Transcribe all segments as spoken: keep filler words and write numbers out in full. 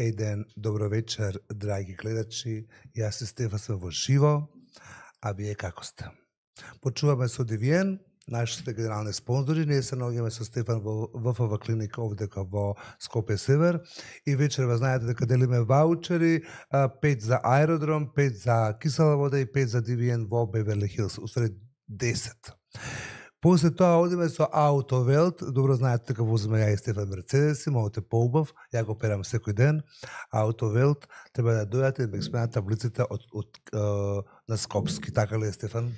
Еј ден, добро вечер, драги гледачи. Јас се Стефан сме во живо, а вие како сте? Почуваме со Девиен, нашите генерални спонзори. Ние се наоѓаме со Стефан во ВФВ клиника овдека во Скопје Север и вечерва знаете дека делиме ваучери, пет за аеродром, пет за кисела вода и пет за Девиен во Беверли Хилс, усред десет. После тоа одиме со Аутовелт. Добро знаете дека возиме ја и Стефан Мерцедеси, можете поубав, ја го перам секој ден. Аутовелт треба да дојдете да ме сменат таблиците од, од, од на Скопски, така ли е, Стефан?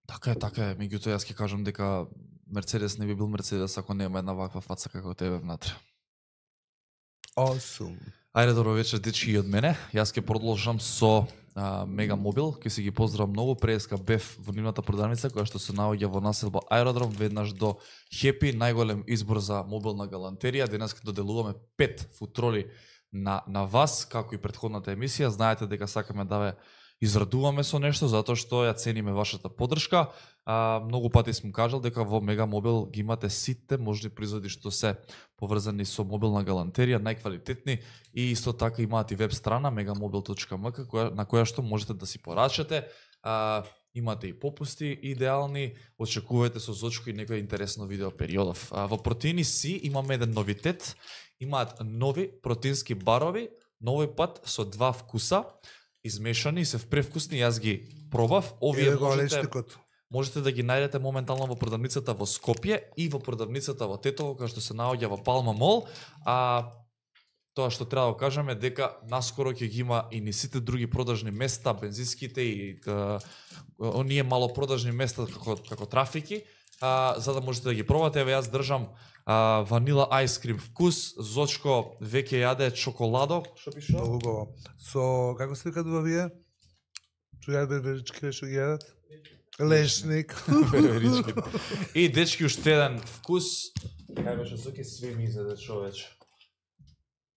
Така е, така е. Меѓутоа јас ќе кажам дека Мерцедес не би бил Мерцедес ако нема една ваква фаца како тебе внатре. Awesome. Ајде, добро вечер, дечки, и од мене. Јас ќе продолжам со а, Мега Мобил. Ќе си ги поздравам многу. Преска бев во нивната продавница која што се наоѓа во населба Аеродром, веднаш до Хепи, најголем избор за мобилна галантерија. Денес ќе доделуваме пет футроли на на вас, како и претходната емисија. Знаете дека сакаме да ве израдуваме со нешто, затоа што ја цениме вашата поддршка. А, многу пати сум кажал дека во Мега Мобил ги имате сите можни производи што се поврзани со мобилна галантерија, најквалитетни, и исто така имаат и веб страна мегаmobil точка ем ка која, на која што можете да си порачате. А, имате и попусти идеални, очекувајте со зочко и некој интересно видео периодов. А, во Протеини Си имаме еден новитет, имаат нови протеински барови, новој пат со два вкуса, измешани, се впревкусни, јас ги пробав. Овие можете, можете да ги најдете моментално во продавницата во Скопје и во продавницата во Тетово, која што се наоѓа во Палма Мол. А тоа што треба да кажеме дека наскоро ќе ги има и ни сите други продажни места, бензинските и а, оние малопродажни места како како трафики, а, за да можете да ги пробате. Еве јас држам а, ванила ајскрим вкус, Зочко веќе јаде чоколадо, што пише? Многу убаво. Со како се викаат вие? Што јаде верички што ги јадат? Лешник. Верички. И дечки уште еден вкус. Кај беше Зоки све ми изеде човече.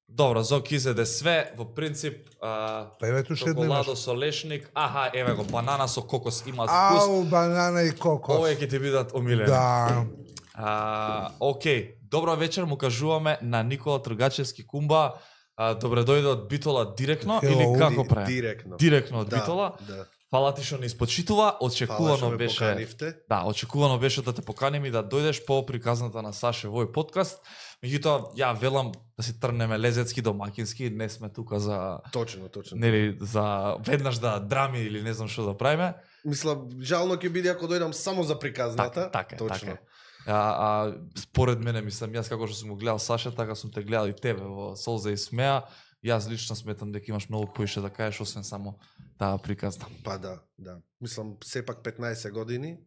Добро, Зоки изеде све, во принцип, а, па еве уште едно чоколадо со лешник, аха, еве го, банана со кокос има вкус. Ау, банана и кокос. Овие ќе ти бидат омилени. Да. А, окей, добро вечер му кажуваме на Никола Тргачевски Кумба. А, добре дојде од Битола директно Hello, или како прави? Директно. Директно од Да, Битола. да. Фала ти што не испочитува, очекувано беше. Поканивте. Да, очекувано беше да те поканим и да дојдеш по приказната на Саше во овој подкаст. Меѓутоа, ја велам да си трнеме лезецки домакински, не сме тука за Точно, точно. нели за веднаш да драми или не знам што да правиме. Мислам, жално ќе биде ако дојдам само за приказната. Така, така, точно. така. А, а според мене, мислам, јас како што сум го гледал Саша, така сум те гледал и тебе во Солза и смеа. Јас лично сметам дека имаш многу поише да кажеш освен само таа приказна. Па да, да. Мислам, сепак петнаесет години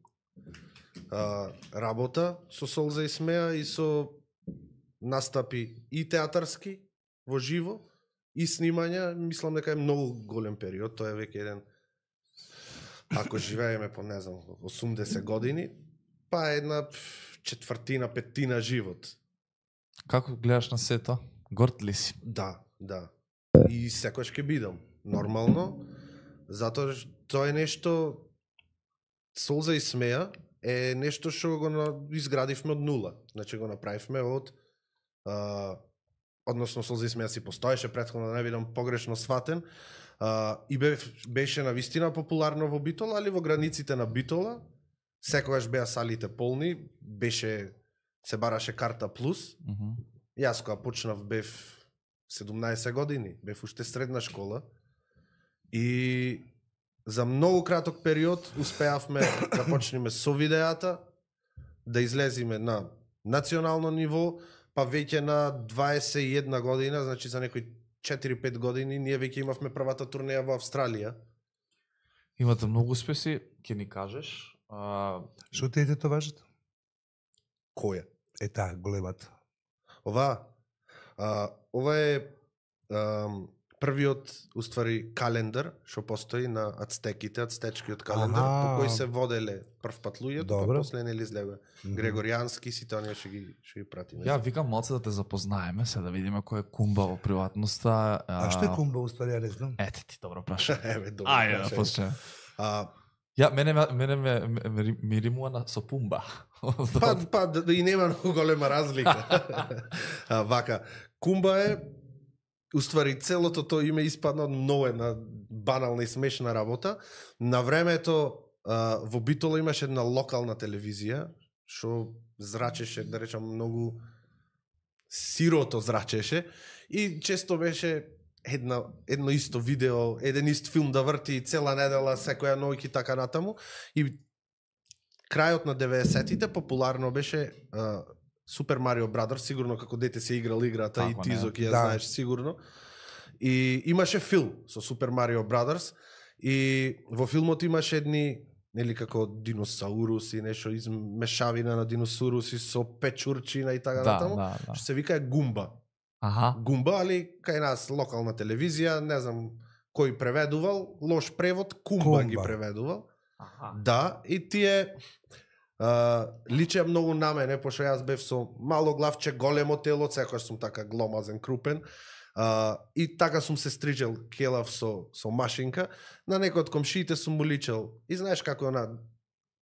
а, работа со Солза и смеа и со настапи и театарски во живо и снимања, мислам дека е многу голем период. Тоа е веќе еден, ако живееме по не знам осумдесет години, па една четвртина, петтина живот. Како гледаш на сето? Горд ли си? Да, да. И секојаш ќе бидам. Нормално. Затоа што тоа е нешто, Солза и смеа е нешто што го на... изградивме од нула. Значи го направивме од а, односно Солза и смеа си постоеше претходно, да не бидам погрешно сватен. А, и бе, беше на вистина популарно во Битола, али во границите на Битола секогаш беа салите полни, беше се бараше карта плюс. Uh -huh. Јас кога почнав бев седумнаесет години, бев уште средна школа и за многу краток период успеавме да почнеме со видеата, да излезиме на национално ниво, па веќе на дваесет и една година, значи за некои четири-пет години, ние веќе имавме првата турнеја во Австралија. Имате многу успеси, ќе ни кажеш. А... Што те ете важат? Која? Е таа големата. Ова, а, ова е а, првиот, уствари, календар што постои на ацтеките, ацтечкиот календар, Аха. по кој се воделе прв пат луѓето, па Добро. после нели излега Мгм. Грегоријански, сите оние што ги што ги пратиме. Ја викам малце да те запознаеме, се да видиме кој е Кумба во приватноста. А што е кумба уствари, ја не знам. Ете ти добро праша. Еве, добро. Ајде, да прашање. почнеме. А, Ја мене ме- мене ме ме- ме- ми римува на со Пумба. па, па да, и нема многу голема разлика. а, вака, кумба е Уствари целото тоа име испадна многу една банална и смешна работа. На времето а, во Битола имаше една локална телевизија што зрачеше, да речам, многу сирото зрачеше и често беше една едно исто видео, еден ист филм да врти цела недела, секоја ноќ и така натаму. И крајот на деветдесетите популарно беше а, Super Mario Brothers, сигурно како дете се играл играта Како и ти не? Зо ќе ја Да. знаеш сигурно. И имаше филм со Super Mario Brothers и во филмот имаше едни нели како диносауруси, нешто измешавина на диносауруси со печурчина и така Да, натаму. да, да. Што се вика Гумба. Аха. Гумба, али кај нас локална телевизија, не знам кој преведувал, лош превод, Кумба, Кумба. ги преведувал. Аха. Да, и тие а, личеа многу на мене, пошто јас бев со мало главче, големо тело, секојаш сум така гломазен, крупен. А, и така сум се стрижел келав со, со машинка. На некој од комшиите сум му личел. И знаеш како е она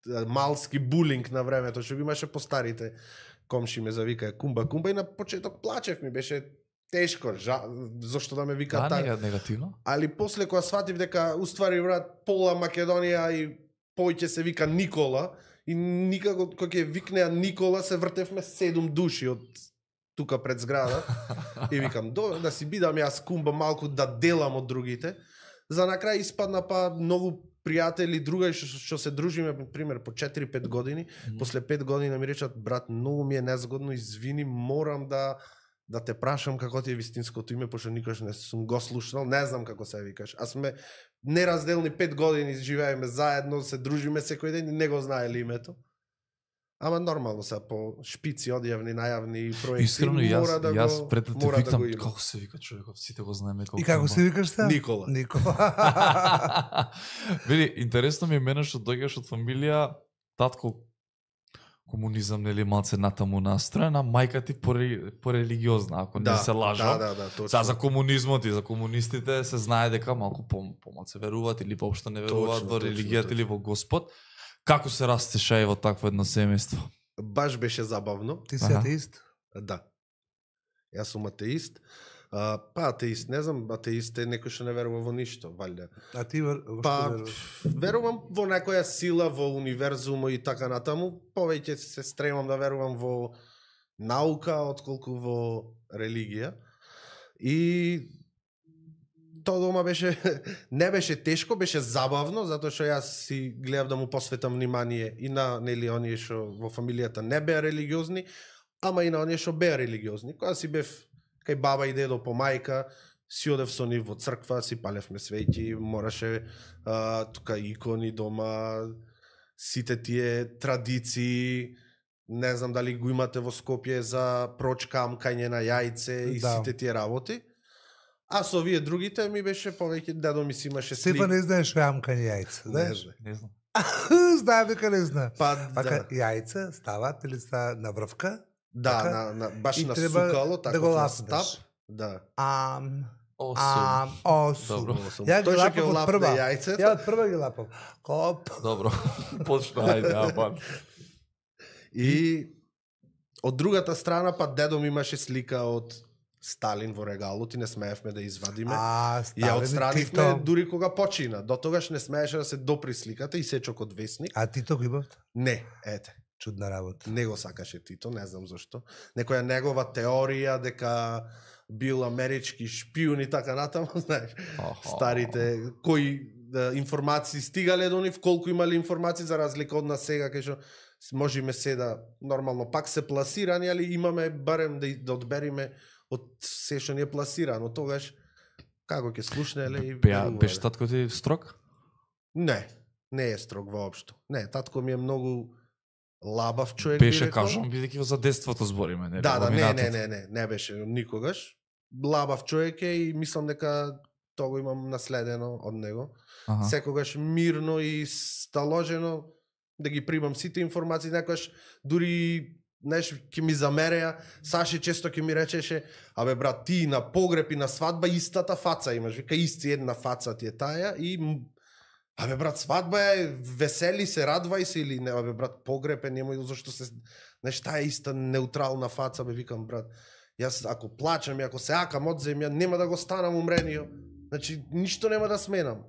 а, малски булинг на времето, што го имаше по старите комши ме завика Кумба, Кумба и на почеток плачев, ми беше тешко, жа, зошто да ме вика Да, така. нега- негативно. Али после кога сватив дека уствари брат пола Македонија и појќе се вика Никола и никако кога ќе викнеа Никола се вртевме седум души од тука пред зграда и викам до да си бидам јас Кумба малку да делам од другите. За на крај испадна па многу пријатели, другаи што, што се дружиме, на пример, по четири-пет години. Мгм. После пет години ми речат, брат, многу ми е незгодно, извини, морам да да те прашам како ти е вистинското име, пошто никош не сум го слушнал, не знам како се викаш. А сме неразделни пет години, живееме заедно, се дружиме секој ден и не го знаеле името. Ама нормално се по шпици, одјавни, најавни проекти, Искрено јас, мора да јас го, пред да те мора да викам го има. како се вика човекот, сите го знаеме како. И како се викаш се? Никола. Никола. Види, интересно ми е мене што доаѓаш од фамилија, татко комунизам, нели, малце натаму настроена, мајка ти поре, порелигиозна, ако не се лажам. Да, да, да, точно. Са за комунизмот и за комунистите се знае дека малку по, помалце веруваат или воопшто не веруваат Точно, во точно, религијата точно. или во Господ. Како се растеша и во такво едно семејство? Баш беше забавно. Ти си Аха. атеист? Да. Јас сум атеист. А, па атеист, не знам, атеист е некој што не верува во ништо, валјда. А ти вер, во што Па, веруваш? верувам во некоја сила, во универзумо и така натаму. Повеќе се стремам да верувам во наука, отколку во религија. И тоа дома беше, не беше тешко, беше забавно, затоа што јас си гледав да му посветам внимание и на нели оние што во фамилијата не беа религиозни, ама и на оние што беа религиозни. Кога си бев кај баба и дедо по мајка, си одев со нив во црква, си палевме свеќи, мораше а, тука икони дома, сите тие традиции, не знам дали го имате во Скопје за проч камкање на јајце и Да. сите тие работи. А со овие другите ми беше повеќе дедо ми си имаше слик. Стефан не знаеш што е амкање јајца, Не знаеш? знае. Не знам. Знае дека не знае. Па Пака да, јајца стават или ста на врвка, да така, на, на, баш и на треба сукало, да така го на лапнеш. стап. Да. ам, Осум. ам, осум. Добро. Ја ги Тој што лапав ќе од лапне прва. јајцето. Ја од прва ги лапав. Коп. Добро. Почна, ајде, апа. И од другата страна па дедо ми имаше слика од Сталин во регалот и не смеевме да извадиме. А, Ја Сталин, отстранивме Тито. дури кога почина. До тогаш не смееше да се допри сликата и сечок од весник. А Тито го имавте? Не, ете. Чудна работа. Не го сакаше Тито, не знам зашто. Некоја негова теорија дека бил амерички шпион и така натаму, знаеш. Старите кои да, информации стигале до нив, колку имале информации за разлика од нас сега кај што можеме се да нормално пак се пласирани, али имаме барем да, да одбериме од се што ни е пласирано. Тогаш како ќе слушнеле и Беа, верувале. беше татко ти строг? Не, не е строг воопшто. Не, татко ми е многу лабав човек. Беше, би рекол. кажам, бидејќи за детството збориме, нели? Да, да, во не, минатото. не, не, не, не беше никогаш. Лабав човек е и мислам дека тоа го имам наследено од него. Аха. Секогаш мирно и сталожено да ги примам сите информации, некогаш дури знаеш, ќе ми замереа, Саши често ќе ми речеше, абе брат, ти на погреб и на свадба истата фаца имаш, вика исти една фаца ти е таја и м, абе брат, свадба е, весели се, радвај се или не, абе брат, погреб е, немој зашто се, знаеш, таа е иста неутрална фаца, бе викам брат. Јас ако плачам и ако се акам од земја, нема да го станам умренио. Значи, ништо нема да сменам.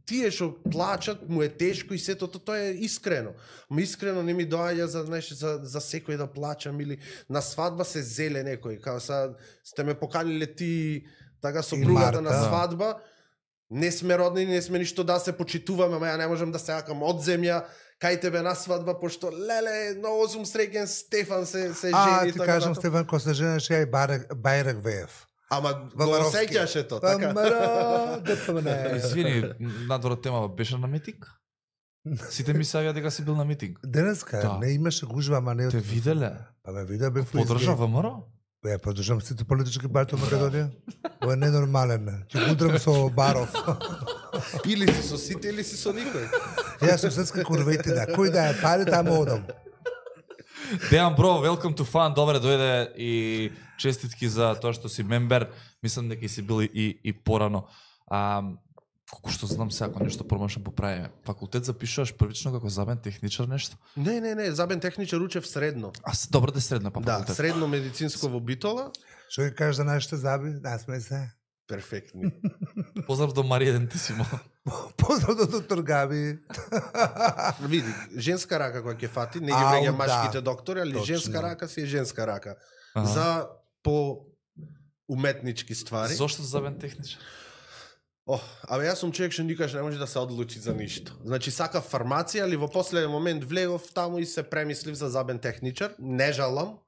Тие што плачат, му е тешко и сето тоа е искрено. Ма искрено не ми доаѓа за, знаеш, за, за секој да плачам или на свадба се зеле некој. Као са, сте ме поканиле ти така сопругата на свадба, не сме родни, не сме ништо да се почитуваме, ама ја не можам да се акам од земја, кај тебе на свадба, пошто леле, многу сум среќен, Стефан се, се жени. А, ти кажам, Стефан, ко се женеше, ја и Бајрак Веев. Ама го осеќаше то, така? Извини, надвора тема беше на митинг? Сите ми савија дека си бил на митинг. Денеска, да. Не имаше гужва, ама не... Те виделе? Па ме видел, бе... Подржа ВМРО? Ја поддржам сите политички партии во Македонија. Ова е ненормален. Ќе го удрам со Баров. Или си со сите, или си со никој. Јас сум светска курветина. Кој да е пари, таму одам. Дејан бро, welcome to fun, добре дојде и честитки за тоа што си мембер. Мислам дека си бил и, и порано. А, колку што знам се, ако нешто промашам поправиме. Факултет запишуваш првично како забен техничар нешто? Не, не, не, забен техничар учев средно. А се добро да средно па да, факултет. Средно медицинско во Битола. Што ги кажеш за нашите заби? Да, сме се. Перфектни. Поздрав до Марија Дентисимо. Поздрав до доктор Габи. Види, женска рака која ќе фати, не ги Ау, вреѓа да. машките доктори, али Точно. женска рака си е женска рака. Ага. За по уметнички ствари. Зошто забен техничар? О, абе јас сум човек што никаш не може да се одлучи за ништо. Значи сакав фармација, али во последен момент влегов таму и се премислив за забен техничар. Не жалам.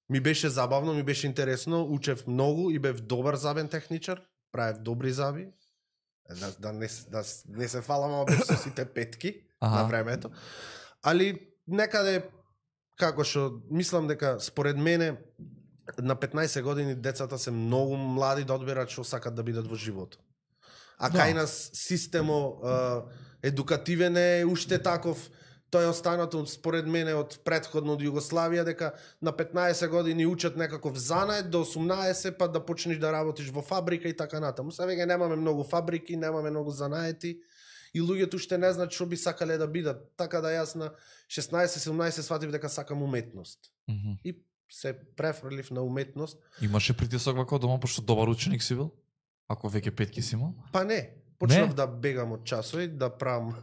Ми беше забавно, ми беше интересно, учев многу и бев добар забен техничар, правев добри заби. Да, да, не, да не се фалам, ама бев со сите петки Аха. на времето. Али некаде, како што, мислам дека според мене, на петнаесет години децата се многу млади да одберат што сакат да бидат во живот. А Да. кај нас системо а, едукативен е уште таков. Тој е останато според мене од претходно од Југославија дека на петнаесет години учат некаков занает до осумнаесет па да почнеш да работиш во фабрика и така натаму. Сега веќе немаме многу фабрики, немаме многу занаети и луѓето уште не знаат што би сакале да бидат. Така да јас на шеснаесет седумнаесет сватив дека сакам уметност. Мгм. И се префрлив на уметност. Имаше притисок вака дома, пошто добар ученик си бил? Ако веќе петки си имал? Па не, почнав Не? да бегам од часови, да правам,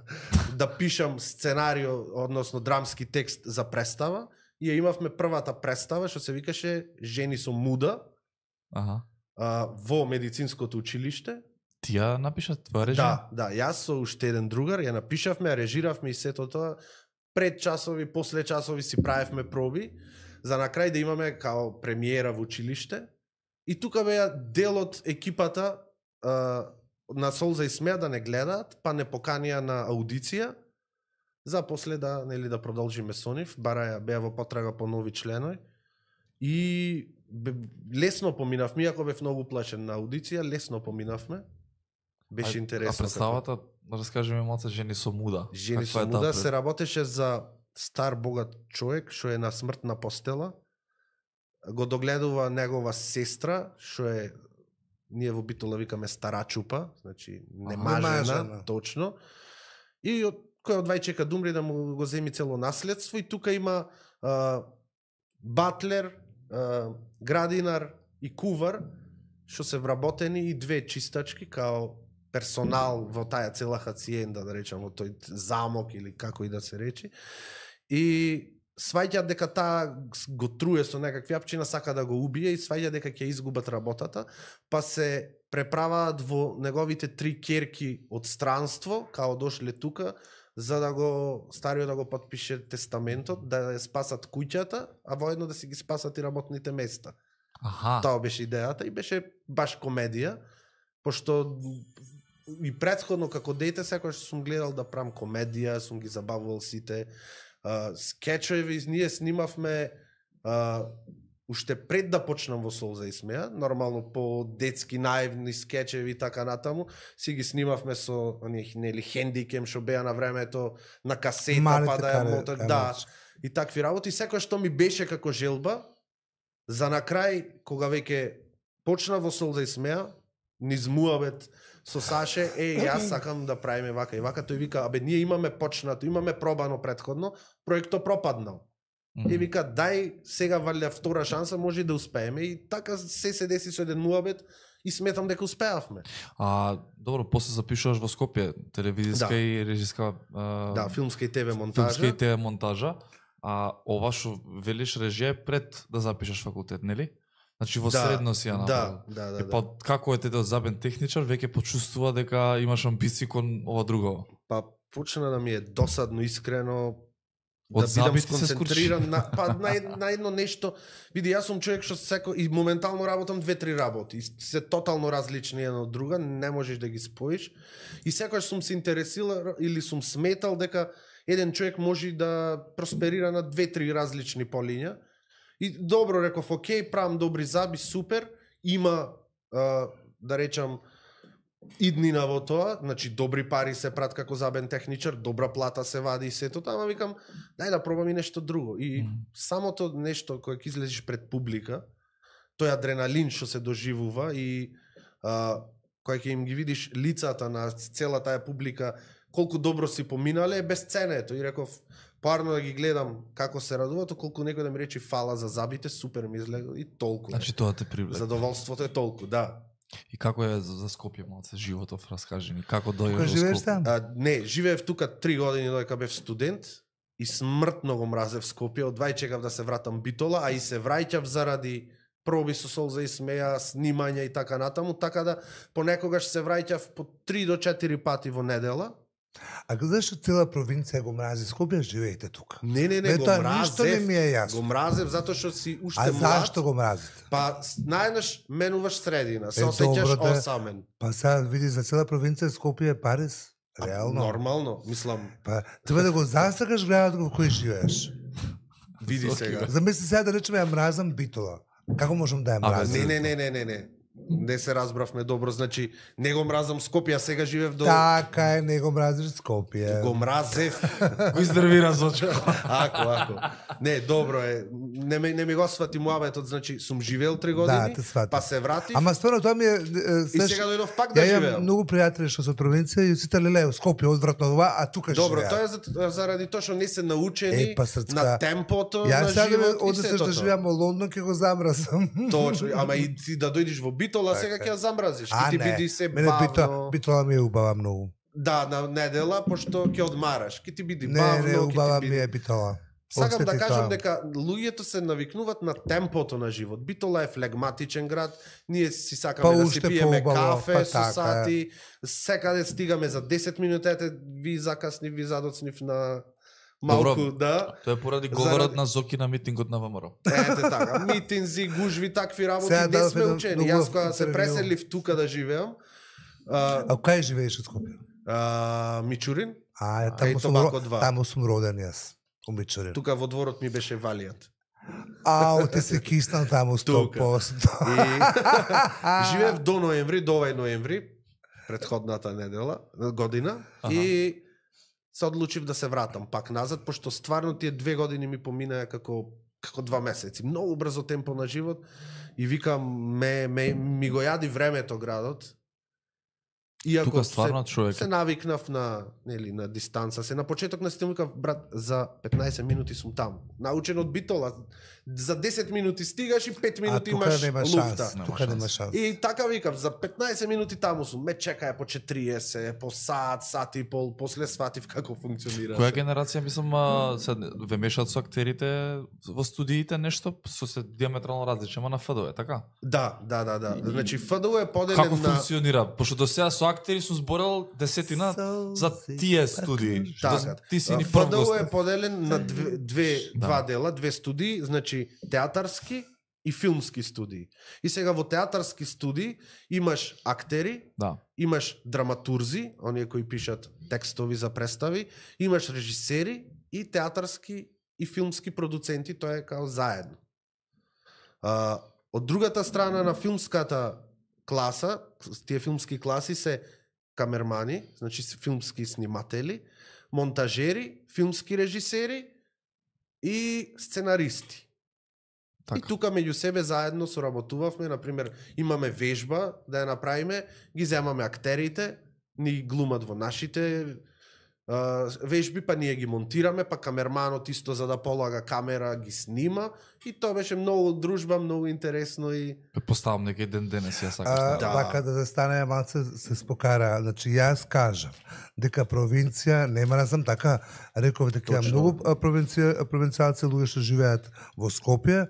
да пишам сценарио, односно драмски текст за представа. И ја имавме првата представа што се викаше Жени со муда Аха. а, во медицинското училиште. Ти ја напиша твоја режија? Да, да, јас со уште еден другар ја напишавме, ја режиравме и сето тоа. Пред часови, после часови си правевме проби, за на крај да имаме као премиера во училиште. И тука беа дел од екипата а, на Солза и Смеа да не гледаат, па не поканија на аудиција, за после да, нели, да продолжиме со нив, бара беа во потрага по нови членови. И бе, лесно поминавме, иако бев многу плашен на аудиција, лесно поминавме. Беше А- интересно. А представата, да раскажи ми малце, Жени со муда. Жени Каква со е таа муда пред- се работеше за стар богат човек што е на смртна постела. Го догледува негова сестра, што е, ние во Битола викаме старачупа, значи немажена, Немажена. точно. И од кој од вајчека да умре да му го земи цело наследство и тука има а, батлер, а, градинар и кувар што се вработени и две чистачки као персонал во таа цела хациенда, да речам, во тој замок или како и да се речи. И сваќаат дека таа го труе со некакви апчина, сака да го убие и сваќа дека ќе изгубат работата, па се преправаат во неговите три ќерки од странство, као дошле тука, за да го стариот да го потпише тестаментот, да ја спасат куќата, а воедно да си ги спасат и работните места. Аха. Тоа беше идејата и беше баш комедија, пошто и претходно како дете секогаш сум гледал да правам комедија, сум ги забавувал сите а, скечови, ние снимавме а, уште пред да почнам во Солза и Смеа, нормално по детски наивни скечеви и така натаму, си ги снимавме со оние нели хендикем што беа на времето на касета, Малите па да ја каре- мотат, да, карачки. и такви работи, секој што ми беше како желба, за на крај, кога веќе почна во Солза и Смеа, низ муабет со Саше, е, јас сакам да правиме вака и вака, тој вика, абе, ние имаме почнато, имаме пробано претходно, проектот пропаднал. Mm. И вика, дај сега валја втора шанса, може и да успееме. И така се се деси со еден муабет и сметам дека успеавме. А, добро, после запишуваш во Скопје, телевизиска Да. и режиска... А... Да, филмска и ТВ монтажа. Филмска и ТВ монтажа. А ова што велиш режија е пред да запишеш факултет, нели? Значи во Да, средно си ја направил. Да, да, да. Е, па како е тете забен техничар, веќе почувствува дека имаш амбиции кон ова друго. Па почна да ми е досадно, искрено, Од да бидам забити се сконцентриран на, па, на, ед- на едно нешто. Види, јас сум човек што секо и моментално работам две-три работи. И се тотално различни една од друга, не можеш да ги споиш. И секогаш сум се интересирал или сум сметал дека еден човек може да просперира на две-три различни полиња. И добро реков, окей, правам добри заби, супер. Има, а, да речам, иднина во тоа, значи добри пари се прат како забен техничар, добра плата се вади и сето, ама викам, дај да пробам и нешто друго. И Мгм. самото нешто кое ќе излезеш пред публика, тој адреналин што се доживува и а, кога ќе им ги видиш лицата на цела таа публика, колку добро си поминале, е безценето. И реков, парно да ги гледам како се радуваат, колку некој да ми рече фала за забите, супер ми излега и толку. Значи тоа те привлека. Задоволството е толку, да. И како е за, за Скопје малце животов, раскажи ни, како дојдеш Кога во живееш Скопје? там? А, не, живеев тука три години додека бев студент и смртно го мразев Скопје, одвај чекав да се вратам Битола, а и се враќав заради проби со солза и смеја, снимања и така натаму, така да понекогаш се враќав по три до четири пати во недела. А зашто цела провинција го мрази Скопје, живеете тука? Не, не, не, Не, го тоа ништо не мразев. ми е јасно. Го мразев затоа што си уште А млад. зашто го мразите? Па с- наеднаш менуваш средина, се Е, осеќаш добро да- осамен. Па сега види за цела провинција Скопје е Париз. А, Реално. Нормално, мислам, Па треба да го засакаш градот во кој живееш. види сега. Замисли сега да речеме ја мразам Битола. Како можам да ја Абе, мразам? Не, не, не, не, не, не. Не се разбравме добро, значи не го мразам Скопје, а сега живеев до Така е, не го мразиш Скопје. го мразев. Го издервира Зочко. Ако, ако. Не, добро е. Не ми, не ми го свати муабетот, значи сум живеел три години, Да, те сватам. па се вратив Ама стварно тоа ми е... е, и знаеш, сега дојдов пак да Ја имам живеам. многу пријатели што се од провинција и сите леле Скопје одвратно ова, а тука Добро, живеат. тоа е за, заради тоа што не се научени Е, па, срцка. на темпото Ја на сега да живот и одесеш да сето. живеам во Лондон, ќе го замразам. Точно, ама и ти да дојдеш во Битола, сега ќе ја замразиш. А, Ќе ти не. биде се Мене Битола, бавно. Битола ми е убава многу. Да, на недела, пошто ќе одмараш. Ќе ти биде Не, бавно, не, ќе убава ти ми биде... е Битола. Сакам да Осети кажам тоа. дека луѓето се навикнуваат на темпото на живот. Битола е флегматичен град, ние си сакаме Па да уште си пиеме поубаво, кафе па со така е. сати, секаде стигаме за десет минути, ете ви закаснив, ви задоцнив на малку, Добро. да. Тоа е поради Заради- говорот на Зоки на митингот на ВМРО. Ете така, митинзи, гужви, такви работи, Сега не дадов сме еден учени. многу Јас кога се интервју. преселив тука да живеам, а, А кај живееш од Скопје? а, Мичурин, А, е, Кај таму сум, Тобако ро- два. таму сум роден јас. У Мичурин. тука во дворот ми беше валијат. Ау, ти се киснал таму сто Тука. проценти. И живеев до ноември, до овај ноември, предходната недела, година, Аха. и се одлучив да се вратам пак назад, пошто стварно тие две години ми поминаа како како два месеци. Многу брзо темпо на живот и викам ме, ме ми го јади времето градот. Иако Тука стварно човек се, се навикнав на нели на дистанца. Се на почеток на стил викав брат за петнаесет минути сум таму. Научен од Битола. За десет минути стигаш и пет А минути тука имаш нема луфта. шанс. Нема Тука нема шанс. шанс. И така викав, за петнаесет минути таму сум. Ме чекаја по четириесет, по сат, сат и пол, после сватив како функционира. Која генерација, мислам, а, се ве мешаат со актерите во студиите нешто со се диаметрално различно, ама на ФДО е така? Да, да, да, да. Значи ФДУ е поделен Како на функционира? Пошто до сега со актери сум зборел десетина за тие студии. Што Така. ти си ни прв ФДУ гост. е поделен на две, две Да. два дела, две студии, значи театарски и филмски студии. И сега во театарски студии имаш актери, Да. имаш драматурзи, оние кои пишат текстови за представи, имаш режисери и театарски и филмски продуценти, тоа е као заедно. А, од другата страна на филмската класа, тие филмски класи се камермани, значи се филмски сниматели, монтажери, филмски режисери и сценаристи. Така. И тука меѓу себе заедно соработувавме, например, имаме вежба да ја направиме, ги земаме актерите, ни глумат во нашите вежби, па ние ги монтираме, па камерманот исто за да полага камера ги снима и тоа беше многу дружба, многу интересно и Поставам некој ден денес ја сакаш. А, да. Вака да застане малце се спокара. Значи јас кажам дека провинција нема да сам така реков дека има Точно. многу а, провинција провинцијалци луѓе што живеат во Скопје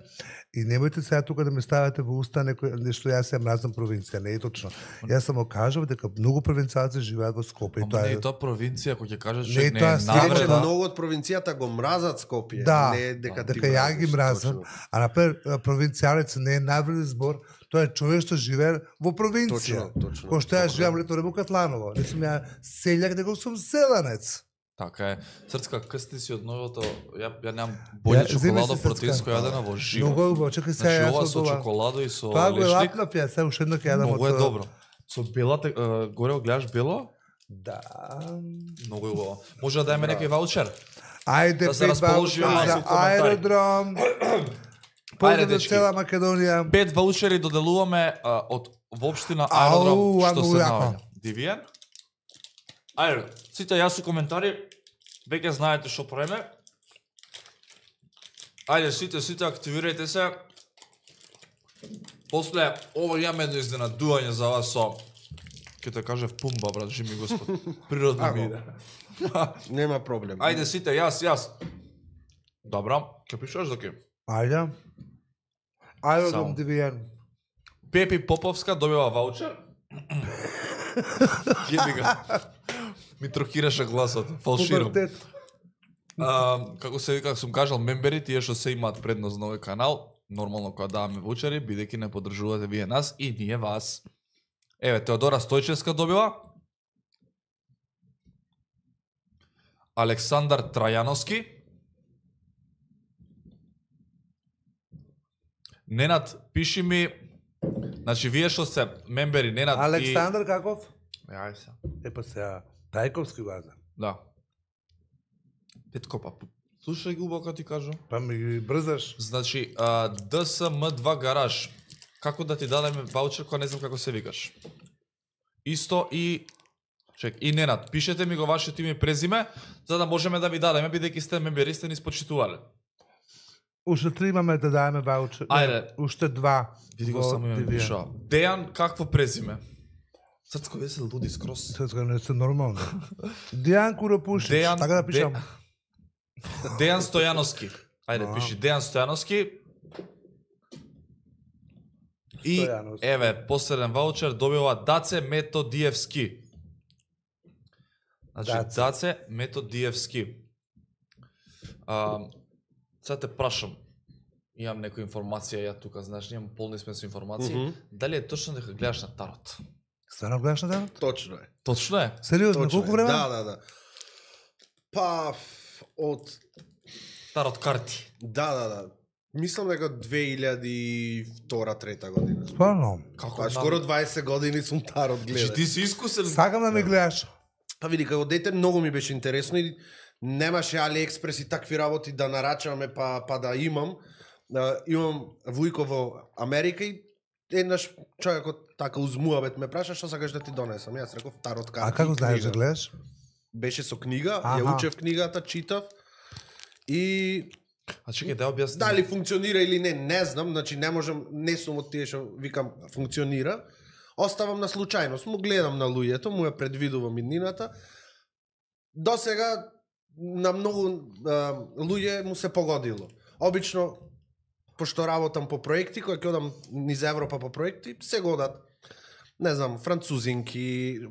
и немојте сега тука да ме ставате во уста некој нешто јас ја мразам провинција, не е точно. Јас само кажав дека многу провинцијалци живеат во Скопје и Ама тоа не е е тоа провинција, кој ќе каже Не че е не тоа е стигна, Иначе навреда. многу од провинцијата го мразат Скопје, Да, не дека ти дека ја ги мразам, точно. а например провинцијалец не е навреден збор, тоа е човек што живее во провинција. Точно, точно. Кој што ја Точно. живеам лето во Катланово. Не сум ја селјак, него сум селанец. Така е. Срцка, късти си од новото, ја, ја немам боље Ја, земи чоколадо се, протеинско Срцка. јадена во живо. Многу е убаво, чекај сега Значи јас ова од со ова. чоколадо и со Тоа го е лешник, лапна пија, сега уште едно ќе јадам многу е од- добро. Со белата, е, горе го гледаш бело, Да. многу е убаво. Може да дајме некој ваучер? Ајде, Да се пет расположиме ваучери малку за у коментари. аеродром. Поздрав до дечки. цела Македонија. Пет ваучери доделуваме а, од воопштина Ау, аеродром а што многу се јако. наоѓа. Дивиен? Ајде, сите јасни коментари, веќе знаете што правиме. Ајде, сите, сите активирајте се. После, ова имаме едно изненадување за вас со... Ке те кажев пумба, брат, жи ми Господ. Природно Аго. биде. Нема проблем. Ајде, сите, јас, јас. Добра, ке пишуваш доки. Ајде. Аеродром Само. Дивиен. Пепи Поповска добива ваучер. Јеби ga. Ми трокираше гласот, фалширам. Пубертет. А, како се вика, сум кажал, мембери, тие што се имаат предност на овој канал, нормално кога даваме ваучери, бидејќи не поддржувате вие нас и ние вас. Еве, Теодора Стојчевска добила. Александар Трајановски. Ненад, пиши ми, значи вие што сте мембери, Ненад Александар каков? и... Ајде се. Е па сега, Тајковски база. Да. Петко, па, слушај ги убаво ти кажу. Па ми ги брзаш. Значи, а, Д С М два гараж. Како да ти дадеме ваучер кога не знам како се викаш? Исто и чек, и Ненад, пишете ми го вашето име и презиме, за да можеме да ви дадеме, бидејќи сте мембери, сте ни спочитувале. Уште три имаме да даеме ваучер. Ајде. Уште два. Види го во само име Дивиен. пишува. Дејан, какво презиме? Срцко, вие се луди скрос. Сетска не се нормално. Дијан Куропушич, Дејан- така да пишам. Дејан Стојановски. Ајде, А. пиши Дејан Стојановски. И, Стојановски. еве, последен ваучер добива Даце Методиевски. Значи, Даце. Даце Методиевски. А, сега те прашам, имам некоја информација, ја тука, знаеш, имам полни сме со информации. Мгм. Дали е точно дека гледаш на тарот? Стварно гледаш на ден? Точно е. Точно е. Сериозно, Точно колку е. време? Да, да, да. Па од Тарот карти. да, да, да. Мислам дека две илјади и втора трета година. Стварно. Како Па скоро дваесет години сум тарот Значи, гледа. ти си искусен. Сакам да ме гледаш. Па види, како дете многу ми беше интересно и немаше AliExpress и такви работи да нарачаме па, па да имам. Да, имам вујко во Америка и еднаш човекот така узмуабет ме праша што сакаш да ти донесам. Јас реков тарот карти. А како и знаеш да книга. гледаш? Беше со книга, Аха. ја учев книгата, читав и А чекај да ја објасни. дали функционира или не, не знам, значи не можам, не сум од тие што викам функционира. Оставам на случајност, му гледам на луѓето, му ја предвидувам иднината. До сега на многу а, луѓе му се погодило. Обично, пошто работам по проекти, кои ќе одам низ Европа по проекти, се годат, не знам, французинки,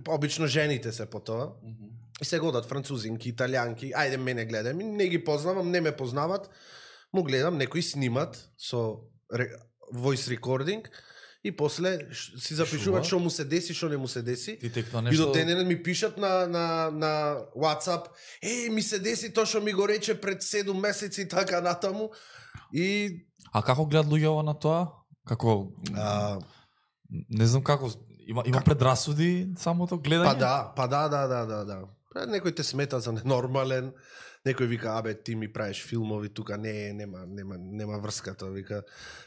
обично жените се по тоа. И се годат французинки, италијанки, ајде мене гледај, ми не ги познавам, не ме познават, му гледам, некои снимат со ре, voice recording и после ш- си запишуваат што му се деси, што не му се деси. Ти текно И нешто... до денес ми пишат на, на, на WhatsApp, е, ми се деси тоа што ми го рече пред седум месеци и така натаму. И А како гледат луѓе ова на тоа? Како... а, Не знам како... Има, има предрасуди самото гледање? па да, па да, да, да, да, да. Па некој те смета за ненормален, некој вика, абе, ти ми правиш филмови тука, не, нема, нема, нема врска тоа, вика.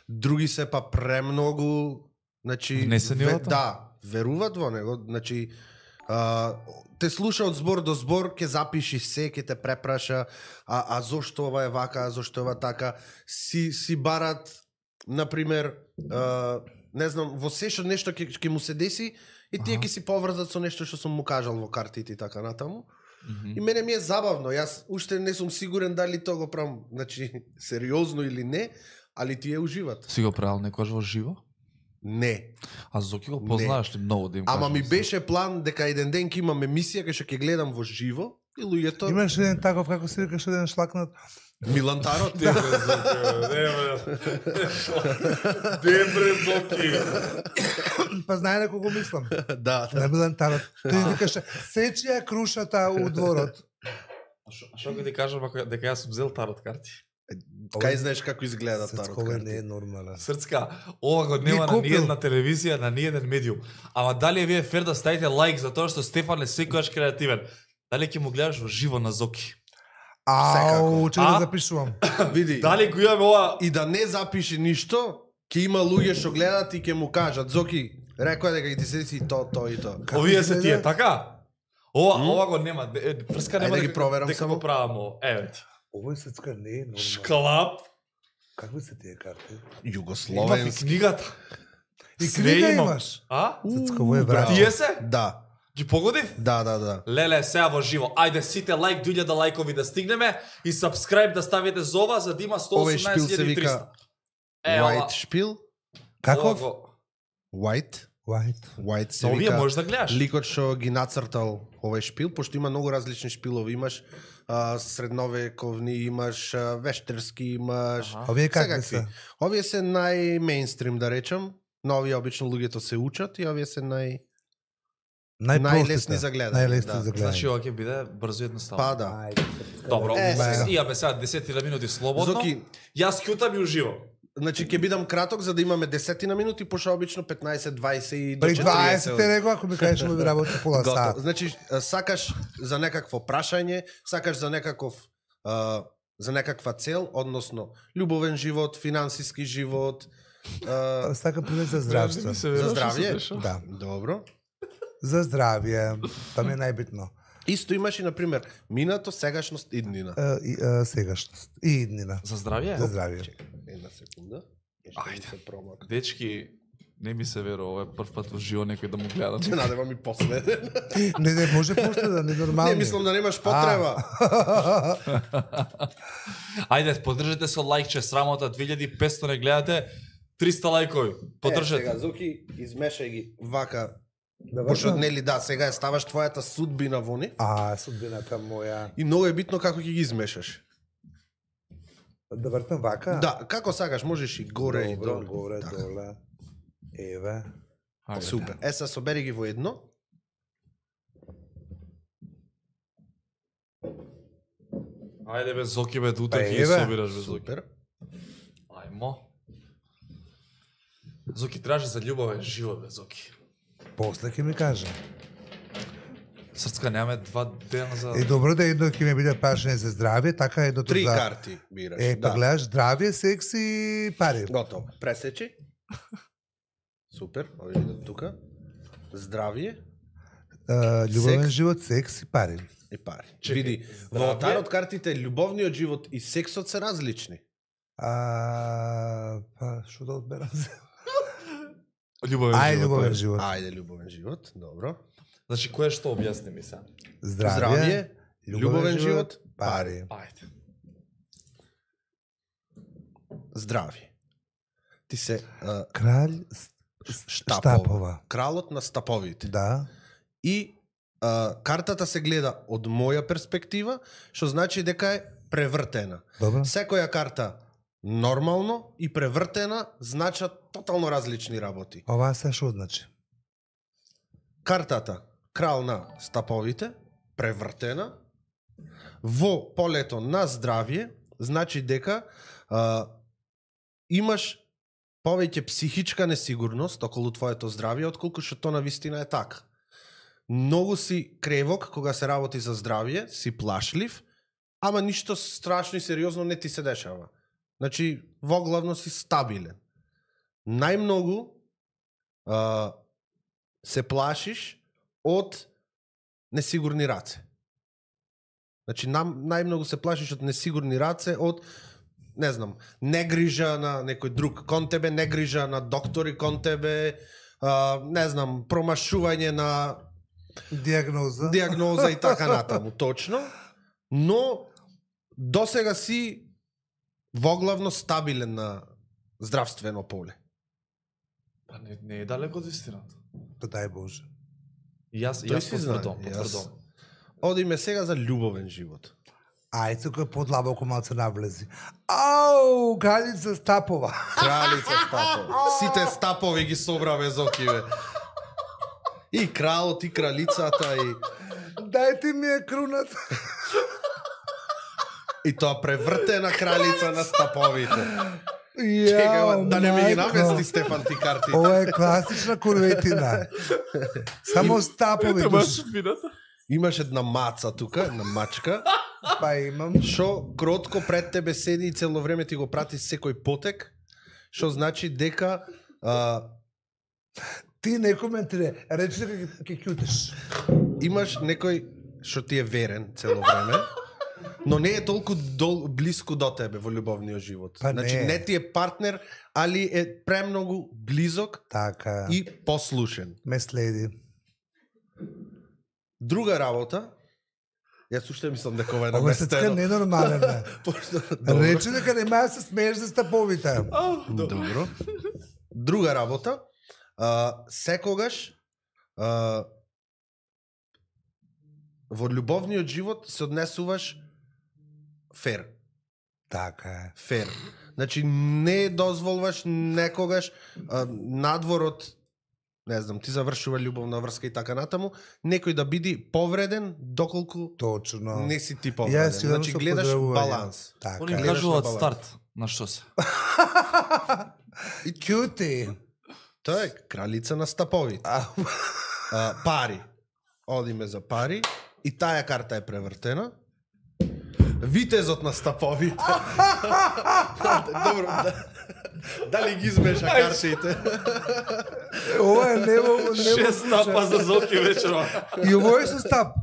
Други се па премногу, значи... Внесени ве- во тоа? Да, веруваат во него, значи, А, те слуша од збор до збор, ќе запиши се, ќе те препраша, а, а зошто ова е вака, а зошто ова така, си, си барат, например, а, не знам, во се што нешто ќе, ќе му се деси, и тие ќе си поврзат со нешто што сум му кажал во картите и така натаму. Мгм. И мене ми е забавно, јас уште не сум сигурен дали тоа го правам, значи, сериозно или не, али тие уживат. Си го правил некојаш во живо? Не. А Зоки го познаеш ли многу да им Ама кажеш ми за- беше план дека еден ден ќе имам емисија кај што ќе гледам во живо и луѓето Имаш еден таков, како се викаш, еден шлакнат. Милан Тарот. Де бре Зоки, де бре. Де бре Зоки. Па знае на кого мислам. Да, На да. Милан Тарот. Тој викаше, сечи ја крушата у дворот. А шо- а што ќе ти кажам ако дека јас сум взел тарот карти? Кај знаеш како изгледа Тарот Сецко не е карти? нормален. Срцка, ова го нема Ги на купил. ниедна телевизија, на ниеден медиум. Ама дали е вие фер да ставите лайк за тоа што Стефан е секојаш креативен? Дали ќе му гледаш во живо на Зоки? Ау, че А? да запишувам. Види, Дали го имаме ова? и да не запиши ништо, ќе има луѓе што гледат и ќе му кажат, Зоки, рекоа дека ќе ти се деси то, то и то. Овие ќе се се тие, да? така? Ова, ова го нема. Е, е, Фрска нема Ајде да ги дека- проверам дека само. го правам ово. Еве ти. Овој Сецка не е нормален. Шклап. Какви се тие карти? Имав и Југословенски. книгата. И Све книга имам. имаш? А? Сецка, овој е брат. Тие се? Да, Ги погодив? да, да, да. Леле, сега во живо. Ајде сите лайк, дујле да лајкови да стигнеме и subscribe да ставите за ова за да има сто Овој шпил се осемнаесет вика триста. Е, ова. White шпил, Каков? Ова го- White, White. White се Но овие вика. можеш да гледаш. Ликот што ги нацртал овој шпил, пошто има многу различни шпилови, имаш а, средновековни, имаш а, вештерски, имаш Аха. Овие какви секакви. се? Овие се нај-мейнстрим, да речам. На овие обично луѓето се учат и овие се нај Најпростите. најлесни за гледање, Најлесни да. за гледање. Значи ова ќе биде брзо и едноставно. па да. Ајде, Сецка, Добро, Е, е, сега. имаме сега десет минути слободно. Зоки, Јас кјутам и уживо. значи ќе бидам краток за да имаме десетина минути, пошто обично петнаесет, дваесет и до При дваесет четириесет. него, ако ми кажеш ми работи пола Готово. сат. Значи, а, сакаш за некакво прашање, сакаш за некаков а, за некаква цел, односно љубовен живот, финансиски живот, а, Сака прилез за здравство. Не се верува За што се здравје? деша. Да. добро. За здравје. Тоа ми е најбитно. Исто имаш и, например, минато, сегашност, иднина. Е, и, е, сегашност. И иднина. За здравје? За здравје. Чекај, една секунда. Нешто ми Ајде. се промака. Дечки, не ми се верува, ова е прв пат во живо некој да му гледа. Се надевам и после. Не, не, може после да не нормално. Не, мислам да немаш потреба. Ајде, поддржете со лајкче, срамота, две илјади и петсто не гледате, триста лајкови. Е, Поддржете. сега, Зуки, измешај ги вака. Да Пошто, вршам? нели, да, сега ја ставаш твојата судбина во нив. А, судбината моја. И многу е битно како ќе ги измешаш. Да вртам вака? Да, како сакаш, можеш и горе и Добро, доле. горе, Така. доле. Еве. Ајде. Супер. Е, са собери ги во едно. Ајде бе Зоки бе, дута Па, ги еве. собираш бе Зоки. Супер. Ајмо. Зоки траже за љубовен живот бе Зоки. После ќе ми каже. Срцка немаме два дена за... Е, добро да едно ќе ми биде прашање за здравје, така едното Три за... карти бираш. Е, па да. гледаш здравје, секс и пари. Готово. Пресечи. Супер. Овие идат тука. Здравје Е, љубовен секс. живот, секс и пари. и пари. Чекај, Види, во здравје? тарот картите љубовниот живот и сексот се различни. А, па, што да одберам? Љубовен Ај, живот. љубовен бе. живот. Ајде, љубовен живот. Добро. Значи, кој е што објасни ми сега? Здравје, Здравје, љубовен живот, пари. пари. Ајде. Здравје. Ти се а, Кралј с- с- штапова. штапова. Кралот на стаповите. Да. И а, картата се гледа од моја перспектива, што значи дека е превртена. Добро. Секоја карта нормално и превртена значат тотално различни работи. Ова се што значи? Картата крал на стаповите, превртена, во полето на здравје, значи дека а, имаш повеќе психичка несигурност околу твоето здравје, отколку што тоа на вистина е така. Многу си кревок кога се работи за здравје, си плашлив, ама ништо страшно и сериозно не ти се дешава. Значи, воглавно си стабилен. Најмногу а, се плашиш од несигурни раце. Значи, нам, најмногу се плашиш од несигурни раце, од, не знам, негрижа на некој друг кон тебе, негрижа на доктори кон тебе, а, не знам, промашување на Диагноза. диагноза и така натаму, точно. Но, досега си воглавно стабилен на здравствено поле. Па не, не е далеко од истината. Па дај Боже. И јас, Тој јас си знае, потврдам, јас- потврдам. Одиме сега за љубовен живот. Ај, тука подлабоко малце навлези. Ау, кралица Стапова. Кралица Стапова. Сите стапови ги собраве зокиве. И кралот, и кралицата, и... Дајте ми ја круната. И тоа превртена кралица на стаповите. Јао, Чекај, да не ми ги мајко. намести Стефан ти карти. Ова е класична курветина. Само Стапови душ. Имаш една маца тука, една мачка, Па имам. шо кротко пред тебе седи и цело време ти го прати секој потек, шо значи дека а, Ти не коментире, речи дека ќе ќутиш. имаш некој што ти е верен цело време, но не е толку дол, близко до тебе во љубовниот живот. Па значи не. не ти е партнер, али е премногу близок Така, и послушен. ме следи. Друга работа, јас уште мислам дека ова е Ова е така наместено. ненормален. бе. Пошто, добро. Речи дека нема да се смееш за Стаповите. Добро. Друга работа, а, секогаш а, во љубовниот живот се однесуваш фер. Така е. Фер. Значи не дозволваш некогаш а, надвор од, не знам, ти завршува љубовна врска и така натаму, некој да биде повреден доколку Точно. не си ти Јас повреден. си Значи со гледаш поздравување. баланс. Така. Они е. гледаш кажуваат на баланс. старт. На што се? И ќути. Тоа е кралица на стаповите. А, А, пари. Одиме за пари. И таа карта е превртена. Витезот на стаповите. Добро, да, дали ги измеша картите? ова е нево, нево. Шест стапа за Зоки вечерва. И ово е со Стап.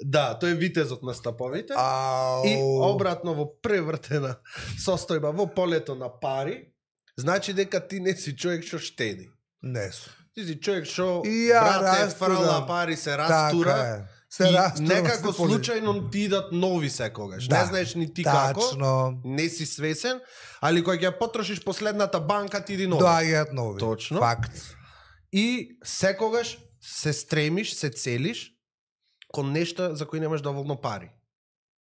Да, тој е витезот на стаповите. Ау. И обратно во превртена состојба во полето на пари, значи дека ти не си човек што штеди. Не су. Ти си човек што И ја брате растура. фрла пари, се растура. Така е. Се И растура. некако се поли- случајно ти идат нови секогаш. Да, Не знаеш ни ти како, Тачно. не си свесен, али кога ќе потрошиш последната банка ти иди нови. Доаѓаат нови. Точно. Факт. И секогаш се стремиш, се целиш кон нешто за кои немаш доволно пари.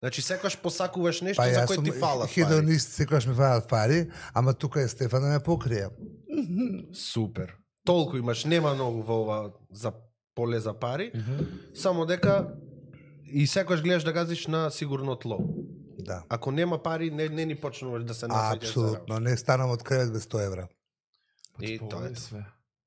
Значи секогаш посакуваш нешто Па за јас кој сум ти фалат пари. хедонист, секогаш ми фалат пари, ама тука е Стефан да ме покрие. Супер. Толку имаш, нема многу во ова за поле за пари, само дека и секогаш гледаш да газиш на сигурно тло. Да. Ако нема пари, не, не ни почнуваш да се нафаќаш за работа. Апсолутно, не станам од кревет без сто евра. И тоа е. све.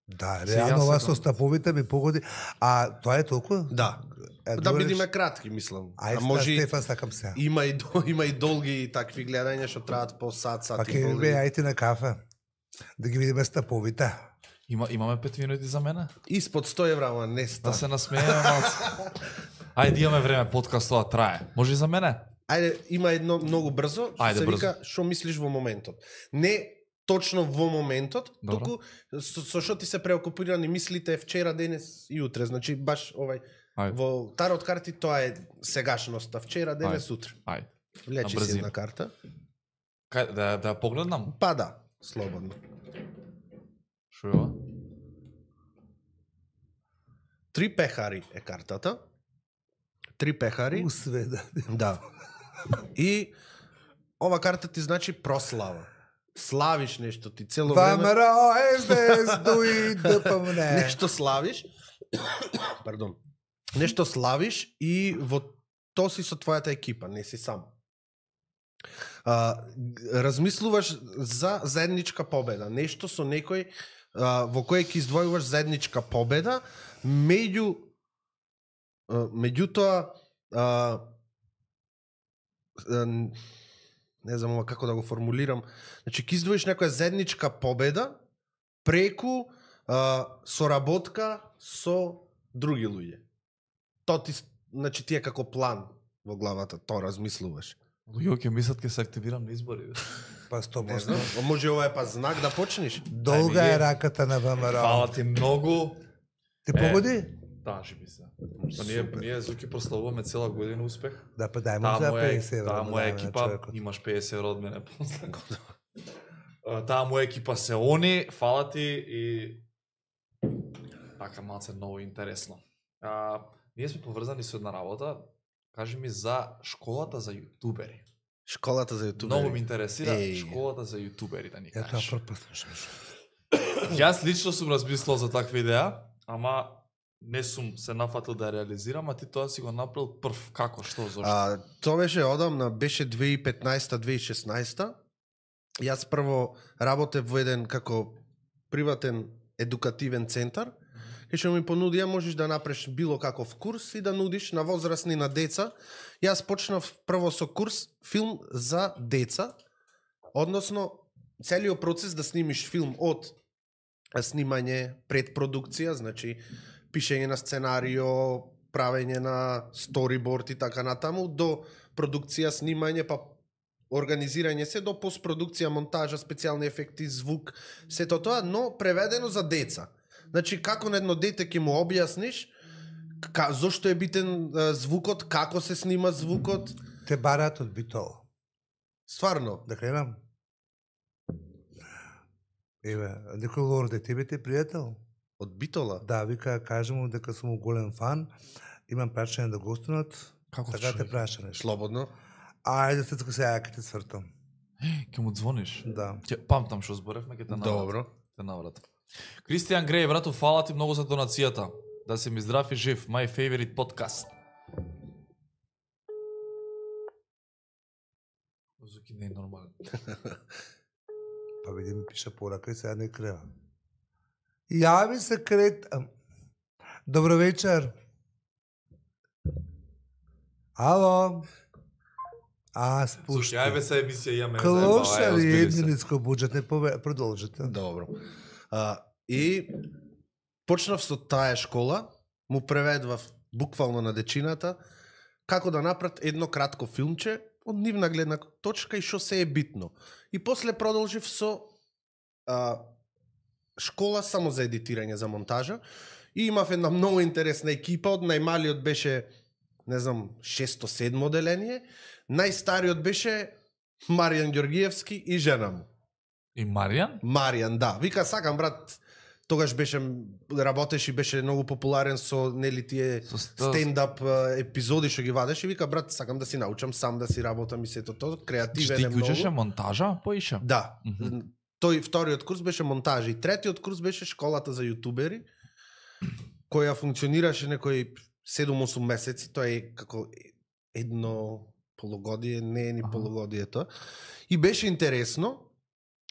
Да, Се, реално јас ова се со Стаповите ми погоди. А тоа е толку? Да. Е, Да добре, бидеме кратки, мислам. Ај, А може и- Стефан, сакам се. има и до- има и долги такви гледања што траат по сат, сат Па и ќе пол. ми бе, ајте на кафе. Да ги видиме Стаповите. Има, имаме пет минути за мене? Испод сто евра, ама не Да ста. се насмееме малце. Ајде имаме време, подкаст тоа трае. Може и за мене? Ајде, има едно многу брзо, што Ајде, се брзо. вика што мислиш во моментот. Не точно во моментот, Добро. туку со, со што ти се преокупирани мислите вчера, денес и утре. Значи баш овај Ајде. во тарот карти тоа е сегашноста, вчера, денес, Ајде. утре. Ајде. Влечи На си брзина. една карта. Кај да да ја погледнам? Па да, слободно. Шо е ова? Три пехари е картата. Три пехари. Усве, да. Да. И ова карта ти значи прослава. Славиш нешто ти цело време. Вамера, ес дуи да помне. Нешто славиш. Пардон. Нешто славиш и во то си со твојата екипа, не си сам. А, г- размислуваш за заедничка победа. Нешто со некој а, во кој ќе издвојуваш заедничка победа, меѓу а, меѓутоа а, а, не знам ова како да го формулирам. Значи ќе издвоиш некоја заедничка победа преку а, соработка со други луѓе. То ти значи ти е како план во главата, тоа размислуваш. Луѓе ќе мислат ќе се активирам на избори. Па сто Не проценти. знам, може ова е па знак да почнеш. Долга Ајде, е е. раката на ВМРО. Фала ти многу. Ти погоди? Да, живи се. Па ние, ние Зуки прославуваме цела година успех. Да, па дај му Таа за моја, петдесет евро. таа му моја дај на екипа, човекот. имаш петдесет евро од мене после. А, Таа моја екипа се они, фала ти и така малце многу интересно. А, ние сме поврзани со една работа. Кажи ми за школата за јутубери. Школата за јутубери. Многу ме интересира Еј. школата за јутубери да ни Ја тоа кажеш. прв пат слушам. Јас лично сум размислил за таква идеја, ама не сум се нафатил да ја реализирам, а ти тоа си го направил прв. Како, што, зошто? А, тоа беше одамна, беше две илјади и петнаесета две илјади и шеснаесета. Јас прво работев во еден како приватен едукативен центар, кај што ми понудија можеш да направиш било каков курс и да нудиш на возрастни, на деца. Јас почнав прво со курс филм за деца, односно целиот процес да снимиш филм од снимање, предпродукција, значи пишење на сценарио, правење на сториборд и така натаму, до продукција, снимање, па организирање се до постпродукција, монтажа, специјални ефекти, звук, сето тоа, но преведено за деца. Значи, како на едно дете ќе му објасниш ка, зошто е битен а, звукот, како се снима звукот. Те бараат од Битол. Стварно. Да кренам? Еве, некој лорде, тебе ти е пријател? Од Битола? Да, вика, кажи му дека сум голем фан, имам прашање да гостунат, Како така те човек? праша нешто. Слободно. Ајде, се тука сега ќе те свртам. Ќе му звониш? Да. Ќе памтам што зборевме, ќе те навратам. Добро. Те навратам. Кристијан Греј, брату, фала ти многу за донацијата. Да си ми здрав и жив. My favorite podcast. Зуки не е нормален. Па види ми пиша порака и сега не крева. Јави се крет... ам, Добро вечер. Ало. А, Слушај, спушти. ајде се емисија имаме. Клошари едниниско буџет, не пове... продолжите. Добро. А, и почнав со таа школа, му преведвав буквално на дечината како да направат едно кратко филмче од нивна гледна точка и што се е битно. И после продолжив со а, школа само за едитирање, за монтажа. И имав една многу интересна екипа, од најмалиот беше, не знам, шесто седмо деление, најстариот беше Маријан Ѓоргиевски и жена му. И Маријан? Маријан, да. Вика, сакам, брат, тогаш беше, работеше и беше многу популарен со, нели, тие Со ста- стендап а, епизоди што ги вадеше. Вика, брат, сакам да си научам сам да си работам и сето тоа. Креативен Ти е многу. учеше монтажа? Поише? Да. Мгм. Тој вториот курс беше монтажа и третиот курс беше школата за јутубери, која функционираше некои седум-осум месеци. Тоа е како едно полугодие, не е ни Аха. полугодие тоа. И беше интересно,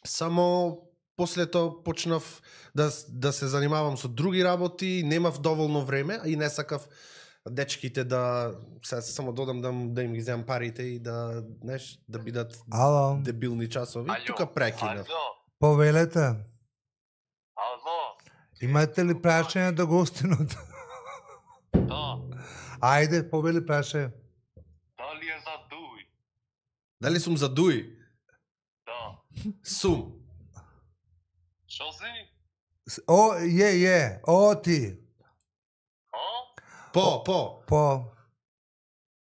само после тоа почнав да, да се занимавам со други работи, немав доволно време и не сакав дечките да, сега се само додам да, да им ги земам парите и да, знаеш, да бидат Ало, дебилни часови. Алло, Тука прекинав. Алло, повелете. алло, Имате ли прашање да гостинот? да, Ајде, повели прашање. дали е за дуј? Дали сум за дуи? Да. Сум. Шо си? С- О, е, е, о ти. А? По, по. По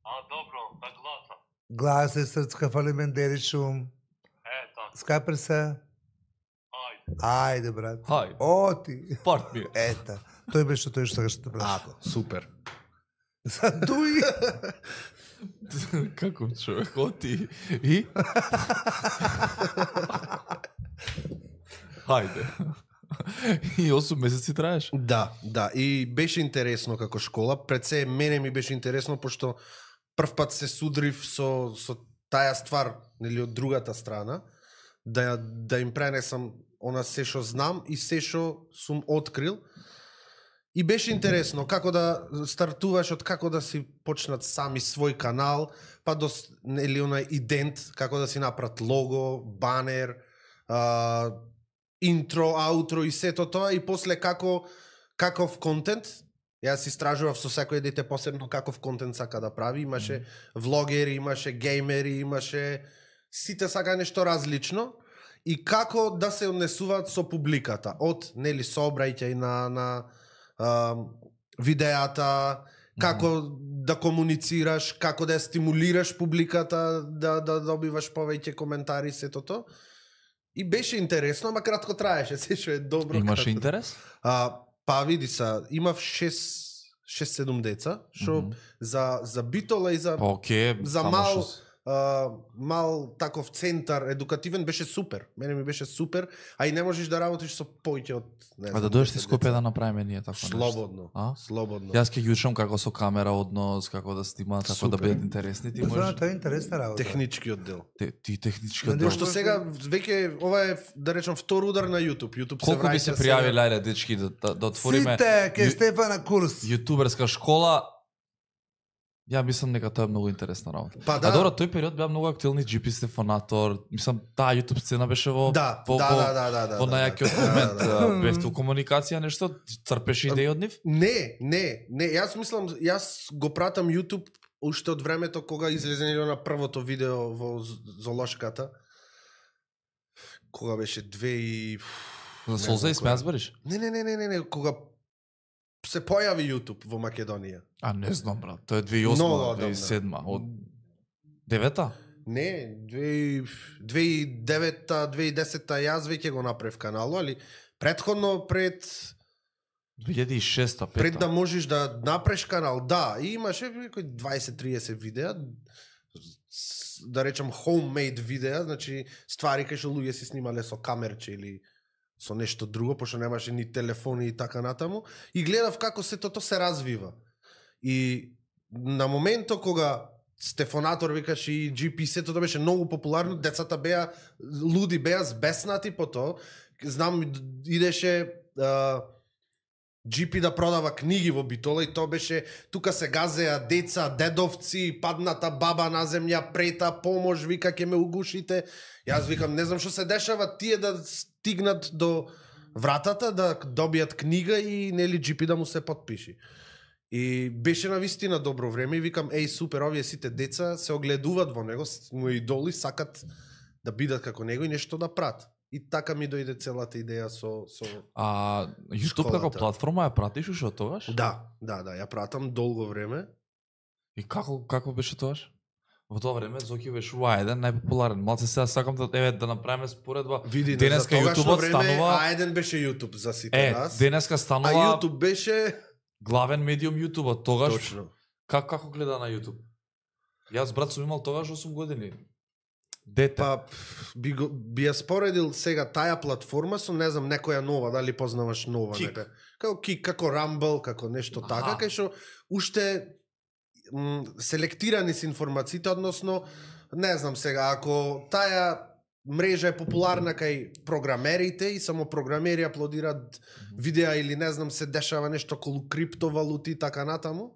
А, добро, да гласа. глас е срцка фалимендери шум. Е, така, Скапер се. ајде. Ајде, брат. Хај, О ти. парт ми е. Ета. Тој беше тој што сакаш да те праша. Ако, супер. За дуи. Како човек, оти и? Хајде. И осум месеци траеш. Да, да. И беше интересно како школа. Пред се мене ми беше интересно, пошто прв пат се судрив со, со таја ствар, нели, од другата страна, да, да им пренесам она се што знам и се што сум открил. И беше интересно како да стартуваш, од како да си почнат сами свој канал, па до с- нели онај идент, како да си направат лого, банер, а, интро, аутро и сето тоа и после како каков контент Јас истражував со секој дете посебно каков контент сака да прави, имаше влогери, имаше геймери, имаше сите сака нешто различно и како да се однесуваат со публиката, од нели сообраќај на на а, видеата, како mm -hmm. да комуницираш, како да ја стимулираш публиката, да да добиваш повеќе коментари сето то. И беше интересно, ама кратко траеше, се што е добро. Имаше кратко. интерес? А, па види са, имав шест седум деца, што mm -hmm. за за битола и за Па окей, за само мал шо- а, мал таков центар едукативен беше супер. Мене ми беше супер, а и не можеш да работиш со поќе од не А да знам, дојдеш ти десет Скопје деца. да направиме ние тако нешто. Слободно. А? Слободно. Јас ќе ги учам како со камера однос, како да снимаат, како да Супер. бидат интересни. Ти Знаеш, можеш тоа е интересна работа. Технички оддел. те, ти технички Ма оддел. нешто- Пошто сега веќе ова е да речам втор удар на YouTube. YouTube Колку би враќа се сега- пријавиле, ајде дечки да, да, да отвориме Сите ке Ю- Стефана курс. јутуберска школа. Ја мислам дека тоа е многу интересна работа. Па А да. добро, тој период беа многу актуелни Джи Пи Стефанатор. Мислам, таа YouTube сцена беше во Да, во, да, во, да, да, да, да, во да, најакиот да, момент. да, да. А, Бевте у комуникација нешто, црпеше идеи од нив? Не, не, не, јас мислам, јас го пратам YouTube уште од времето кога излезе на првото видео во З- золошката. Кога беше две и... За Не солза знам и која. смеа збориш? Не, не, не, не, не, не, кога се појави YouTube во Македонија. А не знам брат, тоа е две и осма, Многу две одамна. и седма, од девета? Не, две и- две и девета, две и десета јас веќе го направив канало, али предходно пред две илјади и шеста, пета. пред да можеш да направиш канал, да, и имаше некои дваесет триесет видеа, с- да речам homemade видеа, значи ствари кај што луѓе си снимале со камерче или со нешто друго, пошто немаше ни телефони и така натаму, и гледав како се тото се развива. И на моментот кога Стефанатор викаш и Джи Пи сето тоа беше многу популарно, децата беа луди, беа збеснати по тоа. Знам идеше а, Джи Пи да продава книги во Битола и тоа беше тука се газеа деца, дедовци, падната баба на земја, прета, помош, вика ќе ме угушите. Јас викам, не знам што се дешава, тие да стигнат до вратата да добијат книга и нели Джи Пи да му се потпиши. И беше на вистина добро време и викам, еј супер, овие сите деца се огледуваат во него, с- му е идоли, сакат да бидат како него и нешто да прат. И така ми дојде целата идеја со со А YouTube како Школата. платформа ја пратиш уште од тогаш? Да, да, да, ја пратам долго време. И како како беше тогаш? Во тоа време Зоки беше А еден најпопуларен. Малце сега сакам да еве да направиме споредба. Види, Денеска за тогашно YouTubeот време станува- А еден беше YouTube за сите Е, нас. денеска А станува YouTube беше главен медиум YouTube тогаш. точно. Как како гледа на YouTube? Јас брат сум имал тогаш осум години. Дете. Па би, го, би ја споредил сега таја платформа со не знам некоја нова, дали познаваш нова Кик. нека. Како Кик, како Rumble, како нешто Аха. така, кај што уште м, селектирани се информациите, односно не знам сега, ако таја мрежа е популарна кај програмерите и само програмери аплодираат видеа или не знам се дешава нешто околу криптовалути и така натаму.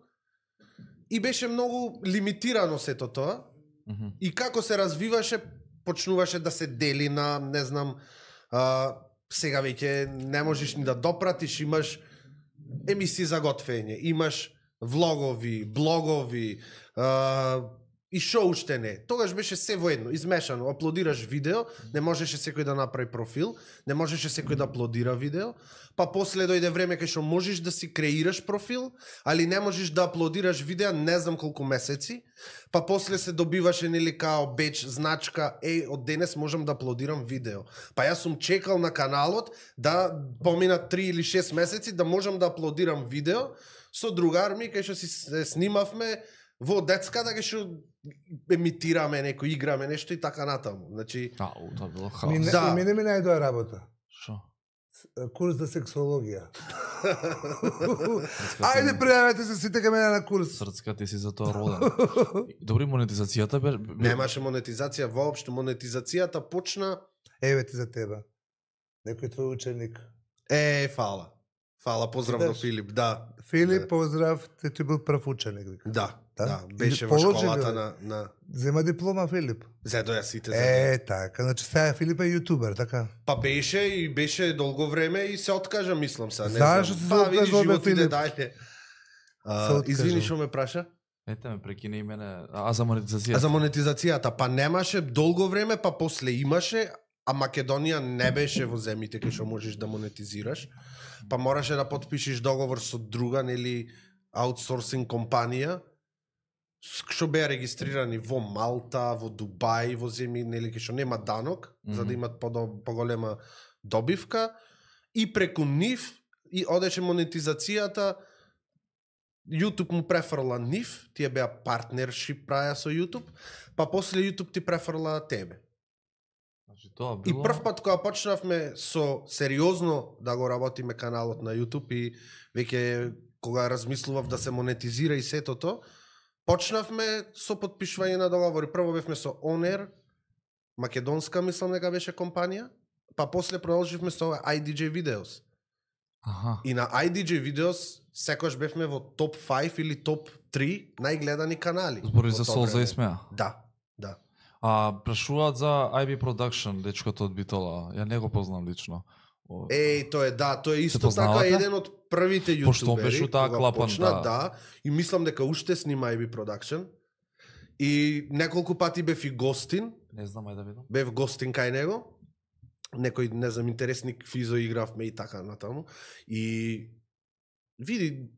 И беше многу лимитирано сето тоа. Мгм. И како се развиваше, почнуваше да се дели на, не знам, а, сега веќе не можеш ни да допратиш, имаш емисии за готвење, имаш влогови, блогови, а, и шо уште не. Тогаш беше се воедно, измешано. Аплодираш видео, не можеше секој да направи профил, не можеше секој да аплодира видео, па после дојде време кај што можеш да си креираш профил, али не можеш да аплодираш видеа не знам колку месеци, па после се добиваше нели као беч, значка, еј, од денес можам да аплодирам видео. Па јас сум чекал на каналот да поминат три или шест месеци да можам да аплодирам видео со другар ми кај што си се снимавме во детската кај што емитираме неко, играме нешто и така натаму. Значи, Ау, тоа било Ми, хаос. не, Да. ми не ми најдоа работа. Шо? Курс за сексологија. Срцка Ајде ти- пријавете се сите кај мене на курс. Срцка ти си за тоа роден. Добри, монетизацијата бе... бе- немаше монетизација воопшто. Монетизацијата почна Еве ти за тебе. Некој твој ученик. е, фала. Фала, поздрав Видаш? до Филип, да. Филип, Да. поздрав, те ти бил прв ученик. вика. Да, Да? да, И беше во положи ли, школата бе? на на Зема диплома Филип. Зедо ја сите за. Е, така, значи сега Филип е јутубер, така. Па беше и беше долго време и се откажа, мислам се, не Зашто знам. се Па видиш откажал, бе, живот иде Филип? дајле. А, откажам. извини што ме праша? Ете ме прекине и мене. А за монетизација? А за монетизацијата, па немаше долго време, па после имаше, а Македонија не беше во земјите кај што можеш да монетизираш, па мораше да потпишеш договор со друга, нели, аутсорсинг компанија, што беа регистрирани во Малта, во Дубај, во земји, нели, кај што нема данок, mm -hmm. за да имат подо, поголема добивка, и преку нив и одеше монетизацијата. YouTube му префрла нив, тие беа партнершип праја со YouTube, па после YouTube ти префрла тебе. Значи тоа И било... прв пат кога почнавме со сериозно да го работиме каналот на YouTube и веќе кога размислував да се монетизира и сетото, почнавме со потпишување на договори. Прво бевме со On-Air, македонска мислам дека беше компанија, па после продолживме со I D J Videos. Аха. И на I D J Videos секојаш бевме во топ пет или топ три најгледани канали. Збори во за тоа Солза време. и Смеа. Да, да. А прашуваат за I B Production, дечкото од Битола. Ја не го познам лично. О, Еј, тоа е да, тој е исто познавате? така еден од првите јутубери. Пошто он беше у таа кога клапан, почна, да. да. И мислам дека уште снима I B Production. И неколку пати бев и гостин, Не знам, ајде да видам. бев гостин кај него. Некој, не знам, интересни физо игравме и така натаму. И види,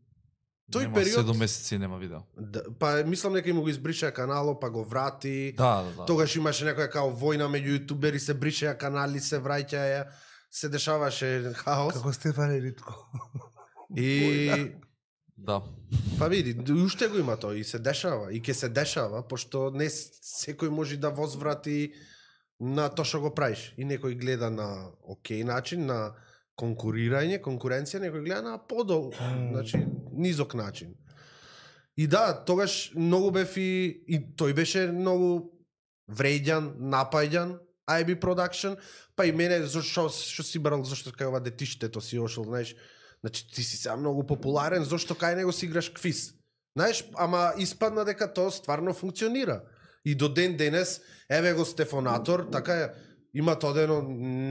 тој Нема период... седум месеци нема видео. Да, па мислам дека им го избриша канало, па го врати. Да, да, да. Тогаш имаше некоја као војна меѓу јутубери, се бришеа канали, се враќаја, се дешаваше хаос. Како Стефан Ритко. И Да. па види, уште го има тоа и се дешава, и ќе се дешава, пошто не секој може да возврати на тоа што го правиш. И некој гледа на окей начин, на конкурирање, конкуренција, некој гледа на подол, значи низок начин. И да, тогаш многу бев и, и тој беше многу врејдан, напајдан, I B Production, па и мене, зашто што си брал, зашто кај ова детиштето си ошол, знаеш, значи ти си сега многу популарен, зашто кај него си играш квиз. Знаеш, ама испадна дека тоа стварно функционира. И до ден денес, еве го Стефонатор, така е, има тоа дено,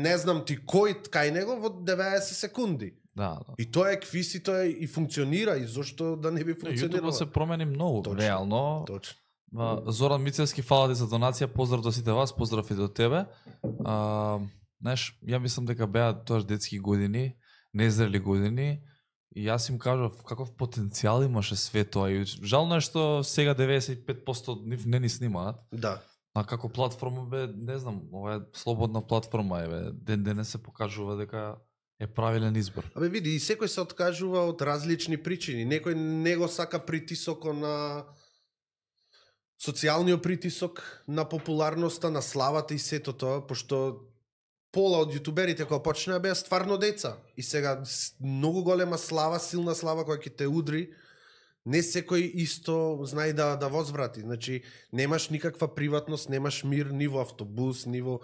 не знам ти кој кај него во деветдесет секунди. Да, да. И тоа е квиз и тоа е, и функционира, и зашто да не би функционирало. YouTube се промени многу, Точно, реално. Точно. А, Зоран Мицевски, фала ти за донација, поздрав до сите вас, поздрав и до тебе. А, знаеш, ја мислам дека беа тоа детски години, незрели години, и јас им кажав каков потенцијал имаше све тоа. И жално е што сега деветдесет и пет проценти од нив не ни снимаат. Да. А како платформа бе, не знам, ова е слободна платформа, еве, ден денес се покажува дека е правилен избор. Абе види, и секој се откажува од различни причини. Некој не го сака притисокот на социјалниот притисок, на популарноста, на славата и сето тоа, пошто пола од јутуберите кога почнаа беа стварно деца. И сега с- многу голема слава, силна слава која ќе те удри, не секој исто знае да да возврати. Значи, немаш никаква приватност, немаш мир ни во автобус, ни во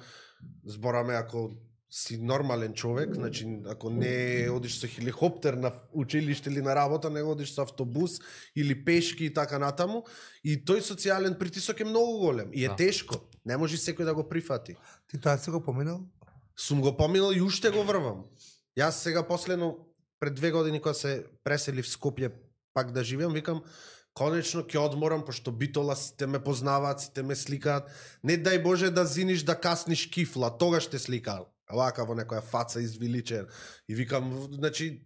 збораме ако си нормален човек, значи ако не одиш со хеликоптер на училиште или на работа, не одиш со автобус или пешки и така натаму, и тој социјален притисок е многу голем и е Да. тешко. Не може секој да го прифати. Ти тоа си го поминал? Сум го поминал и уште го врвам. Јас сега последно пред две години кога се пресели в Скопје пак да живеам, викам конечно ќе одморам пошто Битола сите ме познаваат, сите ме сликаат. Не дај Боже да зиниш да касниш кифла, тогаш те сликаат. Вака во некоја фаца извиличен. И викам, значи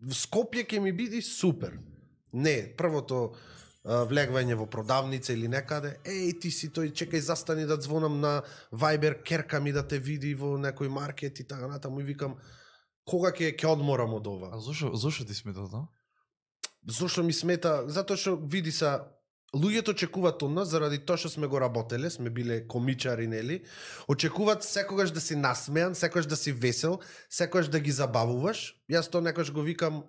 в Скопје ќе ми биде супер. Не, првото а, влегвање во продавница или некаде, еј ти си тој, чекај застани да звонам на Viber, керка ми да те види во некој маркет и така натаму и викам кога ќе ќе одморам од ова. А зошо, зошо ти смета тоа? Зошто ми смета? Затоа што види са луѓето очекуваат од нас заради тоа што сме го работеле, сме биле комичари, нели? Очекуваат секогаш да си насмеан, секогаш да си весел, секогаш да ги забавуваш. Јас тоа некогаш го викам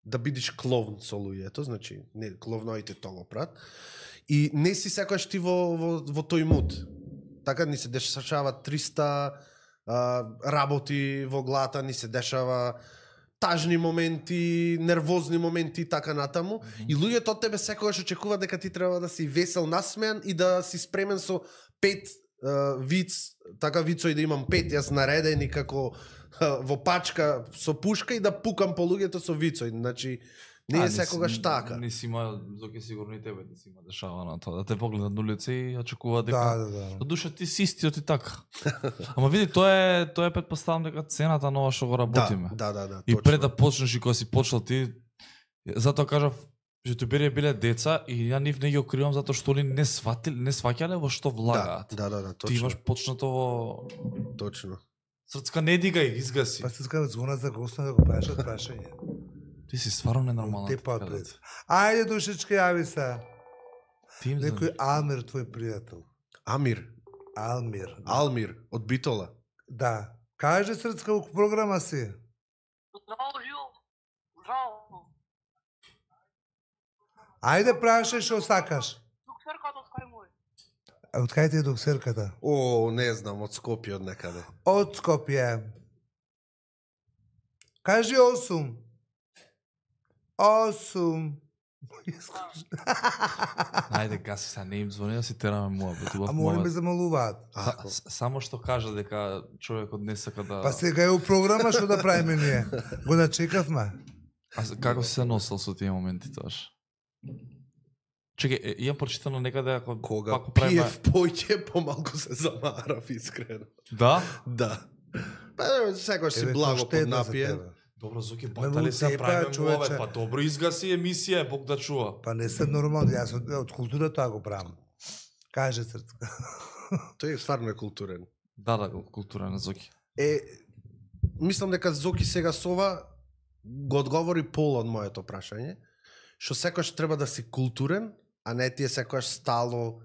да бидеш клоун со луѓето, значи не кловноите тоа го прават. И не си секогаш ти во во во тој муд. Така ни се дешаваат триста а, работи во главата, ни се дешава тажни моменти, нервозни моменти и така натаму. Mm -hmm. И луѓето од тебе секогаш очекуваат дека ти треба да си весел, насмеан и да си спремен со пет uh, виц, така вицои да имам пет, јас наредени како uh, во пачка со пушка и да пукам по луѓето со вицои. Значи, Не А, е секогаш си- така. Не си има, Зоки сигурно и тебе не си има дешава на тоа, да те погледнат на улица и очекуваат дека... Да, да, да. До душа ти си истиот и така. Ама види, тоа е, тоа е претпоставам дека цената нова што го работиме. Да, да, да, да. И точно. пред да почнеш и кога си почнал ти, затоа кажав, јутубери биле деца и ја нив не ги окривам затоа што они не сватиле, не сваќале во што Да, влагаат. да, да, да, Ти точно. имаш почнато во Точно. срцка не дигај, изгаси. Па се скава звона за гостна да го прашат прашање. Ти си стварно ненормална. Те така па да. пред. Ајде душечка, јави се. Ти им Некој Алмир, твој пријател. Амир, Алмир. Алмир од Битола. Да. Каже срцка у програма си. Здраво, Жил. Здраво. Ајде прашај што сакаш. Докторката скај мој. А од кај ти е доксерката? О, не знам, од Скопје од некаде. Од Скопје. Кажи осум. Осум. Ајде, гаси се, не им звони да си тераме муабет. убав А моли ме муабет. замалуваат. Са- с- Само што кажа дека човекот не сака да... Па сега е у програма што да правиме ние. Го начекавме. А с- како си се носел со тие моменти тоаш? Чекај, е, имам прочитано некаде ако Кога пак правиме... пиев поќе, помалку се замарав, искрено. Да? Да. Па, секојаш си Еве, благо тоа штедно за поднапиен. тебе. Добро, Зоки, Ме батали му се цепа, правиме човече. муабет, па добро изгаси емисија, Бог да чува. Па не се нормално, јас од, од култура тоа го правам. Каже срцка. Тој е стварно е културен. Да, да, култура на Зоки. Е, мислам дека Зоки сега со ова го одговори пол од моето прашање, што секојаш треба да си културен, а не ти е секојаш стало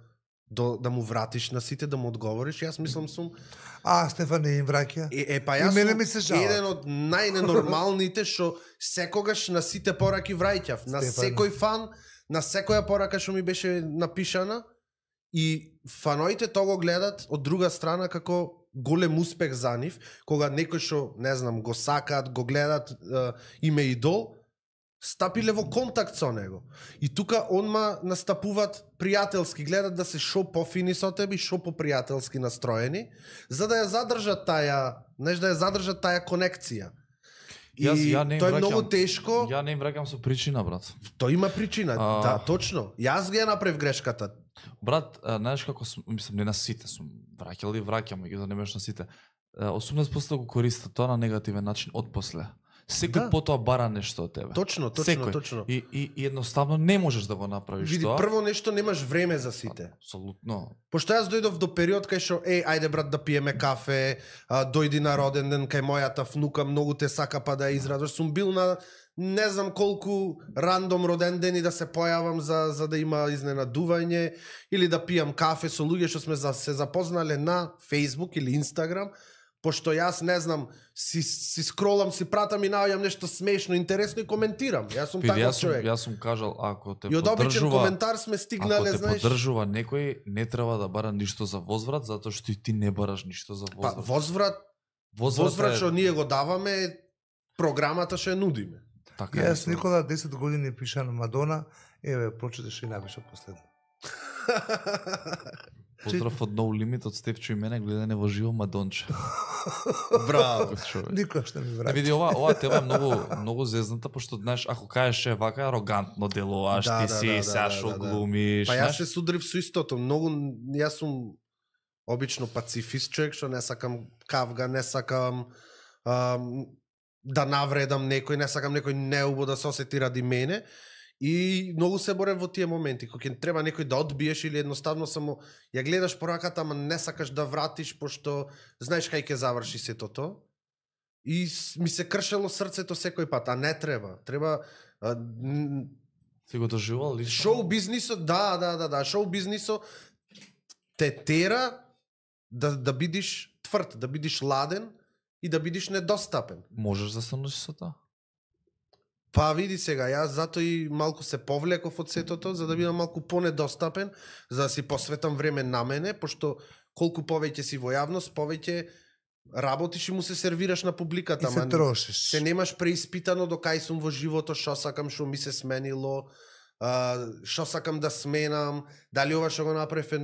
до, да му вратиш на сите, да му одговориш. Јас мислам сум А, Стефан не им враќа. Е, е па И јас мене сум ми се жал. еден од најненормалните што секогаш на сите пораки враќав, на Стефан. секој фан, на секоја порака што ми беше напишана и фаноите тоа го гледат од друга страна како голем успех за нив, кога некој што, не знам, го сакаат, го гледат, е, име идол, стапиле во контакт со него. И тука онма настапуваат пријателски, гледат да се шо пофини со тебе и шо попријателски настроени, за да ја задржат таја, знаеш, да ја задржат таја конекција. И Јас- ја не им тоа е враќам- многу тешко, Ја не им враќам со причина, брат. тоа има причина, А. да, точно. Јас ги ја направив грешката. Брат, а, знаеш како сум, мислам не на сите сум враќал и враќам, ги да не на сите. осумнаесет проценти го користат тоа на негативен начин од после. Секој Да. потоа бара нешто од тебе. Точно, точно, Секој. точно. И, и, и едноставно не можеш да го направиш Види, тоа. прво нешто немаш време за сите. Апсолутно. Пошто јас дојдов до период кај што, еј, ајде брат да пиеме кафе, а, дојди на роден ден кај мојата внука, многу те сака па да ја израдуваш. Сум бил на не знам колку рандом роден ден и да се појавам за, за да има изненадување или да пијам кафе со луѓе што сме за, се запознале на Facebook или Instagram, пошто јас не знам, си, си скролам, си пратам и наоѓам нешто смешно, интересно и коментирам. Јас сум Види, таков јас сум, човек. јас сум кажал, ако те И од обичен поддржува, коментар сме ако стигнале, те знаеш. поддржува некој, не треба да бара ништо за возврат, затоа што и ти не бараш ништо за Па возврат. возврат, Возврат возврат е- што ние го даваме е програмата што ја нудиме. Така е. Јас Никола десет години пиша на Мадона, еве прочиташ и напиша последно. Поздрав од No Limit од Стефчо и мене, гледање во живо Мадонче. Браво. Како човек. Никош не ми Не враќа. види ова, ова тема е многу многу зезната, пошто знаеш, ако кажеш е вака арогантно делуваш, Да, ти да, си да, да, сега да, што да, да. глумиш, Па јас знаеш? се судрив со истото, многу јас сум обично пацифист човек што не сакам кавга, не сакам ам, да навредам некој, не сакам некој неубо да се осети ради мене. И многу се борев во тие моменти, кога ќе треба некој да одбиеш или едноставно само ја гледаш пораката, ама не сакаш да вратиш пошто знаеш кај ќе заврши сето тоа. И с- ми се кршело срцето секој пат, а не треба. Треба а, н- Си го доживувал лично? шоу бизнисот, да, да, да, да, шоу бизнисот те тера да да бидиш тврд, да бидиш ладен и да бидиш недостапен. Можеш да се носиш со тоа? Па види сега, јас затоа и малку се повлеков од сетото, за да бидам малку понедостапен, за да си посветам време на мене, пошто колку повеќе си во јавност, повеќе работиш и му се сервираш на И публиката. се ама трошиш. се немаш преиспитано до кај сум во живото, што сакам, што ми се сменило. а, што сакам да сменам, дали ова што го направив е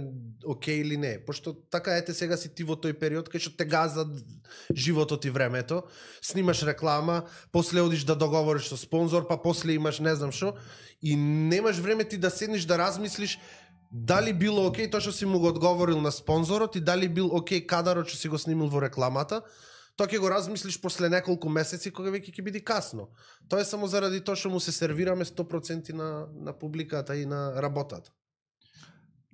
окей или не. Пошто така ете сега си ти во тој период кај што те газа животот и времето, снимаш реклама, после одиш да договориш со спонзор, па после имаш не знам што и немаш време ти да седнеш да размислиш дали било окей тоа што си му го одговорил на спонзорот и дали бил окей кадарот што си го снимил во рекламата. Тоа ќе го размислиш после неколку месеци кога веќе ќе биде касно. Тоа е само заради тоа што му се сервираме сто проценти на на публиката и на работата.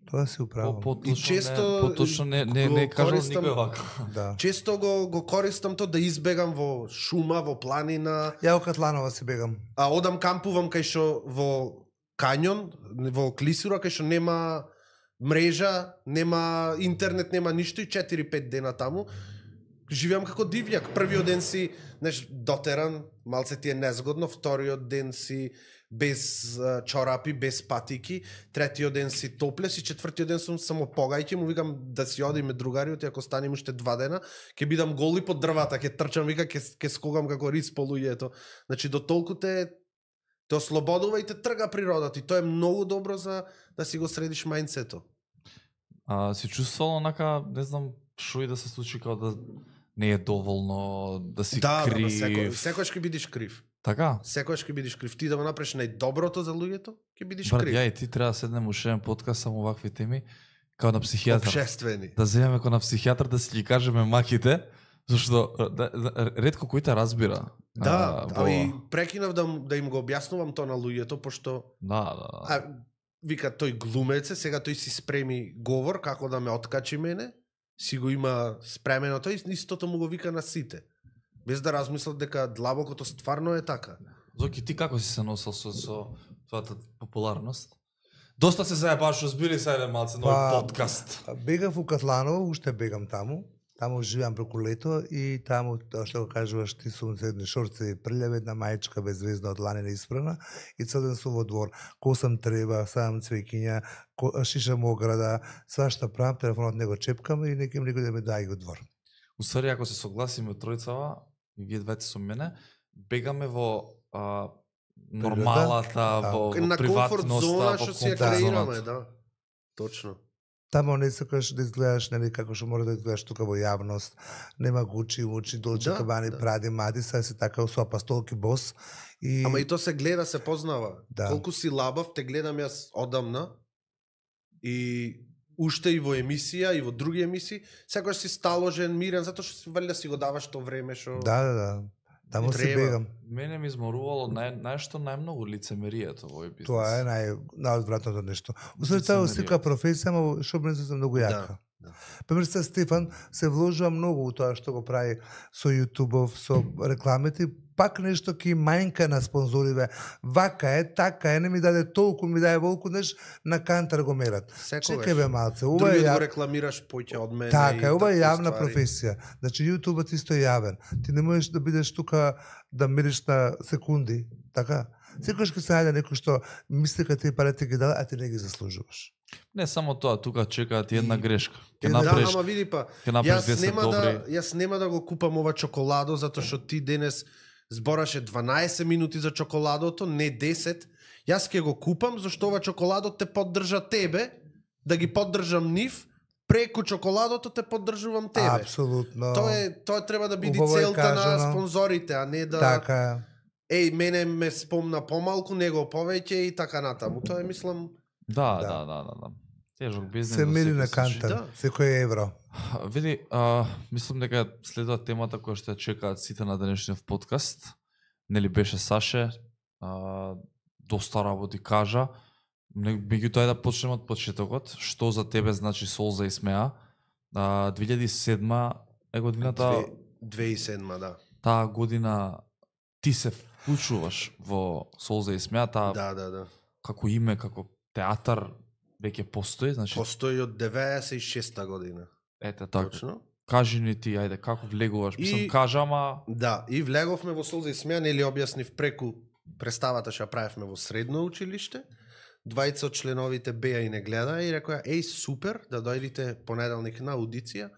Тоа си управо. По, И често поточно не не го не кажам користам- никој вака. Да. Често го го користам тоа да избегам во шума, во планина, Ја во Катланова си бегам. а одам кампувам кај што во кањон, во клисура кај што нема мрежа, нема интернет, нема ништо и четири-пет дена таму. Живеам како дивјак. Првиот ден си, знаеш, дотеран, малце ти е незгодно, вториот ден си без а, чорапи, без патики, третиот ден си топлес и четвртиот ден сум само погајќи, му викам да си одиме другариот и ако станем уште два дена, ќе бидам голи под дрвата, ќе трчам, вика, ќе ќе скогам како рис по луѓето. Значи до толку те те ослободува и те трга природата и тоа е многу добро за да си го средиш мајндсето. А си чувствувал онака, не знам, што и да се случи како да не е доволно, да си Да, да, крив. ма секој, секојаш ќе бидиш крив. Така? Секојаш ќе бидиш крив. Ти да го направиш најдоброто за луѓето, ќе бидиш Брат, крив. ја и ти треба да седнем уште еден подкаст само вакви теми, као на психијатар. Обшествени. Да земеме као на психијатар да си ги кажеме маките, зашто да, да, ретко кој те разбира. Да, а, во- ами прекинав да, да им го објаснувам тоа на луѓето, пошто Да, да. а, вика тој глумец е, сега тој си спреми говор како да ме откачи мене, си го има спремено тој и истото му го вика на сите. Без да размислат дека длабокото стварно е така. Зоки, ти како си се носел со, со твојата популарност? Доста се заебаш, разбери се еден малце нови Па, подкаст. Бегав у Катланово, уште бегам таму. Таму живеам преку лето и таму, тоа што го кажуваш, ти сум седни шорци, прљава една мајчка без звезда од ланина испрана и цел ден сум во двор. Косам треба, сам цвеќиња, ко- шишам ограда, свашта правам, телефонот не го чепкам и неким никој да ме дај го двор. Уствари, ако се согласиме тројцава, и вие двете со мене, бегаме во а, нормалата, Да. во, во На комфорт приватноста, зона во што си ја комфорт креираме, зоната. да. Точно. Тамо не сакаш да изгледаш нели како што мора да изгледаш тука во јавност. Нема Гучи, Мучи, Долче, Да, Кабани, да. Пради, Мади, сега си така со пастолки бос. И Ама и то се гледа, се познава. Да. Колку си лабав, те гледам јас одамна и уште и во емисија и во други емисии, секогаш си сталожен, мирен, затоа што си валја си го даваш тоа време што да, да, да. Таму И се треба. бегам. Мене ми изморувало нај, најшто најмногу лицемерието во овој бизнес. Тоа е нај најодвратното нешто. Усвои тоа е Лицемерието. сика професија, ама шоубизнисот е многу јака. Да, да. Пример Стефан се вложува многу у тоа што го прави со јутубов, со рекламите, пак нешто ки мајнка на спонзориве. Вака е, така е, не ми даде толку, ми даде волку, неш на кантар го мерат. Секогаш. Чекај бе малце, ова е Другиот го ја... рекламираш поќе од мене. Така е, и ова е такви јавна ствари. професија. Значи јутубот исто е јавен. Ти не можеш да бидеш тука да мериш на секунди, така? Секогаш ќе се најде некој што мисли дека ти парите ги дава, а ти не ги заслужуваш. Не само тоа, тука чекаат ти една И- грешка. Ќе Една- Да, направиш, ама види па, ќе направиш јас десет нема добри. да јас нема да го купам ова чоколадо затоа што ти денес збораше дванаесет минути за чоколадото, не десет. Јас ќе го купам зашто ова чоколадо те поддржа тебе, да ги поддржам нив, преку чоколадото те поддржувам тебе. Апсолутно. Тоа е тоа треба да биде Убаво е целта на кажано. спонзорите, а не да Така е. еј мене ме спомна помалку, него повеќе и така натаму. Тоа е мислам Да, Да. да, да, да, да. Тежок бизнес. Се во мери секој на случај. кантар, да. секој евро. Види, а, мислам дека следува темата која што ја чекаат сите на денешниот подкаст. Нели беше Саше, а, доста работи кажа. Не- Меѓутоа да почнеме од почетокот. Што за тебе значи Солза и смеа? А, две илјади и седма е годината, две- две и седма, да. таа година ти се вклучуваш во Солза и смеа, таа Да, да, да. како име, како театар веќе постои, значи Постои од деветдесет и шеста година. ете така. Точно. Кажи ни ти, ајде, како влегуваш? И- Мислам, кажа, ама Да, и влеговме во Солза и смеа, нели објаснив преку представата што ја правевме во средно училиште. Двајца од членовите беа и не гледа и рекоа, еј, супер, да дојдите понеделник на аудиција.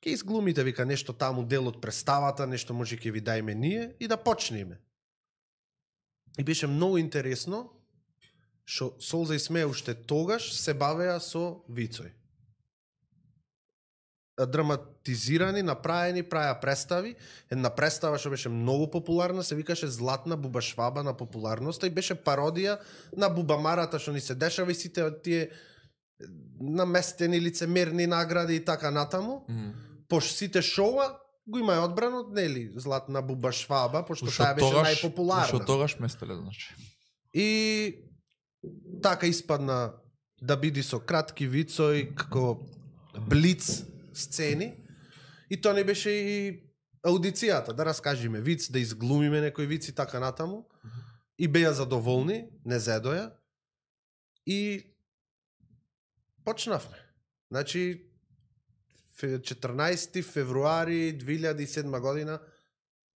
Ке изглумите, вика, нешто таму дел од представата, нешто може ќе ви дајме ние и да почнеме. И беше многу интересно. што Солза и Смеја уште тогаш се бавеа со вицој. Драматизирани, направени, праја представи. Една представа што беше многу популарна, се викаше Златна бубашваба на популарноста и беше пародија на бубамарата што ни се дешава и сите тие наместени лицемерни награди и така натаму. Mm. Пошто сите шоуа го има одбрано, нели, Златна бубашваба, пошто Ушо таа беше тогаш- најпопуларна. Ушо тогаш местеле, значи. И така испадна да биде со кратки вицои, како блиц сцени. И тоа не беше и аудицијата, да раскажеме виц, да изглумиме некој виц и така натаму. И беа задоволни, не зедоја. И почнавме. Значи, четрнаесети февруари две илјади и седма година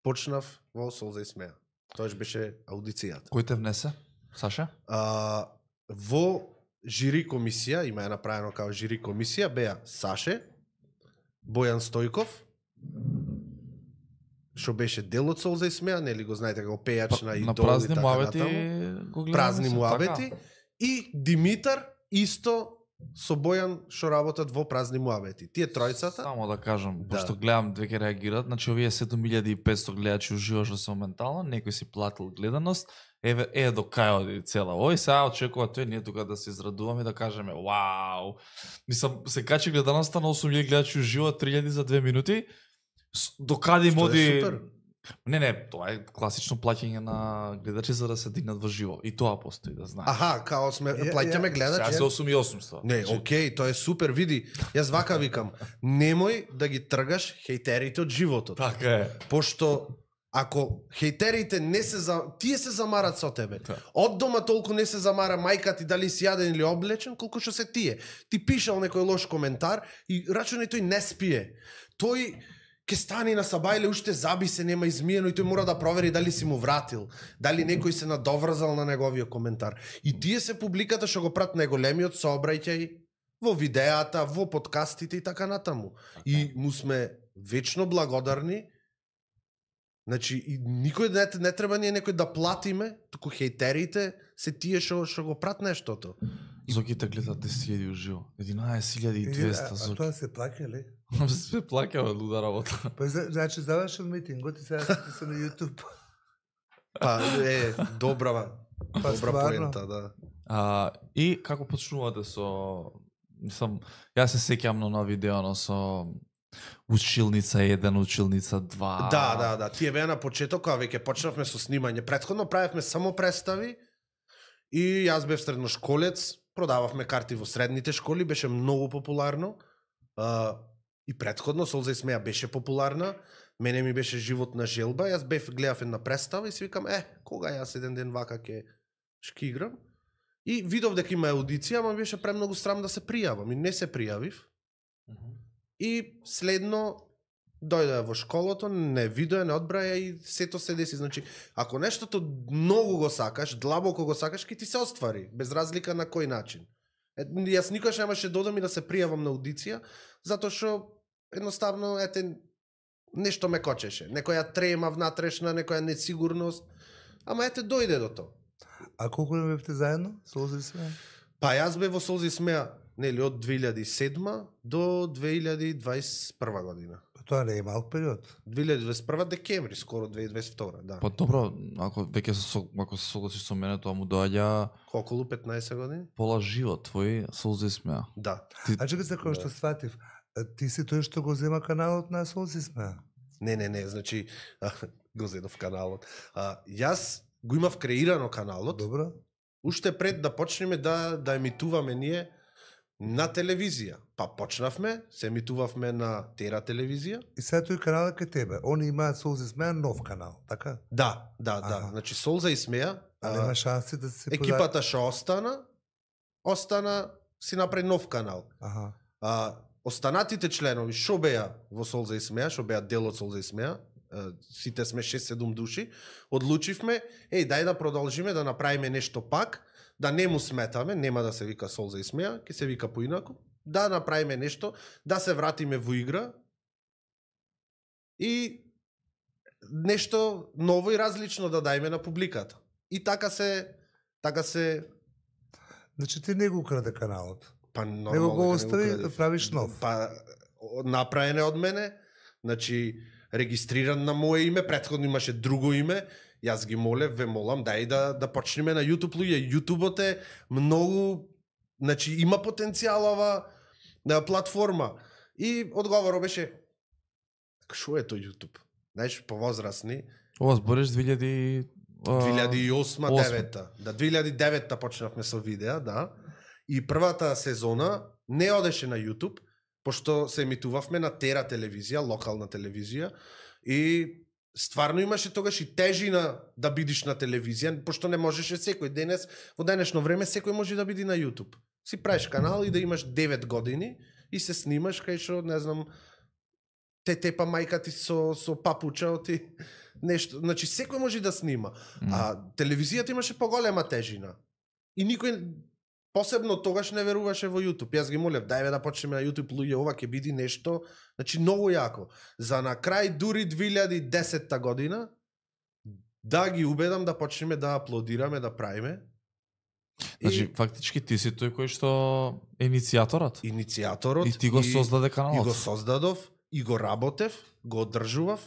почнав во Солза и Смеја. Тоаш беше аудицијата. Кој те внесе? Саша? А, во жири комисија, има е направено као жири комисија, беа Саше, Бојан Стојков, што беше дел од Солза и Смеја, нели го знаете како пејач на на идол празни и така муабети натаму. го гледаме. Празни се, муабети. така. И Димитар исто со Бојан што работат во празни муабети. Тие тројцата. Само да кажам, Да. пошто гледам две ќе реагираат, значи овие седум илјади и петсто гледачи уживаш што се моментално, некој си платил гледаност, еве е до кај оди цела. Ој сега очекува тој ние тука да се израдуваме и да кажеме вау. Мислам се качи гледаноста на осум илјади гледачи уживо, три илјади за две минути. С- До каде им Што е оди? супер. Не, не, тоа е класично плаќање на гледачи за да се дигнат во живо. И тоа постои, да знаеш. Аха, као сме Ја- плаќаме ја- гледачи. Сега се осум и осумсто. Не, Значи, окей, тоа е супер, види. Јас вака викам, немој да ги тргаш хејтерите од животот. Така е. Пошто ако хејтерите не се за тие се замарат со тебе. Да. Од дома толку не се замара мајка ти дали си јаден или облечен, колку што се тие. Ти пишал некој лош коментар и рачунај тој не спие. Тој ке стани на сабајле, уште заби се, нема измиено и тој мора да провери дали си му вратил, дали некој се надоврзал на неговиот коментар. И тие се публиката што го прат најголемиот сообраќај во видеата, во подкастите и така натаму. И му сме вечно благодарни. Значи, и никој не, не треба ние некој да платиме, туку хејтерите се тие што што го прат нештото. Зоките гледат десет илјади уживо. единаесет илјади и А, двеста а Зоки. тоа се плаќа ли? Се плаќа од луда работа. Па за- значи завршил митингот и сега сте се на YouTube. Па е добра, Па добра стварно. поента, да. А, и како почнувате со... Мислам, јас се сеќам на на видео со училница еден, училница два. Да, да, да, тие беа на почеток, кога веќе почнавме со снимање. Претходно правевме само представи и јас бев средношколец, продававме карти во средните школи, беше многу популарно. А, и претходно Солза и Смеја беше популарна. Мене ми беше живот на желба, јас бев гледав една представа и си викам, е, кога јас еден ден вака ќе шки играм? И видов дека има аудиција, ама ми беше премногу срам да се пријавам и не се пријавив. И следно дојде во школото, не видоа, не одбраја и сето се деси. Значи, ако нештото многу го сакаш, длабоко го сакаш, ќе ти се оствари, без разлика на кој начин. Е, јас никош немаше додам и да се пријавам на аудиција, затоа што едноставно ете нешто ме кочеше, некоја трема внатрешна, некоја несигурност. Ама ете дојде до тоа. А колку не бевте заедно? Солза и Смеја? Па јас бев во Солза и Смеја, нели од две илјади и седма до две илјади дваесет и прва година. Па тоа не е малк период. две илјади дваесет и прва декември, скоро две илјади дваесет и втора, да. Па добро, ако веќе се со- ако се согласиш со мене, тоа му доаѓа Околу петнаесет години? пола живот твој Солза и Смеја. Да. А чекай се кој што сватив. а, Ти си тој што го зема каналот на Солза и Смеја. Не, не, не, значи а, го зедов каналот. А, јас го имав креирано каналот, Добро. уште пред да почнеме да да емитуваме ние на телевизија. Па почнавме, се емитувавме на Тера телевизија. И сега тој канал е кај тебе. Они имаат Солза и Смеја нов канал, така? Да, да, да. Аха. Значи Солза и Смеја. А а, нема шанси да се позна- екипата што остана, остана си направи нов канал. Аха. А, останатите членови што беа во Солза и Смеја, што беа дел од Солза и Смеја, а, сите сме шест-седум души, одлучивме, еј, дај да продолжиме да направиме нешто пак, да не му сметаме, нема да се вика Солза и Смеја, ќе се вика поинаку, да направиме нешто, да се вратиме во игра и нешто ново и различно да дајме на публиката. И така се така се Значи ти не го украде каналот. Па Него нормално го дека не остави украдив. да правиш нов. Па о- направен е од мене, значи регистриран на мое име, претходно имаше друго име. Јас ги молев, ве молам, дај да да почнеме на YouTube луѓе. YouTubeот е многу, значи има потенцијал ова на платформа. И одговорот беше што е тој YouTube? Знаеш, повозрасни, Ова збориш две илјади две илјади и осма осма. девета. Да, две илјади и девета почнавме со видеа, да. И првата сезона не одеше на YouTube, пошто се емитувавме на Тера телевизија, локална телевизија, и стварно имаше тогаш и тежина да бидиш на телевизија, пошто не можеше секој денес, во денешно време секој може да биде на YouTube. Си правиш канал и да имаш девет години и се снимаш кај што, не знам, те тепа мајка ти со со папуча ти нешто, значи секој може да снима. А телевизијата имаше поголема тежина. И никој посебно тогаш не веруваше во YouTube. Јас ги молев, дајме да почнеме на YouTube, луѓе, ова ќе биде нешто, значи многу јако. За на крај дури две илјади и десета година да ги убедам да почнеме да аплодираме, да правиме. Значи, И фактички ти си тој кој што е иницијаторот. иницијаторот И ти го создаде каналот. И го создадов, и го работев, го одржував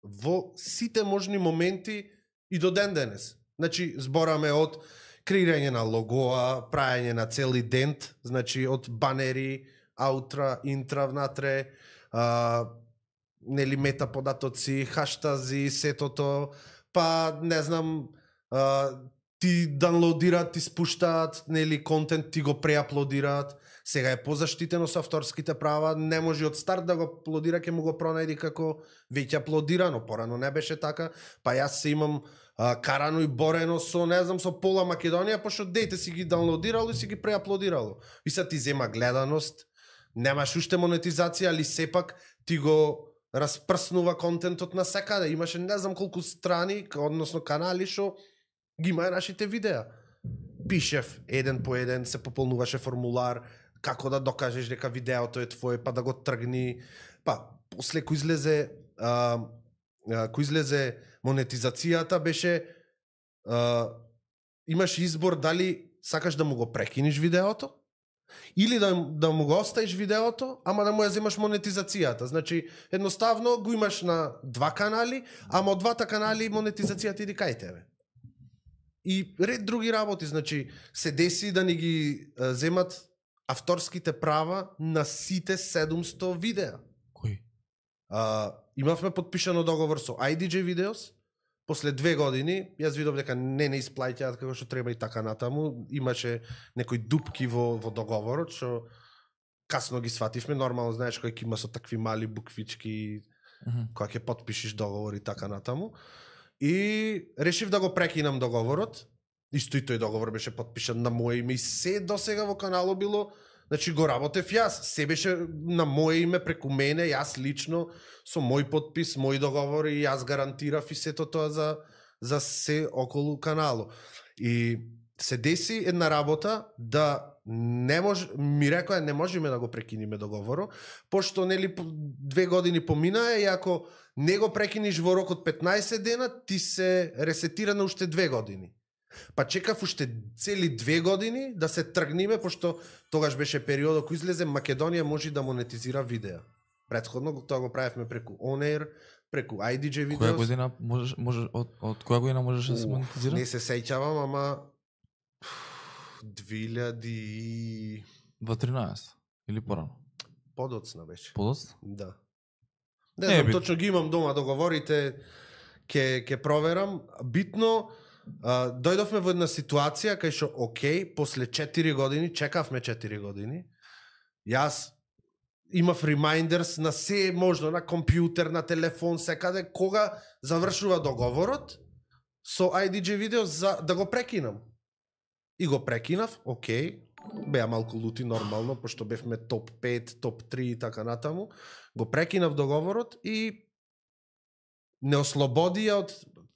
во сите можни моменти и до ден денес. Значи, збораме од креирање на логоа, прајање на цели дент, значи од банери, аутра, интра внатре, а, нели мета податоци, хаштази, сетото, па не знам, а, ти даунлоудираат, ти спуштаат, нели контент, ти го преаплодираат. Сега е позаштитено со авторските права, не може од старт да го аплодира, ќе му го пронајди како веќе аплодирано, порано не беше така, па јас се имам а, карано и борено со, не знам, со пола Македонија, пошто дејте си ги даунлоудирало и си ги преаплодирало. И се ти зема гледаност, немаш уште монетизација, али сепак ти го распрснува контентот на секаде. Имаше не знам колку страни, односно канали што ги има нашите видеа. Пишев еден по еден, се пополнуваше формулар, како да докажеш дека видеото е твое, па да го тргни. Па, после кој излезе а, а, кој излезе монетизацијата, беше а, имаш избор дали сакаш да му го прекиниш видеото, или да, да му го оставиш видеото, ама да му ја земаш монетизацијата. Значи, едноставно го имаш на два канали, ама од двата канали монетизацијата иди кај тебе. И ред други работи, значи, се деси да ни ги а, земат авторските права на сите седумсто видеа. Кој? А, имавме подпишано договор со ай ди джей Videos, после две години, јас видов дека не не исплаќаат како што треба и така натаму, имаше некои дупки во, во договорот, што касно ги свативме, нормално знаеш кој ќе има со такви мали буквички, Мгм. кога ќе потпишиш договор и така натаму. И решив да го прекинам договорот. Исто и тој договор беше потпишан на моје име и се досега во каналот било, значи го работев јас, се беше на моје име преку мене, јас лично со мој подпис, мој договор и јас гарантирав и сето тоа за за се околу каналот. И се деси една работа да не може, ми рекоа не можеме да го прекиниме договорот, пошто нели по- две години поминаа и ако не го прекиниш во рок од петнаесет дена, ти се ресетира на уште две години. Па чекав уште цели две години да се тргниме, пошто тогаш беше периодот кој излезе Македонија може да монетизира видеа. Претходно тоа го правевме преку On Air, преку ай ди джей Која Videos. година можеш може од од која година можеше да се Ух, монетизира? Не се сеќавам, ама две илјади Во тринаесет или порано? подоцна беше. Подоцна? Да. Не, Не е знам, битно. точно ги имам дома договорите, ќе ќе проверам. Битно, а, дојдовме во една ситуација кај што окей, после четири години, чекавме четири години. Јас имав reminders на се можно, на компјутер, на телефон, секаде кога завршува договорот со ай ди джей Videos за да го прекинам. И го прекинав, окей, беа малку лути нормално, пошто бевме топ пет, топ три и така натаму. Го прекинав договорот и не ослободија од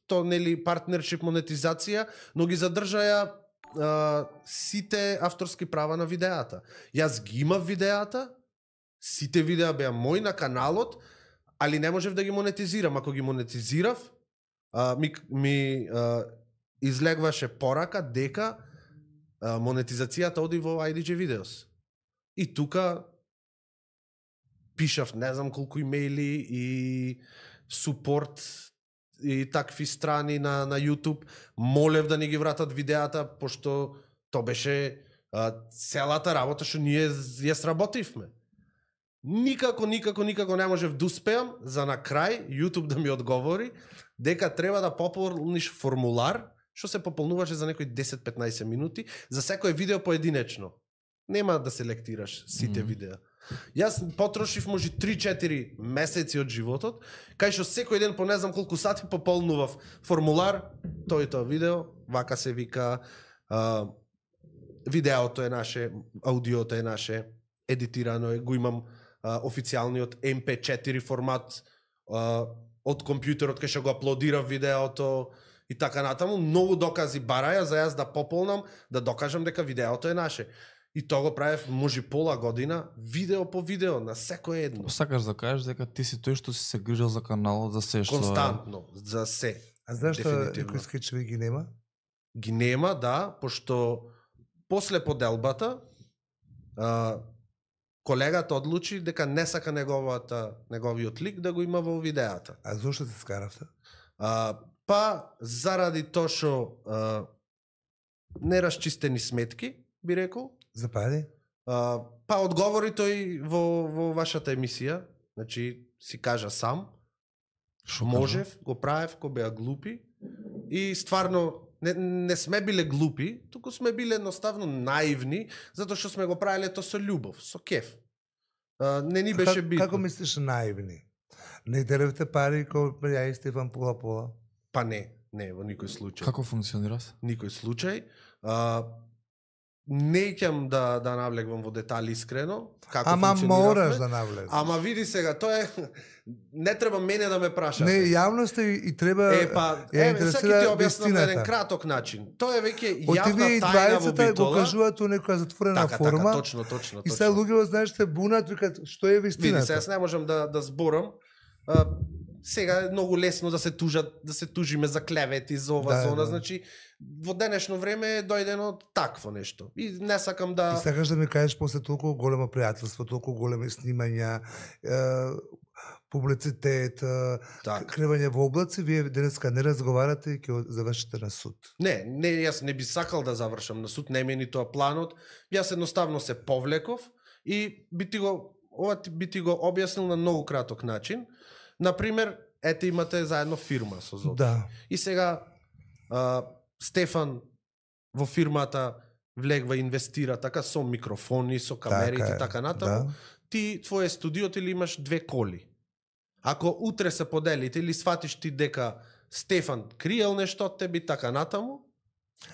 то нели партнершип монетизација, но ги задржаја а, сите авторски права на видеата. Јас ги имав видеата, сите видеа беа мои на каналот, али не можев да ги монетизирам. Ако ги монетизирав, а, ми, ми а, излегваше порака дека а, монетизацијата оди во ай ди джей Videos. И тука пишав не знам колку имејли и супорт и такви страни на на YouTube, молев да ни ги вратат видеата пошто то беше а, целата работа што ние ја сработивме. Никако, никако, никако не можев да успеам за на крај YouTube да ми одговори дека треба да пополниш формулар што се пополнуваше за некои десет-петнаесет минути за секое видео поединечно. Нема да селектираш сите mm. видеа. Јас потрошив може три-четири месеци од животот, кај што секој ден по не знам колку сати пополнував формулар, тој тоа видео, вака се вика, а, видеото е наше, аудиото е наше, едитирано е, го имам а, официјалниот ем пе четири формат а, од компјутерот кај што го аплодирав видеото и така натаму, многу докази бараја за јас да пополнам, да докажам дека видеото е наше. И тоа го правев може пола година, видео по видео, на секое едно. Сакаш да кажеш дека ти си тој што си се грижал за каналот, за се што... Константно, за се. А знаеш што некои скечеви ги нема? Ги нема, да, пошто после поделбата а, колегата одлучи дека не сака неговата, неговиот лик да го има во видеата. А зошто се скаравте? А, па, заради тоа што а, неразчистени сметки, би рекол. Запади? А, па одговори тој во, во вашата емисија, значи си кажа сам, Шо можев, го правев, ко беа глупи и стварно не, не сме биле глупи, туку сме биле едноставно наивни, затоа што сме го правеле тоа со љубов, со кеф. А, не ни беше как, битно. Како мислиш наивни? Не делевте пари кој ја и Стефан пола-пола? Па не, не, во никој случај. Како функционира? Никој случај. А, неќам да да навлегвам во детали искрено, како Ама функциониравме. мораш да навлезеш. Ама види сега, тоа е не треба мене да ме прашате. Не, јавноста и, и треба Е, па, ја е, интересира сега ти објаснам на еден вистината. краток начин. Тоа е веќе Од јавна тебе и тајна во двајцата го битола. кажуваат у некоја затворена Така, форма. така, точно, точно, И точно. сега луѓето знаеш се бунат, викат што е Види, вистината. сега јас не можам да да зборам. А, сега е многу лесно да се тужат, да се тужиме за клевети, за ова, Да, за она, да. значи во денешно време е дојдено такво нешто. И не сакам И да сакаш да ми кажеш после толку големо пријателство, толку големи снимања, е, публицитет, е, Так. кревање во облаци, вие денеска не разговарате и ќе завршите на суд. Не, не, јас не би сакал да завршам на суд, не ми е ни тоа планот. Јас едноставно се повлеков и би ти го ова ти- би ти го објаснил на многу краток начин. Например, ете имате заедно фирма со Зоки. Да. И сега а, Стефан во фирмата влегва, инвестира така со микрофони, со камери Така и е, така натаму. да. Ти твое студиото или имаш две коли. Ако утре се поделите или сватиш ти дека Стефан криел нешто од тебе и така натаму,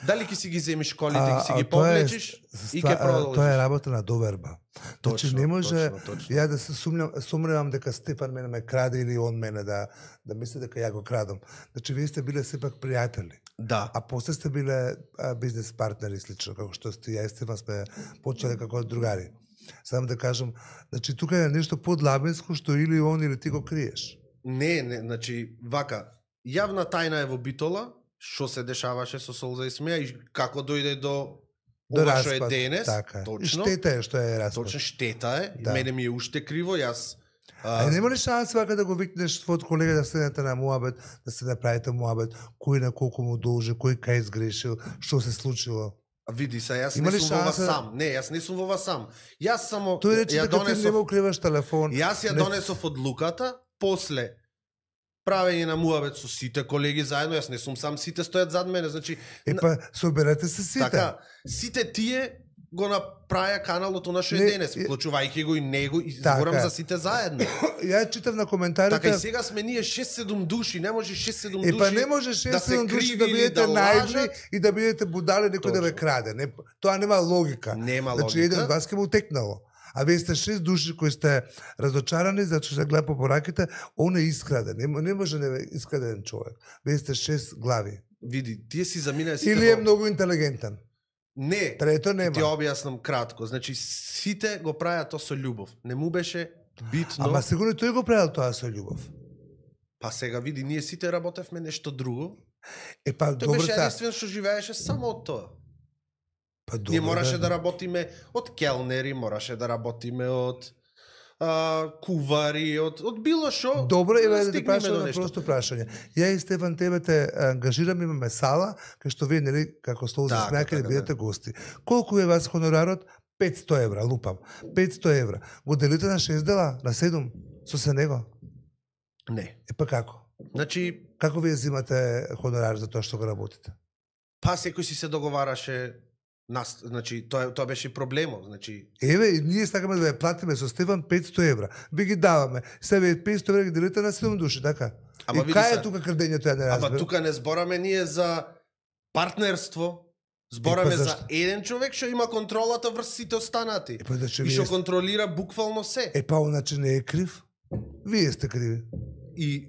дали ќе си ги земиш колите, ќе си ги тоа е повлечиш ст- и ќе продолжиш. Тоа е работа на доверба. Значи Точно, не може точно, точно. ја да се сумням, сумневам дека Стефан мене ме краде или он мене да да мисли дека ја го крадам. Значи вие сте биле сепак пријатели. Да. А после сте биле а, бизнес партнери слично, како што сте ја и Стефан сме почеле како другари. Само да кажам, значи тука е нешто подлабинско што или он или ти го криеш. Не, не, значи, вака, јавна тајна е во Битола, што се дешаваше со Солза и Смеја и како дојде до До ова што е распад, денес. така е. И Точно. штета е што е распад. Точно штета е. Да. Мене ми е уште криво, јас А, а нема ли шанс вака да го викнеш твојот колега да седнете на муабет, да се направите муабет, кој на колку му должи, кој кај изгрешил, што се случило? А види се, јас Има не ли сум во ова шанса- сам. Не, јас не сум во ова сам. Јас само Тој рече ја дека ти не донесов. му укриваш телефон. Јас ја не- донесов одлуката после правење на муабет со сите колеги заедно, јас не сум сам, сите стојат зад мене, значи Е па соберете се сите. така, сите тие го направија каналот она што е Не, денес, е- вклучувајќи го и него и Така зборам е. за сите заедно. Ја читав на коментарите. Така и сега сме ние шест-седум души, не може шест-седум Е души. па не може да се шест-седум души да криви или бидете да наивни лажат. и да бидете будали некој да ве Точно. краде. Не, тоа нема логика. Нема Значи логика. еден од вас ќе му текнало. А вие сте шест души кои сте разочарани затоа што се гледа по пораките, он е искраден. Не, не може да е искраден човек. Вие сте шест глави. Види, тие си заминаа сите. Или е во- многу интелигентен. Не. Трето нема. Ти објаснам кратко. Значи сите го правеа тоа со љубов. Не му беше битно. Ама сигурно тој го правил тоа со љубов. Па сега види, ние сите работевме нешто друго. Е па Тој добро беше та. единствен што живееше само од тоа. Па добро, Ние мораше да. да работиме од келнери, мораше да работиме од а, кувари, од, од било шо. Добро, еве да те стигнеме прашам до на нешто. просто прашање. Ја и Стефан тебе те ангажирам, имаме сала, кај што вие нели како стол за Така, смеаки да така, бидете гости. Колку е вас хонорарот? петсто евра, лупам. петсто евра. Го делите на шест дела, на седум, со се него. Не. Е па како? Значи, Како вие взимате хонорар за тоа што го работите? па секој си се договараше нас, значи тоа тоа беше и проблемот, значи Еве, и ние сакаме да ја платиме со Стефан петсто евра. Ви ги даваме. Себе петсто евра ги делите на седум души, така? Ама и види кај се. е тука крадењето, ја не ама разберам. тука не збораме ние за партнерство, збораме Е, па за зашто? еден човек што има контролата врз сите останати. Е, па значи И вие што сте- контролира буквално се. Е, па оначе не е крив. Вие сте криви. И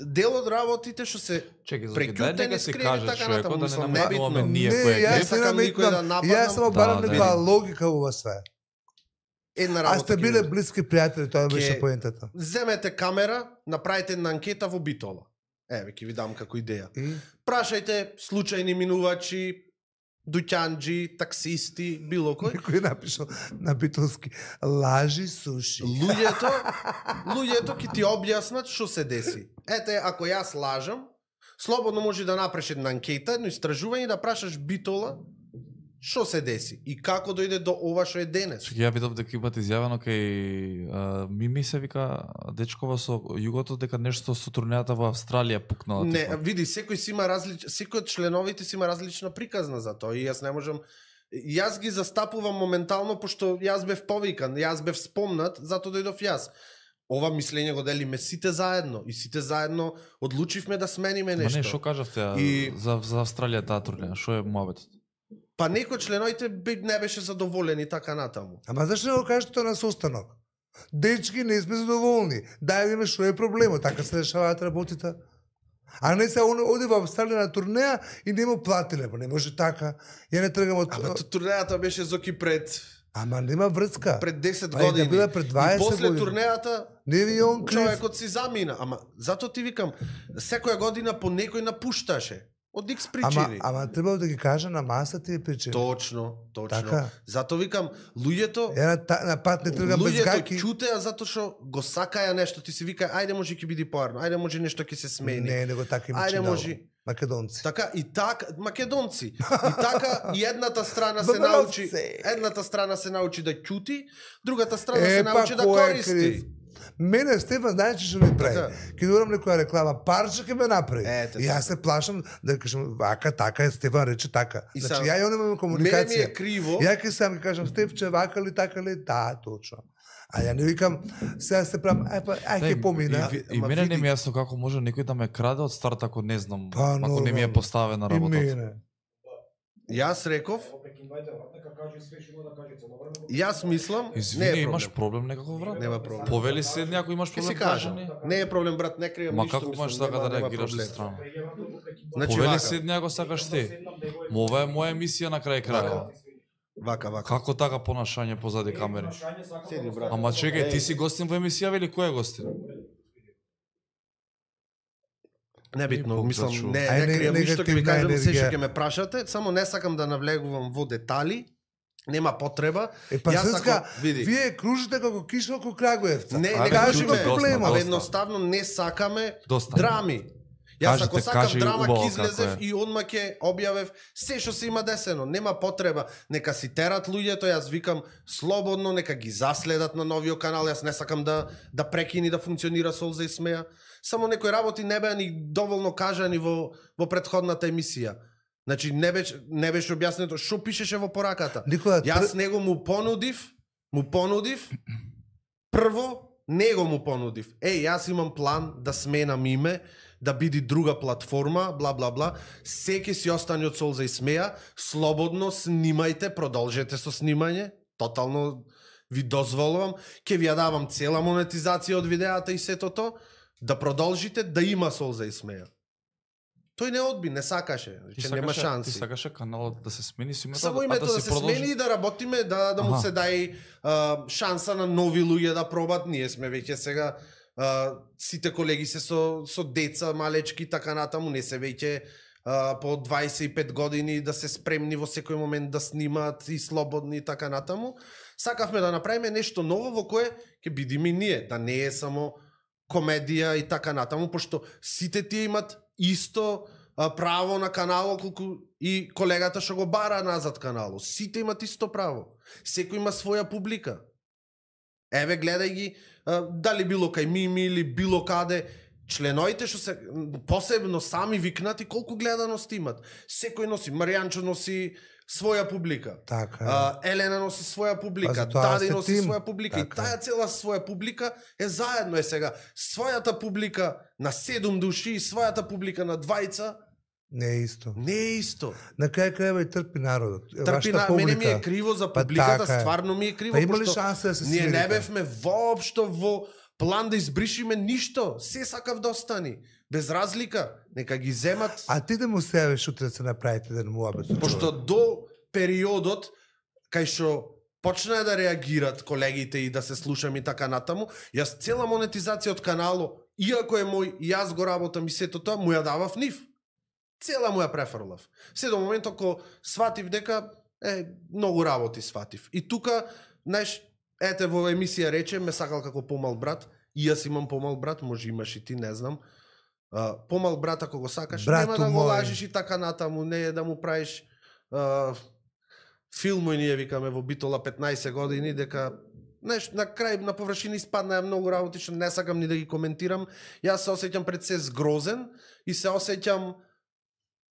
дел од работите што се Чекај, Зоки, дај прекјутени, нека се скрени, каже така човекот, натаму, да не мислам, намекуваме небитно. ние не, кој е јас крив. не сакам никој да наметнам. нападам. Јас само барам Да, да, некоја да. логика во ова све. една А работа. сте ќе биле ви- блиски пријатели, тоа беше Ке- поентата. Земете камера, направите една анкета во Битола. Еве, ќе ви дам како идеја. И Прашајте случајни минувачи, дуќанџи, таксисти, било кој. некој е напишал на битолски лажи суши. Луѓето, луѓето ќе ти објаснат што се деси. Ете, ако јас лажам, слободно може да направиш една анкета, едно истражување да прашаш Битола што се деси и како дојде до ова што е денес. Чекај, ја видов дека имате изјавено кај а, Мими се вика дечкова со југото дека нешто со турнејата во Австралија пукнала. Не, типа. види, секој си има различ... секој од членовите си има различна приказна за тоа и јас не можам јас ги застапувам моментално пошто јас бев повикан, јас бев спомнат, затоа дојдов јас. Ова мислење го делиме сите заедно и сите заедно одлучивме да смениме Ма нешто. не, што кажавте а, И- за за Австралија таа турнеја? Што е муабетот? Па некој од членовите бе- не беше задоволен и така натаму. Ама зашто не го кажете тоа на состанок? Дечки, не сме задоволни. Дај да видиме што е проблемот, така се решаваат работите. А не се он оди во Австралија на турнеја и не му платиле, па не може така. Ја не тргам од Ама ту- турнејата беше Зоки пред Ама нема врска. пред десет Па и да години. биде пред и дваесет после години. турнејата Не ви он крив. човекот си замина. Ама затоа ти викам, секоја година по некој напушташе. Од икс Ама, причини. ама треба да ги кажа на маса тие причини. Точно, точно. Така. Затоа викам, луѓето Ја на, та- на пат не тргам без луѓето гаки. ќутеа затоа што го сакаја нешто, ти си вика, ајде може ќе биде поарно, ајде може нешто ќе се смени. Не, него така има Ајде чинало. може. Македонци. Така и така македонци. И така и едната страна се Бабалци. научи, едната страна се научи да ќути, другата страна се па, научи да кој е користи. крив? Мене Стефан знае че што ми прави. Така. Ќе дорам некоја реклама, парче ќе ме направи. Ете, и јас така. се плашам да кажам вака така е, Стефан рече така. И Значи сам- ја и он имаме Мене ми комуникација. е криво. Ја ќе сам ќе кажам Стефче вака ли така ли? Да, точно. А ја не викам сега се правам, ај па ај ќе Е, помина. И, и, и Ама мене не види- ми е јасно како може некој да ме краде од старт ако не знам, Па, ако не ми е нормално. поставена И работата. мене. Јас реков, јас мислам, не Извини, е имаш проблем. проблем некаков брат? Нема проблем. Повели се ако имаш Ќе проблем си кажам, кажани. не е проблем брат, не кријам Ма ништо. како мислам, можеш така нема- да нема реагираш проблем. од страна? Значи Повели вака, седни ако сакаш ти. Ма ова е моја емисија на крај крајот. вака, вака. Како така понашање позади камери? Седи брат. Ама чекај, ти си гостин во емисија или кој е гостин? Небитно, Бог мислам, зачува. не, Ај, не не- кријам ништо, ќе ви негативна кажам се што енергија. ќе ме прашате, само не сакам да навлегувам во детали, нема потреба. Е па Јас Срска, ако- види. вие кружите како киша околу Крагуевца. Не, Ајде, не кажи кажиме, го проблемот. абе Доста. едноставно не сакаме Доста. драми. Јас Кажете, ако сакам кажи драма, убаво ќе излезев како е. и одма ќе објавев се што се има десено. Нема потреба. Нека си терат луѓето, јас викам слободно, нека ги заследат на новиот канал. Јас не сакам да да прекини да функционира Солза и смеа. Само некои работи не беа ни доволно кажани во во претходната емисија. Значи не беше не беше објаснето што пишеше во пораката. Никола, Јас него му понудив, му понудив, прво, него му понудив. Еј, јас имам план да сменам име, да биде друга платформа, бла, бла, бла. Секи си остане од Солза и смеа, слободно снимајте, продолжете со снимање, тотално ви дозволувам, ќе ви ја давам цела монетизација од видеата и сето то, да продолжите да има Солза и смеа. Тој не одби, не сакаше, Ти че нема сакаше- Ти шанси. сакаше каналот да се смени со името, Само а името да, си се продолжи? смени и да работиме, да, да му Аха. се дај а, шанса на нови луѓе да пробат. Ние сме веќе сега, а, сите колеги се со, со деца, малечки, така натаму, не се веќе а, по дваесет и пет години да се спремни во секој момент да снимаат и слободни и така натаму. Сакавме да направиме нешто ново во кое ќе бидеме ние, да не е само комедија и така натаму, пошто сите тие имат исто а, право на каналот колку и колегата што го бара назад каналот. Сите имат исто право. Секој има своја публика. Еве гледај ги, а, дали било кај Мими или било каде, членоите што се посебно сами викнати колку гледаност имат. Секој носи, Маријанчо носи своја публика. Така. А, Елена носи своја публика, Па затоа Дади сте носи тим. своја публика. Така. И таа цела своја публика е заедно е сега. Својата публика на седум души и својата публика на двајца Не е исто. не е исто. На крај крајва и трпи народот. Трпи на мене ми е криво за Па публиката, така е. стварно ми е криво, Па има ли пошто шанса да се ние не смирите? бевме воопшто во план да избришиме ништо. Се сакав да остани. Без разлика, нека ги земат. А ти да му севеш утре да се направите да му абе. Пошто до периодот кај што почнаа да реагират колегите и да се слушам и така натаму, јас цела монетизација од канало, иако е мој, и јас го работам и сето тоа, му ја давав нив. Цела му ја префрлав. Се до моментот кога сватив дека е многу работи сватив. И тука, знаеш, ете во емисија рече, ме сакал како помал брат, и јас имам помал брат, може имаш и ти, не знам. А, помал брат ако го сакаш, Брату нема да го мој. лажиш и така натаму, не е да му правиш а, филмој, ние викаме во Битола петнаесет години, дека знаеш, на крај, на површина испадна многу работи што не сакам ни да ги коментирам. Јас се осеќам пред се згрозен и се осеќам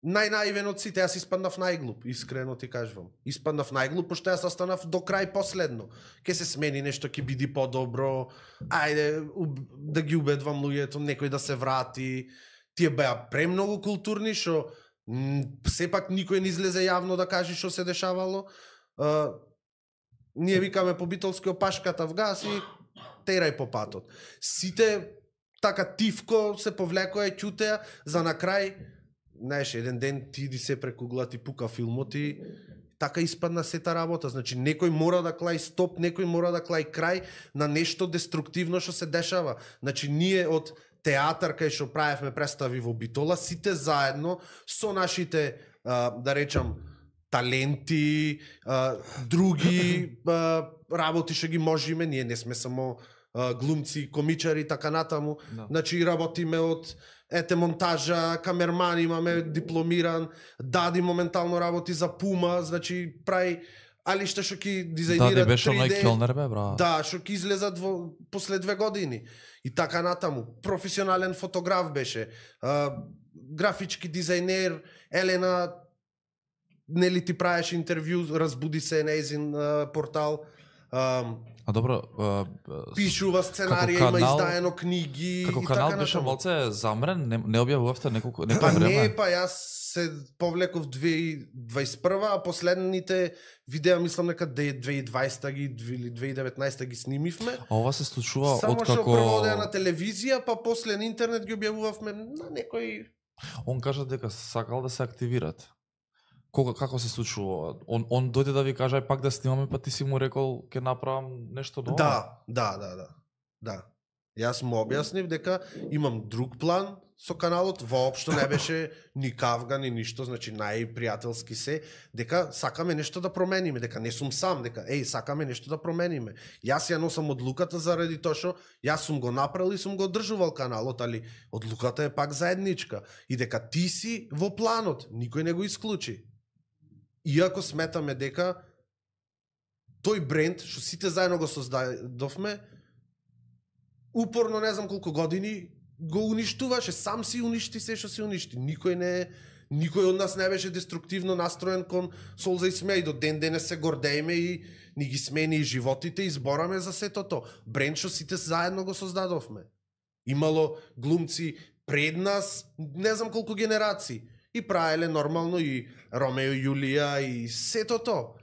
најнаивен од сите. Јас испаднав најглуп, искрено ти кажувам. Испаднав најглуп, пошто јас останав до крај последно. Ке се смени нешто, ќе биде подобро. Ајде уб- да ги убедвам луѓето, некој да се врати. Тие беа премногу културни што м, сепак никој не излезе јавно да каже што се дешавало. А, ние викаме по битолски опашката в газ и терај по патот. Сите така тивко се повлекоа, ќутеа, за на крај, знаеш, еден ден ти иди се преку угла, ти пука филмот и така испадна сета работа. Значи, некој мора да клај стоп, некој мора да клај крај на нешто деструктивно што се дешава. Значи, ние од театар кај што правевме представи во Битола, сите заедно со нашите, а, да речам, таленти, а, други а, работи што ги можеме, ние не сме само а, глумци, комичари и така натаму. Да. Значи работиме од ете монтажа, камерман имаме дипломиран, Дади моментално работи за Пума, значи прави али што што ќе дизајнира Да, не беше три Д. оној Келнер бе, бра. Да, што ќе излезат во после две години. И така натаму. Професионален фотограф беше. А, графички дизајнер, Елена нели ти правеше интервју, разбуди се нејзин а, портал. А, А добро, а, а, пишува сценарија, како има канал- издаено книги како и канал така беше натаму. малце замрен, не, не објавувавте неколку некој Па време. не, па јас се повлеков две илјади дваесет и прва, а последните видеа мислам нека две илјади и дваесета ги или две илјади и деветнаесета ги снимивме. А ова се случува Само од што како прво одеа на телевизија, па после на интернет ги објавувавме на некој. он кажа дека сакал да се активират. Кога како се случува ова? Он он дојде да ви каже ај пак да снимаме, па ти си му рекол ќе направам нешто ново. Да, да, да, да. Да. Јас му објаснив дека имам друг план со каналот, воопшто не беше ни кавга, ни ништо, значи најпријателски се, дека сакаме нешто да промениме, дека не сум сам, дека еј, сакаме нешто да промениме. Јас ја носам одлуката заради тоа што јас сум го направил и сум го одржувал каналот, али одлуката е пак заедничка. И дека ти си во планот, никој не го исклучи. Иако сметаме дека тој бренд што сите заедно го создадовме, упорно не знам колку години го уништуваше, сам си уништи се што си уништи. Никој не никој од нас не беше деструктивно настроен кон Солза и Смеј, до ден денес се гордееме и ни ги смени и животите и збораме за сето тоа. Бренд што сите заедно го создадовме. Имало глумци пред нас, не знам колку генерации. И правеле нормално и Ромео и Јулија и сето тоа.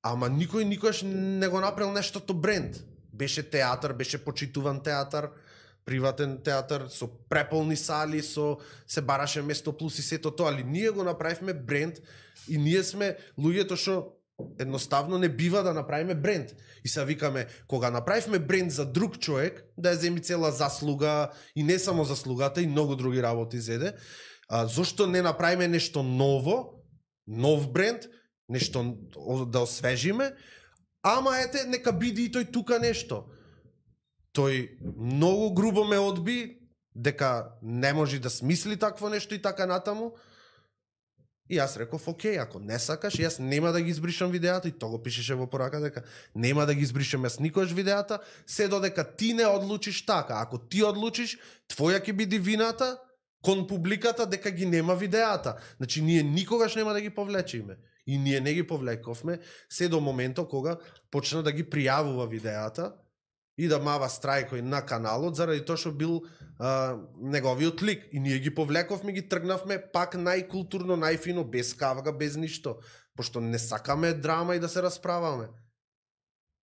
Ама никој никогаш не го направил нештото бренд. Беше театар, беше почитуван театар, приватен театар со преполни сали, со се бараше место плюс и сето тоа, али ние го направивме бренд и ние сме луѓето што едноставно не бива да направиме бренд. И се викаме, кога направивме бренд за друг човек, да ја земи цела заслуга и не само заслугата и многу други работи зеде, А, зошто не направиме нешто ново, нов бренд, нешто о- да освежиме, ама ете, нека биде и тој тука нешто. Тој многу грубо ме одби, дека не може да смисли такво нешто и така натаму. И јас реков, окей, ако не сакаш, јас нема да ги избришам видеата, и тоа го пишеше во порака дека нема да ги избришам јас никош видеата, се додека ти не одлучиш така. Ако ти одлучиш, твоја ќе биде вината кон публиката дека ги нема видеата. Значи, ние никогаш нема да ги повлечиме. И ние не ги повлековме, се до моментот кога почна да ги пријавува видеата и да мава страјкој на каналот, заради тоа што бил а, неговиот лик. И ние ги повлековме, ги тргнавме пак најкултурно, најфино, без кавга, без ништо. Пошто не сакаме драма и да се расправаме.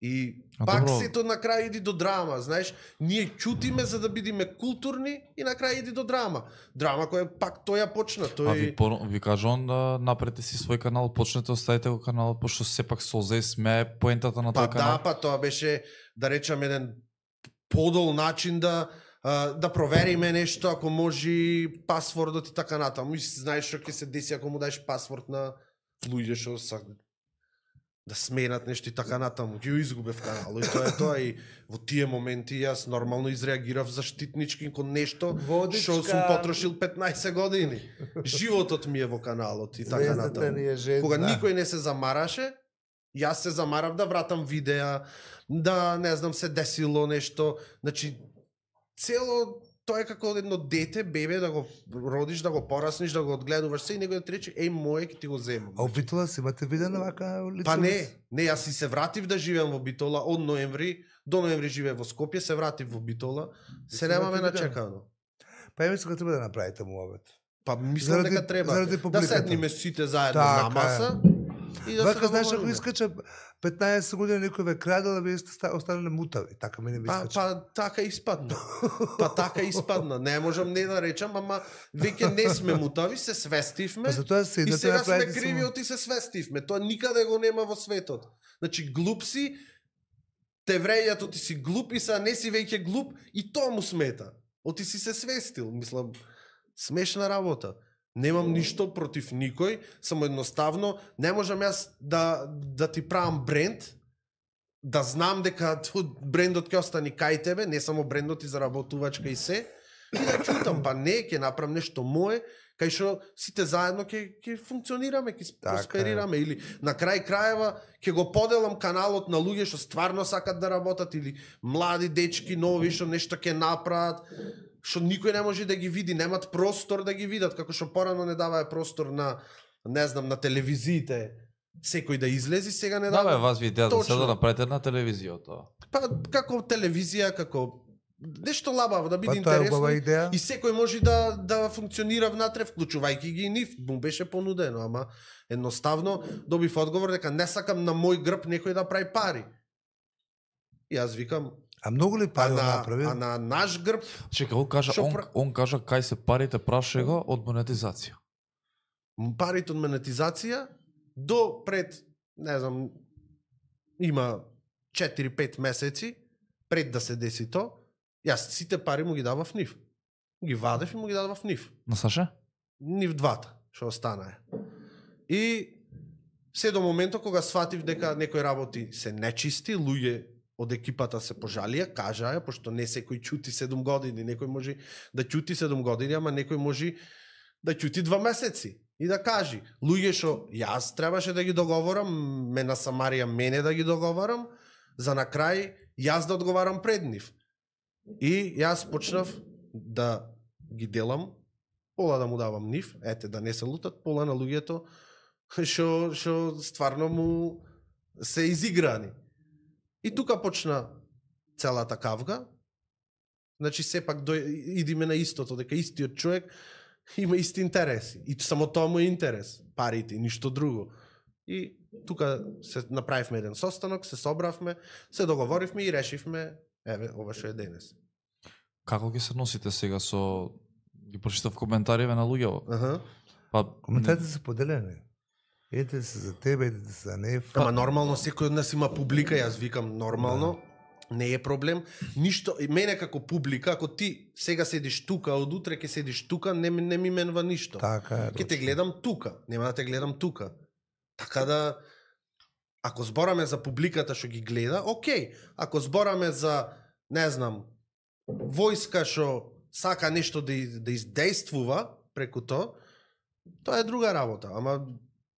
И А, пак добро. сето на крај иди до драма, знаеш, ние ќутиме за да бидеме културни и на крај иди до драма. Драма која пак тој ја почна, тој А ви, по, ви кажувам да напрете си свој канал, почнете, оставите го каналот, пошто сепак Солза и смее поентата на па тој канал. да, па тоа беше, да речам, еден подол начин да а, да провериме нешто, ако може пасвордот и така натаму. И знаеш што ќе се деси ако му даеш пасворд на луѓе што са да сменат нешто и така натаму. Ќе го изгубев каналот и тоа е тоа. И во тие моменти јас нормално изреагирав заштитнички кон нешто Водичка. што сум потрошил петнаесет години. Животот ми е во каналот и така Звездата натаму. ни е жедна. Кога никој не се замараше, јас се замарав да вратам видеа, да не знам се десило нешто, значи цело тоа е како едно дете, бебе, да го родиш, да го порасниш, да го одгледуваш се и некој да ти рече еј моје ќе ти го земам. А у Битола си имате виден вака лице? Па не, не, јас си се вратив да живеам во Битола од ноември, до ноември живеев во Скопје, се вратив во Битола, се си немаме имате видео? начекано. Па ја мислам дека треба да направите муабет. Па мислам Заради- дека треба заради да публиката. седниме сите заедно Така на е. маса и да се Вака, знаеш, ако договориме. искача петнаесет години некој ве крадел, а вие сте ста- останале мутави. Така ми не ви Па, искача. па така испадна. Па така испадна. Не можам не да речам, ама веќе не сме мутави, се свестивме. Па затоа И седнете сега сме направите кривиот и се свестивме. Тоа никаде го нема во светот. Значи глуп си, те врејато ти си глуп и сега не си веќе глуп и тоа му смета. Оти си се свестил, мислам, смешна работа. Немам ништо против никој, само едноставно не можам јас да да ти правам бренд, да знам дека тој брендот ќе остане кај тебе, не само брендот и заработувачка и се, и да чутам, па не, ќе направам нешто мое, кај што сите заедно ќе ќе функционираме, ќе Така е. просперираме или на крај крајева ќе го поделам каналот на луѓе што стварно сакат да работат или млади дечки нови што нешто ќе направат, што никој не може да ги види, немат простор да ги видат, како што порано не даваа простор на, не знам, на телевизиите, секој да излези, сега не Да, бе, дава. вас ви идеја да се Точно. да направите на телевизија тоа. Па како телевизија, како нешто лабаво да биде Па тоа е интересно. убава идеја. И секој може да да функционира внатре, вклучувајќи ги и нив. Му беше понудено, ама едноставно добив одговор дека не сакам на мој грб некој да прави пари. И јас викам, А многу ли а пари на, направи? а на наш грб, Чека, он кажа, Шо он, пра- он кажа кај се парите, праша го од монетизација. парите од монетизација до пред, не знам, има четири-пет месеци пред да се деси то, јас сите пари му ги давав нив. Ги вадев и му ги давав нив. На Саше? Нив двата, што останае. И се до моментот кога сватив дека некои работи се нечисти, луѓе од екипата се пожалија, кажаа, пошто не секој ќути седум години, некој може да ќути седум години, ама некој може да ќути два месеци и да кажи, луѓе што јас требаше да ги договорам, ме на Самарија мене да ги договорам, за на крај јас да одговарам пред нив. И јас почнав да ги делам, пола да му давам нив, ете да не се лутат, пола на луѓето што што стварно му се изиграни. И тука почна целата кавга. Значи сепак дој, идиме на истото, дека истиот човек има исти интереси. И само тоа му е интерес, парите, и ништо друго. И тука се направивме еден состанок, се собравме, се договоривме и решивме, еве, ова што е денес. Како ги се носите сега со... Ги прочитав коментариве на луѓето. Аха. Па, Коментарите се поделени. Едете се за тебе, едете се за нев. Ама нормално секој од нас има публика, јас викам нормално. Не е проблем. Ништо, мене како публика, ако ти сега седиш тука, од утре ќе седиш тука, не, ми- не ми менва ништо. Така е. Ќе те гледам тука, нема да те гледам тука. Така да, ако збораме за публиката што ги гледа, окей. Ако збораме за, не знам, војска што сака нешто да, из- да издействува преку тоа, тоа е друга работа. Ама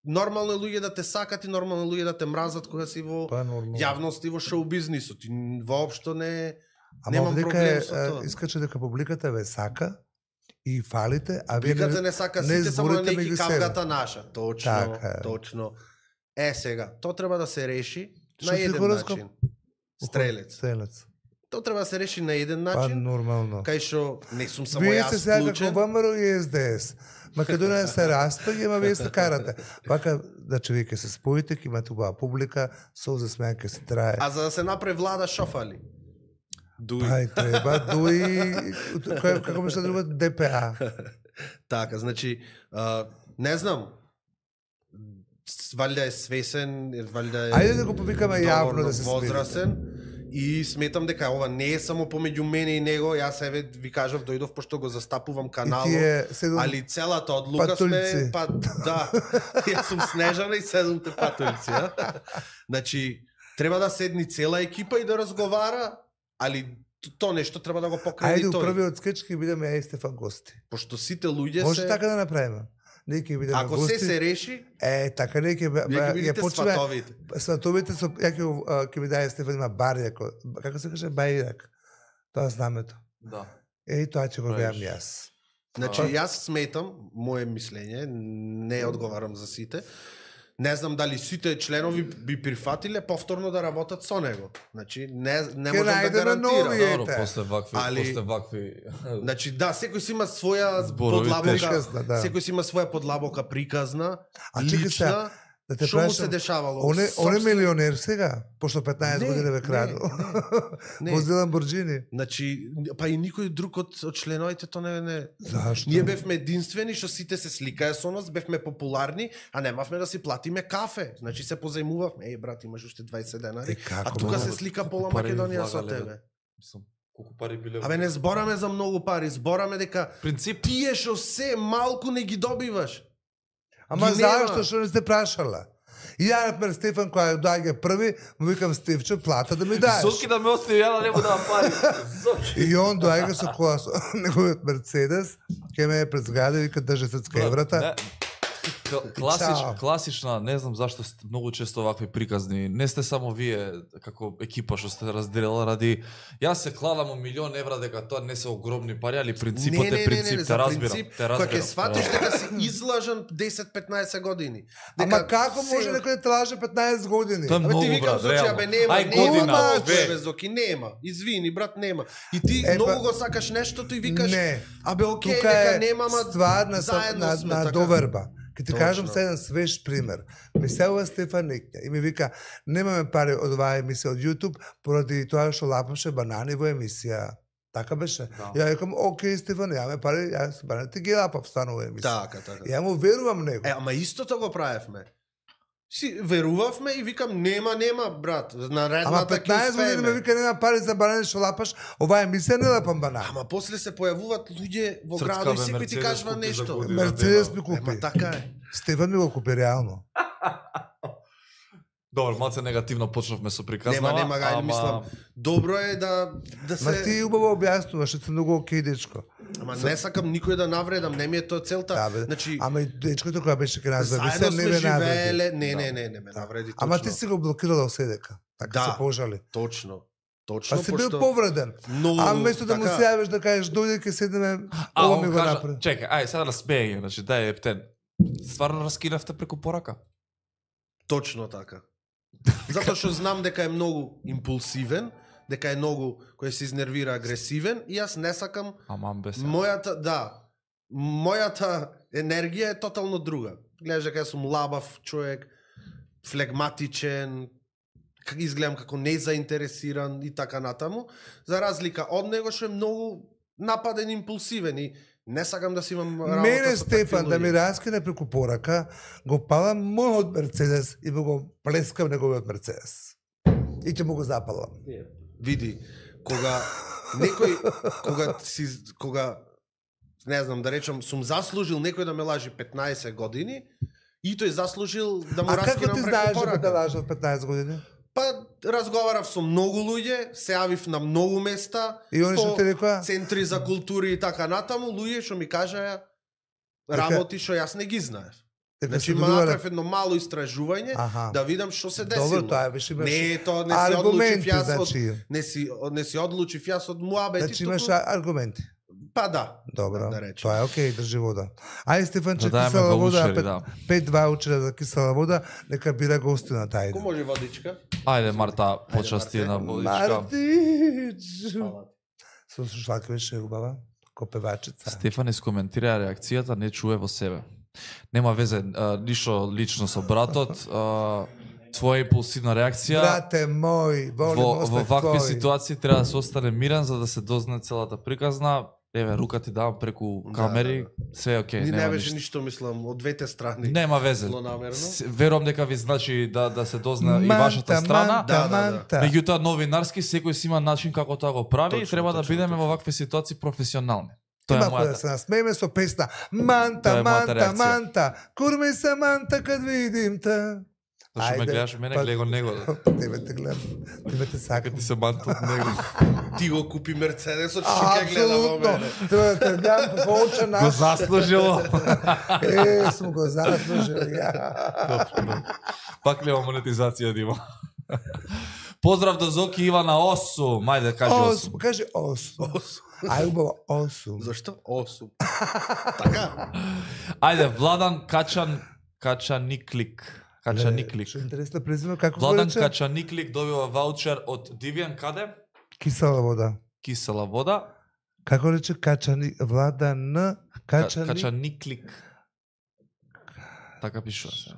нормално е луѓе да те сакат и нормално е луѓе да те мразат кога си во Тоа е нормално. јавност и во шоу бизнисот. И воопшто не Ама немам овдека проблем е, со е, тоа. искаче дека публиката ве сака и фалите, а вие Публиката не сака не сите, само на зборите неки меѓу себе. кавгата наша. Точно, Така е. точно. Е, сега, тоа треба да се реши Што на си еден хороскоп? начин. Стрелец. Стрелец. Тоа треба да се реши на еден Па начин, нормално. кај што не сум само Вие јас сте сега како вклучен. ВМРО и Ес Де Ес. Македонија се распаѓа, ама вие се карате. Вака, значи вие ќе се споите, ќе имате убава публика, солзе смеа ќе се трае. А за да се направи влада шофали. Дуи. Па и треба дуи, кој- како беше друго, Де Пе А. Така, значи, а, не знам, с- валјда е свесен, валјда е Ајде да го повикаме јавно доволно да се смири. возрасен и сметам дека ова не е само помеѓу мене и него, јас еве ви кажав дојдов пошто го застапувам И каналот. тие седум Али целата одлука сме, патулици. па да, јас сум Снежана и седумте патулици, а? Значи, треба да седни цела екипа и да разговара, али т- то нешто треба да го покране Ајде, у тој. првиот скеч ќе бидеме ја и Стефан гости. Пошто сите луѓе Може се... така да направиме. Ние ќе бидеме Ако гости. се се реши, Е, така не ќе бе- вие ќе ја бидете почнеме сватовите. сватовите со ја ќе а, ќе ми даде Стефан има барјак, како се каже бајрак. Тоа знамето. Да. Е, и тоа ќе го Правиш. веам јас. Значи, А. јас сметам, мое мислење, не одговарам за сите, не знам дали сите членови би прифатиле повторно да работат со него. Значи, не, не Ке можам да најдеме гарантирам. нови, е. Добро, Ете. после вакви, Али- после вакви... Значи, да, секој си има своја Зборовите. подлабока, Приказна, да. секој си има своја подлабока приказна, А чекай лична, сега, да те што му се прашам, дешавало. Он е, он е Собствен- милионер сега, пошто петнаесет Не, години ве не, краду. не. Вози Ламборджини. Значи, па и никој друг од, од членовите то не не. Зашто? Ние бевме единствени што сите се сликаа со нас, бевме популарни, а немавме да си платиме кафе. Значи се позајмувавме. Еј брат, имаш уште дваесет денари. Е, како, А тука бе? се слика пола Колку пари Македонија со влагале, тебе. Мислам, колку пари биле... Абе не збораме за многу пари, збораме дека Принцип, тие што се малку не ги добиваш. Ама ги нема. зашто што не сте прашала? И ја, например, Стефан, која доаѓа први, му викам, Стефче, плата да ми даеш. Зоки да ме остави, ја да не му давам пари. Зоки. И он доаѓа со кола, со неговиот Мерцедес, ке ме е пред зграда и вика, држи срцка еврата. Не, кл- Класич, Чао. класична, не знам зашто сте многу често вакви приказни. Не сте само вие како екипа што сте разделила ради. Јас се кладам у милион евра дека тоа не се огромни пари, али принципот е принцип, те разбирам. Те Кога разбирам. ќе сватиш дека си излажен десет-петнаесет години. Ама како се- може некој да те лаже петнаесет години? Тоа е Абе многу, ти викам брат, Зоки, реално. абе нема, Ај, нема година, толку, две. бе, Зоки, нема. Извини, брат, нема. И ти Е, многу па- го сакаш нештото и викаш, Не. абе окей, Тука дека е нема, ама ствар на, са- заедно на, сме, на така. доверба. Ке ти Точно. кажам се еден свеж пример. Ми селува Стефан Никња и ми вика, немаме пари од оваа емисија од YouTube, поради тоа што лапаше банани во емисија. Така беше. Да. Ја викам, окей, Стефан, јаме пари, јас бананите ги лапав станува емисија. Така, така. Ја му верувам него. Е, ама истото го правевме. Си верувавме и викам нема, нема, брат. Наредната Ама ќе петнаесет години ме успееме. вика, нема пари за банани што лапаш, оваа емисија не лапам банани. Ама после се појавуваат луѓе во Црцка, градот и бе, секој ти Мерцедес кажува купи за нешто. година. Мерцедес ми Ема купи. така е. Стефан ми го купи реално. Добро, малце негативно почнавме со приказнава. Нема, нема, гај, ама- мислам, добро е да да Ма се ти убаво објаснуваш, што си многу окей дечко. Ама не сакам никој да навредам, не ми е тоа целта. Да, бе. Значи, Ама и дечкото која беше кај нас, бе, заедно се не сме ме навреди. живееле, не, Да. не, не, не ме навреди точно. Ама ти си го блокирала седека. Така Да. се пожали. Точно. Точно, Па си бил пошто- повреден. Многу, А вместо да му така. се јавиш да кажеш дојде ќе седнеме, А, ова он ми го кажа, направи. чекај, ај, сега да смеење, значи, дај ептен. Стварно раскинавте преку порака? Точно така. Затоа што знам дека е многу импулсивен, дека е многу кој се изнервира агресивен и јас не сакам Аман бе се. мојата, да, мојата енергија е тотално друга. Гледаш дека јас сум лабав човек, флегматичен, как изгледам како незаинтересиран и така натаму, за разлика од него што е многу нападен, импулсивен и не сакам да си имам работа Мене со Стефан такви да ми луѓе. раскине преку порака, го палам мојот Мерцедес и му го плескам неговиот Мерцедес. И ќе му го запалам. Види, кога некој кога си кога не знам да речам сум заслужил некој да ме лажи петнаесет години и тој заслужил да му А како раскинам ти преку знаеш дека порака. те лажат петнаесет години? Па разговарав со многу луѓе, се јавив на многу места, И они што по ти рекоа? центри за култури и така натаму, луѓе што ми кажаа Дека- работи што јас не ги знаев. Дека Значи се има добивале- направив едно мало истражување Аха. да видам што се десило. Добро, тоа е више имаш Не, тоа не се одлучив аргументи, јас од значи. не си не си одлучив јас од муабети. Значи имаш аргументи. Па да. Добро, да речем. тоа е окей, држи вода. Ај Стефанче, Да даеме кисела вода, ваучери, пет, да. пет ваучера за кисела вода, нека бира гостина тај. Ко може водичка? Ајде Марта, почасти Марте. на водичка. Мартич! Фала. Со слушалка беше убава, ко певачица. Стефан искоментира реакцијата, не чуе во себе. Нема везе, а, ништо лично со братот, а, твоја импулсивна реакција. Брате мој, волим Во, во остав вакви твој. ситуации треба да се остане мирен за да се дознае целата приказна. Еве, рука ти давам преку Да, камери, да, се е окей, Ни не нема беше ништо. ништо, мислам, од двете страни. Нема везе. Злонамерно. С- Верувам дека ви значи да да се дознае и Манта, вашата страна. манта, Да, да, да. манта. Меѓутоа новинарски секој си има начин како тоа го прави и Точно, треба да точно, бидеме точно. во вакви ситуации професионални. Тоа Има е кој да мојата. се насмееме со песна Тоа Манта, е мојата манта, реакција. манта, курме се манта кад видим те. Зашто ме Ајде, гледаш мене, па- гледа го него. Тебе те гледам, тебе те сакам. Како ти се манта од него. Ти го купи Мерцедесот, што ќе гледа во Апсолутно. мене. Треба да те гледам по оча Го наш. заслужило. Е, сум го заслужил, ја. Пак нема монетизација да има. Поздрав до Зоки Ивана осум. Мајде кажи осум. Осум, кажи осум. Ај, убаво, осум. Зашто? осум. Така? Ајде, Владан Качан Качаниклик. Качаниклик. Што интересно презиме, како го Владан рече? Качаниклик добива ваучер од Дивијан каде? Кисела вода. Кисела вода. Како рече Качани, Влада Н, Ка- Качани, Качаниклик. Така пишува се.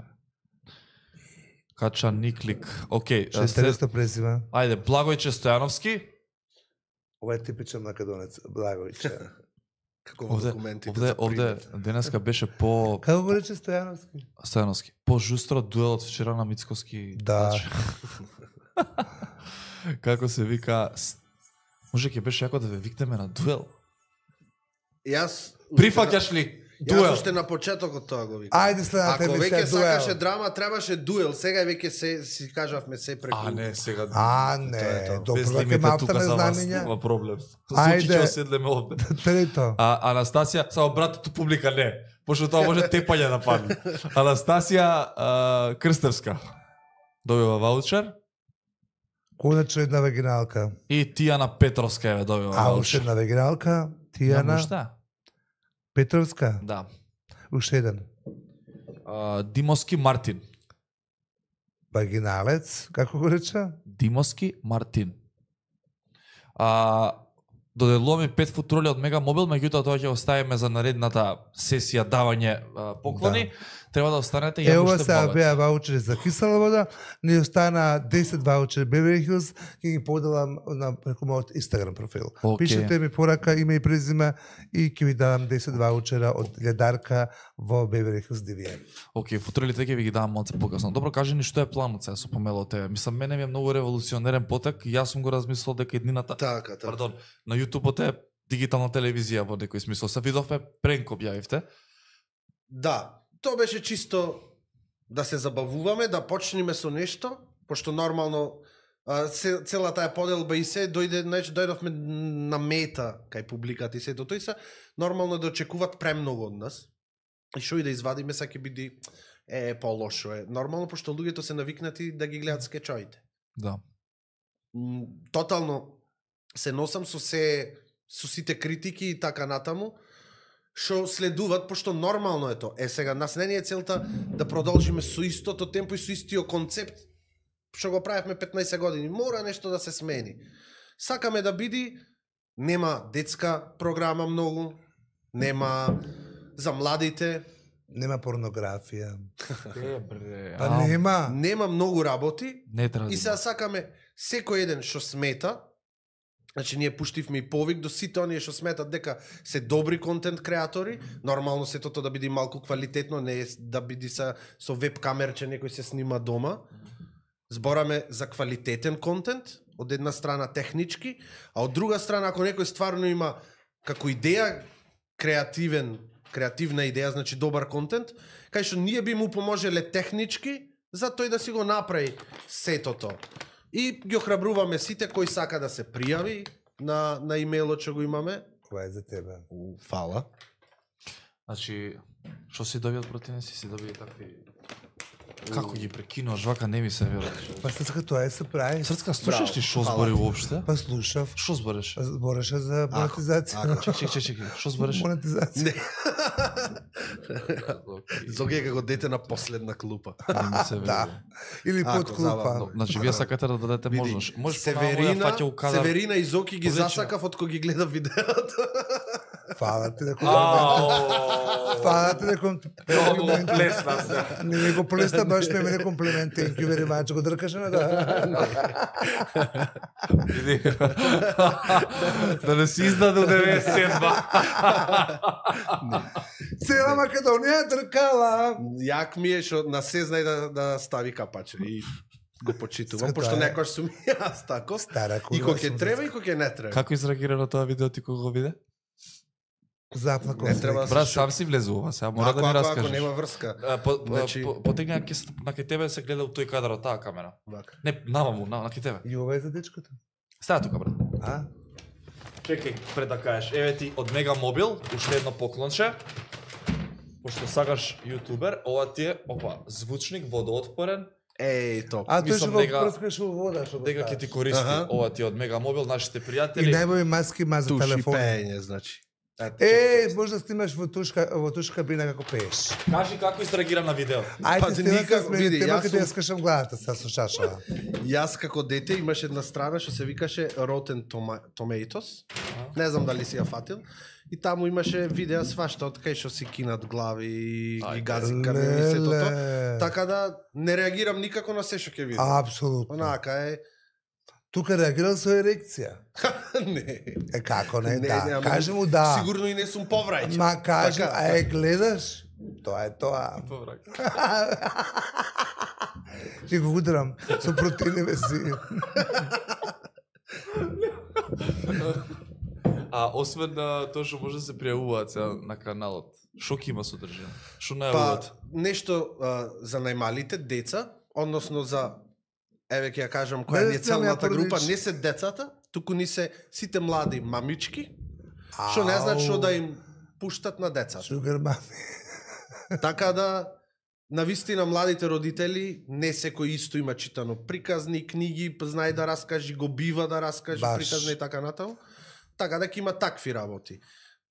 Качаниклик. Океј, што а, след... интересно презиме. Ајде, Благојче Стојановски. Ова е типичен македонец, Благовиќе. Како во Овде, документите овде, за овде пример. денеска беше по Како го рече Стојановски? Стојановски. По жустро дуел од вчера на Мицковски. Да. Значи, како се вика, с- може ќе беше јако да ве викнеме на дуел. Јас Прифаќаш ли Јас дуел? уште на почетокот тоа го викам. Ајде следната Ако веќе емисија сакаше дуел. драма, требаше дуел. Сега веќе се си кажавме се преку. А не, сега. А, Тоа е не, тоа. добро, без веќе лимите малта тука не за вас знамења. нема проблем. Ајде. Зучи ќе оседлеме овде. Трето. А Анастасија, само братото публика не, пошто тоа може тепање да падне. Анастасија а, Крстевска добива ваучер Конечно една вагиналка. и Тијана Петровска еве добива А, уште ваучер. една вагиналка, Јана Тијана уште? Петровска. Да. Уште еден. А, Димоски Мартин. Вагиналец, како го рече? Димоски Мартин. А, доделуваме пет футроли од Мега Мобил, меѓутоа тоа ќе оставиме за наредната сесија давање а, поклони. Да. Треба да останете Е, ја ова уште сега богат. беа ваучери за кисела вода, ни остана десет ваучери Beverly Hills, ќе ги поделам на преку мојот Instagram профил. Океј. Пишете ми порака, име и презиме и ќе ви дадам десет ваучера од ледарка во Beverly Hills Дивијан. Океј, футролите ќе ви ги давам малце покасно. Добро, кажи ни што е планот сега со помело тебе. Мислам, мене ми е многу револуционерен потек. Јас сум го размислил дека еднината, Така, така. пардон, на YouTube е дигитална телевизија во некој смисол. Се видовме пренк објавивте. Да, тоа беше чисто да се забавуваме, да почнеме со нешто, пошто нормално а, се, целата таа поделба и се дојде, значи дојдовме на мета кај публиката и се до тој се нормално да очекуваат премногу од нас. И што и да извадиме са ќе биде е полошо е. Нормално пошто луѓето се навикнати да ги гледаат скечоите. Да. М, Тотално се носам со се со сите критики и така натаму што следуваат, пошто нормално е тоа. Е, сега, нас не ни е целта да продолжиме со истото темпо и со истиот концепт, што го правевме петнаесет години. Мора нешто да се смени. Сакаме да биде, нема детска програма многу, нема за младите, Нема порнографија. Е, бре. Па нема. нема многу работи, Не треба. и сега сакаме секој еден што смета. Значи, ние пуштивме и повик до сите оние што сметат дека се добри контент креатори, нормално сето тоа да биде малку квалитетно, не е да биде са, со веб камерче некој се снима дома. збораме за квалитетен контент, од една страна технички, а од друга страна ако некој стварно има како идеја креативен, креативна идеја, значи добар контент, кај што ние би му поможеле технички за тој да си го направи сетото. И ги охрабруваме сите кои сака да се пријави на на имејлот што го имаме. Ова е за тебе. Фала. Значи, што си добиат противници, си добиат такви... Како ги прекинуваш, вака не ми се веруваш. Па Срцка, тоа е се прави. Срцка, слушаш Браво, ти што фала збори ти. уопште? Па слушав. Што збореше? Збореше за монетизација. Чек, чек, чек, чек, што збореше? Монетизација. Не. Зоги е како дете на последна клупа. Не ми се Да. верува. Или Ако, под клупа. забавно. Значи, вие сакате да дадете можност. Можеш Северина, фаќа у кадар. Северина и Зоки ги Повлече. засакав од кога ги гледа видеото. Фала ти да комплимент. Фала ти да комплимент. плесна се. Не ми го плесна, баш ме мене комплимент. Thank you very much. Го дркаше на да. Да не си издаде у деветдесет и два. Цела Македонија дркала. Јак ми е што на се знае да, да стави капаче и го почитувам, Сето пошто е. некојаш сум и јас тако. Стара И кула кога сум ќе треба и кога ќе не треба. Како изреагира на тоа видео ти кога го виде? Заплакал Не се. треба Брат, сам си влезува, сега мора Ако, да ми ако, ако раскажеш. нема врска. А, по, Значи- по, потегни на ке- на кај тебе се гледа у тој кадар од таа камера. Вака. Не, намаму, на, на кај тебе. И ова е за дечкото. Стаја тука, брат. А? Чекај, пред да кажеш, еве ти од Мега Мобил, уште едно поклонче. Пошто сакаш јутубер, ова ти е, опа, звучник водоотпорен, Еј, топ. А тој што Мислам го дека- прскаш во вода, што го дека ќе ти ставиш. користи. Аха. Ова ти е од Мега Мобил, нашите И пријатели. најбови маски ма за Туши телефон. пеење, значи. Е, може да снимаш во тушка, во тушка кабина како пееш. Кажи како изреагира на видео. Ајде, Пази, стена никако, се смени види, тема јас каде сум- ја скашам главата са слушашава. Јас како дете имаше една страна што се викаше Rotten Toma- Tomatoes. Не знам дали си ја фатил. И таму имаше видеа свашта од кај што си кинат глави и, Ајде. и гази камери и сето тоа. Леле. Така да не реагирам никако на се што ќе видам. Апсолутно. Онака е. Тука реагирал со ерекција. Не. Е како не, Не, да. не, ама Кажи му да. Сигурно и не сум поврајче. Ма кажи, Така. а е гледаш? Тоа е тоа. Ти го удрам со протеинове си. А освен на тоа што може да се пријавуваат сега на каналот, што ќе има содржина? Што Па, најавуваат? нешто а, за најмалите деца, односно за, еве ќе ја кажам која Не ни е сте целната ја група, породич. не се децата, туку ни се сите млади мамички, што не значи што да им пуштат на децата. Шугар мами. Така да, на вистина младите родители, не секој исто има читано приказни, книги, знае да раскажи, го бива да раскаже Баш. приказни и така натаму. Така да ќе има такви работи.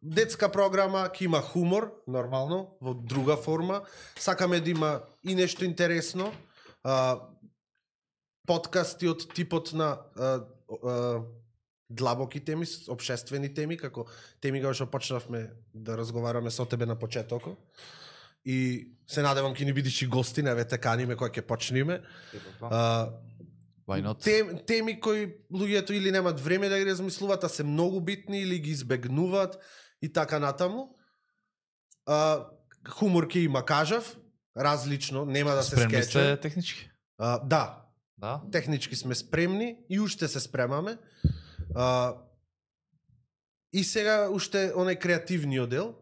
Детска програма, ќе има хумор, нормално, во друга форма. Сакаме да има и нешто интересно. А, подкасти од типот на а, а, длабоки теми, обшествени теми, како теми кога што почнавме да разговараме со тебе на почетокот. И се надевам ќе ни бидиш и гости, не ве те каниме кога ќе почнеме. А, Why not? Тем, теми кои луѓето или немат време да ги размислуваат, а се многу битни или ги избегнуваат и така натаму. А, хумор ќе има, кажав, различно, нема да се Спремни скече. сте технички? А, да, Да? технички сме спремни и уште се спремаме. А, и сега уште онај креативниот дел,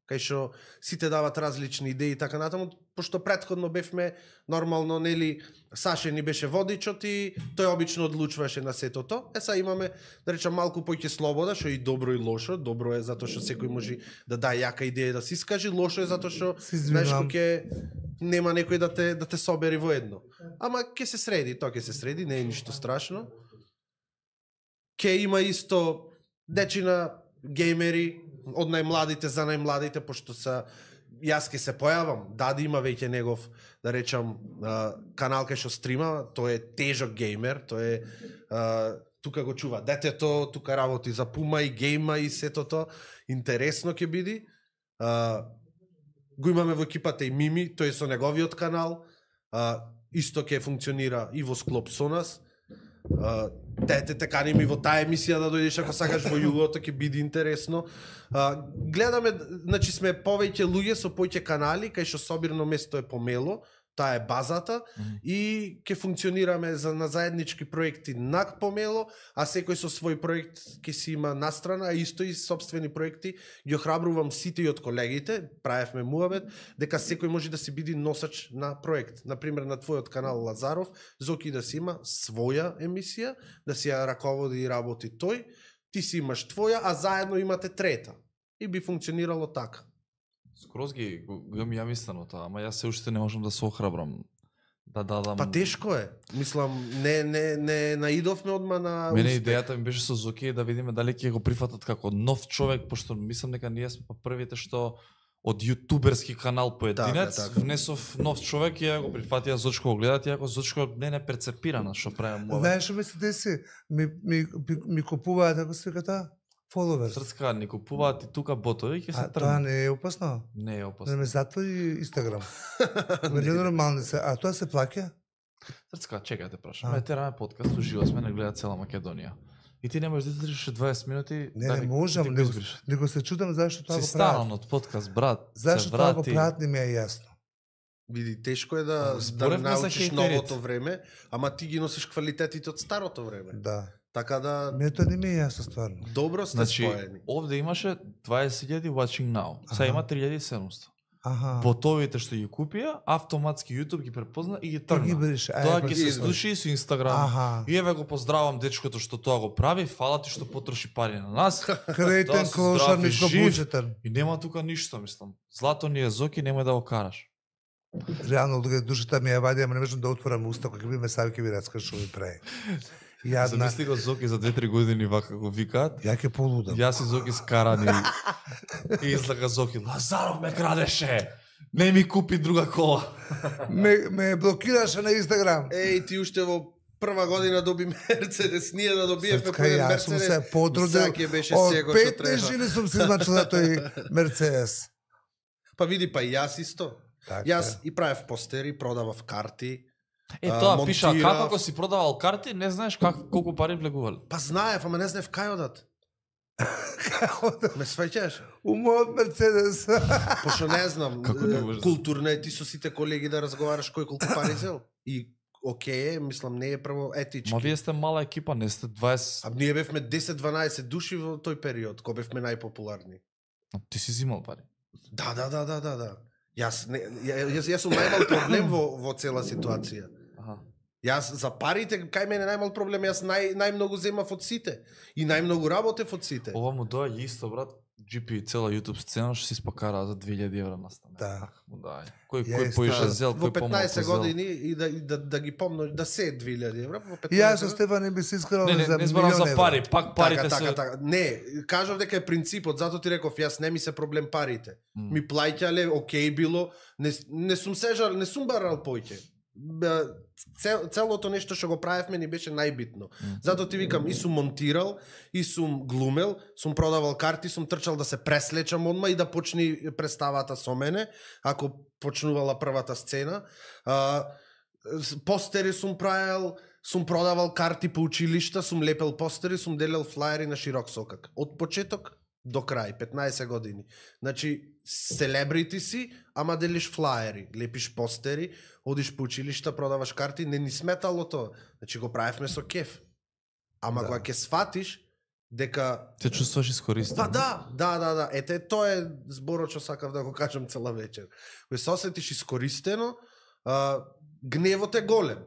кај што сите дават различни идеи и така натаму, пошто претходно бевме нормално, нели, Саше ни беше водичот и тој обично одлучуваше на сетото. Е сега имаме, да речам, малку поќе слобода, што е и добро и лошо. Добро е затоа што секој може да даде јака идеја да се искаже, лошо е затоа што Се знаеш извинувам. кој ќе нема некој да те да те собери во едно. Ама ќе се среди, тоа ќе се среди, не е ништо страшно. Ќе има исто дечина геймери од најмладите за најмладите, пошто са јас ке се појавам, Дади има веќе негов, да речам, а, канал кај што стрима, тој е тежок геймер, тој е а, тука го чува детето, тука работи за Пума и гейма и сето тоа, интересно ќе биде. А, го имаме во екипата и Мими, тој е со неговиот канал, а, исто ќе функционира и во склоп со нас. Uh, Тете те каним и во таа емисија да дојдеш ако сакаш во југото, ќе биде интересно. Uh, гледаме, значи сме повеќе луѓе со повеќе канали, кај што собирно место е помело, Таа е базата Мгм. и ќе функционираме за на заеднички проекти на помело, а секој со свој проект ќе си има настрана, а исто и собствени проекти. Ги охрабрувам сите и од колегите, правевме муабет, дека секој може да си биде носач на проект. Например, на твојот канал Лазаров, Зоки да си има своја емисија, да си ја раководи и работи тој, ти си имаш твоја, а заедно имате трета. И би функционирало така. Скроз ги го го имам ја мислено тоа, ама јас се уште не можам да се охрабрам да дадам. Па тешко е. Мислам, не не не наидовме одма на Мене успех. идејата ми беше со Зоки да видиме дали ќе го прифатат како нов човек, пошто мислам дека ние сме па првите што од јутуберски канал поединец Така, така. внесов нов човек и ја го прифатија Зочко го гледат, иако Зочко не не перцепирана што прави му. Знаеш што ми се деси? Ми, ми, ми, ми купуваат, ако се ката, followers. Срцка ни купуваат и тука ботови ќе се А тоа тргнат. не е опасно? Не е Да опасно. ме затвори Инстаграм. Ме не нормално се. А тоа се плаќа? Срцка, чекај те прашам. А. Ме тераме подкаст, уживо сме, не гледа цела Македонија. И ти не можеш да издржиш дваесет минути. Не, да не ги- можам, да ги него, избереш. него се чудам зашто тоа Си го станал прават. од подкаст, брат. Зашто се тоа го врати. прават не ми е јасно. Види, тешко е да, А, да зборевме за научиш хејтерите. новото време, ама ти ги носиш квалитетите од старото време. Да. Така да, Мене тоа не ми е јасно стварно. добро сте Значи, споени. овде имаше дваесет илјади watching now. Сега Аха. има три илјади и седумстотини. Аха. Ботовите што ги купија, автоматски YouTube ги препозна и ги Ти ги тргна. брише. Ај, Тоа па ги ги се избриш. слуши и со Инстаграм. Аха. И еве го поздравам дечкото што тоа го прави, фала ти што потроши пари на нас. Крейтен, Да си клошар, здрав и ниско жив. буџетен. И нема тука ништо, мислам. Злато ни е Зоки, немој да го караш. Реално, дога душата ми ја вади, ама не можам да отворам уста, кога би ме сави ќе ми раска што ми прави. Јадна. Замисли го Зоки за две-три години вака го викаат. Ја ќе полудам. Јас и Зоки скарани. И излага Зоки, Лазаров ме крадеше. Не ми купи друга кола. Ме, ме блокираше на Инстаграм. Еј, ти уште во прва година доби Мерцедес, ние да добиевме Срцка, првен јас сум Мерцедес. се потрудил. сега ќе беше Од сего што петнаесет треба. жили сум се измачил за тој Мерцедес. Па види, па и јас исто. Така. Јас и правев постери, продавав карти. Е, А, тоа пиша, монтирав. како ако си продавал карти, не знаеш как, колку пари влегували. Па знаев, ама не знаев кај одат. Ме сваќаш? У мојот Мерцедес. Пошто не знам, Како не е, можеш да- културно е ти со сите колеги да разговараш кој колку пари зел. И окей е, мислам, не е прво етички. Ма вие сте мала екипа, не сте дваесет. А ние бевме десет-дванаесет души во тој период, кога бевме најпопуларни. А ти си зимал пари. Да, да, да, да, да, да. Јас не ја- јас јас сум најмал проблем во во цела ситуација. Аха. Јас за парите кај мене најмал проблем, јас нај најмногу земав од сите и најмногу работев од сите. Ова му доаѓа исто, брат. Джи Пи цела YouTube сцена што си спакара за две илјади евра на стане. Да. Ах, му дај. Кој Ја кој исто, поише да. зел, Во кој помалку петнаесет зел. години и да и да да ги помно да се две илјади евра во И петнаесет. јас со Стефан не би се искрал Не, не, за не зборам милион за евра. пари, пак парите така, се. така, така. Не, кажав дека е принципот, затоа ти реков, јас не ми се проблем парите. М. Ми плаќале, окей било, не, не сум сежал, не сум барал поќе. Бе, Цел, целото нешто што го правевме ни беше најбитно. М. Затоа ти викам, и сум монтирал, и сум глумел, сум продавал карти, сум трчал да се преслечам одма и да почни представата со мене, ако почнувала првата сцена. А, с- постери сум правел, сум продавал карти по училишта, сум лепел постери, сум делел флаери на широк сокак. Од почеток до крај, петнаесет години. Значи, селебрити си, ама делиш флаери, лепиш постери, одиш по училишта, продаваш карти, не ни сметало тоа. Значи, го правевме со кеф. Ама Да. кога ќе сфатиш дека Се чувствуваш искористен. Па да, да, да, да. Ете, тоа е зборот што сакав да го кажам цела вечер. Кој се осетиш искористено, а, гневот е голем.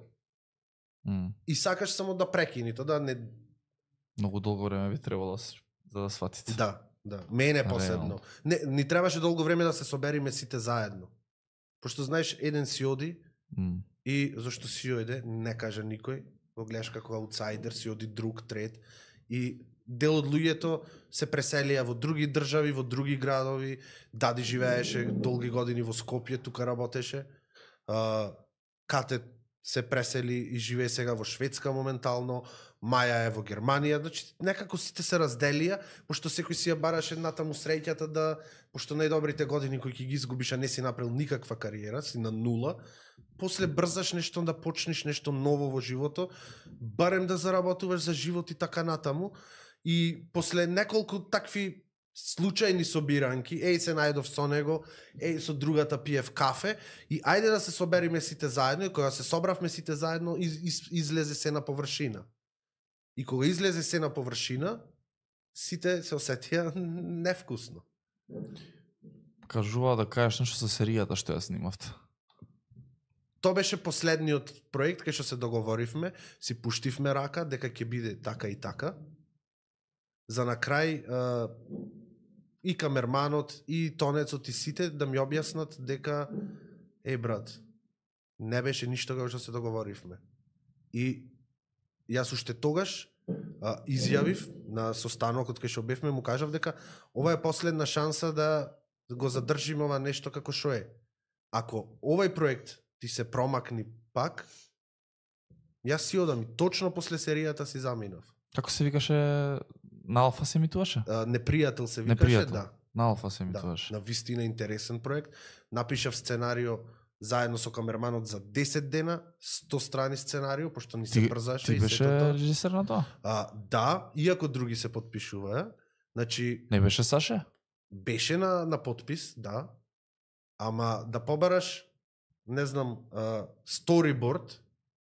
М. И сакаш само да прекини тоа, да не... Многу долго време би требало да с- за да сватите. Да, да. Мене посебно. Реално. Не, ни требаше долго време да се собериме сите заедно. Пошто знаеш, еден си оди М. и зашто си ојде, не кажа никој, го гледаш како аутсайдер, си оди друг, трет, и дел од луѓето се преселија во други држави, во други градови, дади живееше долги години во Скопје, тука работеше, а, кате се пресели и живее сега во Шведска моментално, Маја е во Германија, значи некако сите се разделија, пошто секој си ја бараше натаму среќата да, пошто најдобрите години кои ќе ги изгубиш, а не си направил никаква кариера, си на нула, после брзаш нешто да почнеш нешто ново во живото, барем да заработуваш за живот и така натаму, и после неколку такви случајни собиранки, еј се најдов со него, еј со другата пиев кафе и ајде да се собериме сите заедно и кога се собравме сите заедно из, из, излезе се на површина. И кога излезе се на површина, сите се осетија невкусно. Кажува да кажеш нешто со серијата што ја снимавте. Тоа беше последниот проект кај што се договоривме, си пуштивме рака дека ќе биде така и така. За на крај е, и камерманот и тонецот и сите да ми објаснат дека е брат, не беше ништо како што се договоривме. И јас уште тогаш а, изјавив на состанокот кај што бевме, му кажав дека ова е последна шанса да го задржиме ова нешто како што е. Ако овај проект ти се промакни пак, јас си одам и точно после серијата си заминав. Како се викаше, на Алфа се емитуваше? А, Непријател се викаше, Непријател. да. На Алфа се Да, емитуваше. на вистина интересен проект. Напишав сценарио заедно со камерманот за десет дена, сто страни сценарио, пошто ни се Ти, брзаше ти и беше сето тоа. режисер на тоа? А, да, иако други се подпишуваа, значи Не беше Саше? беше на, на подпис, да, ама да побараш, не знам, а, сториборд,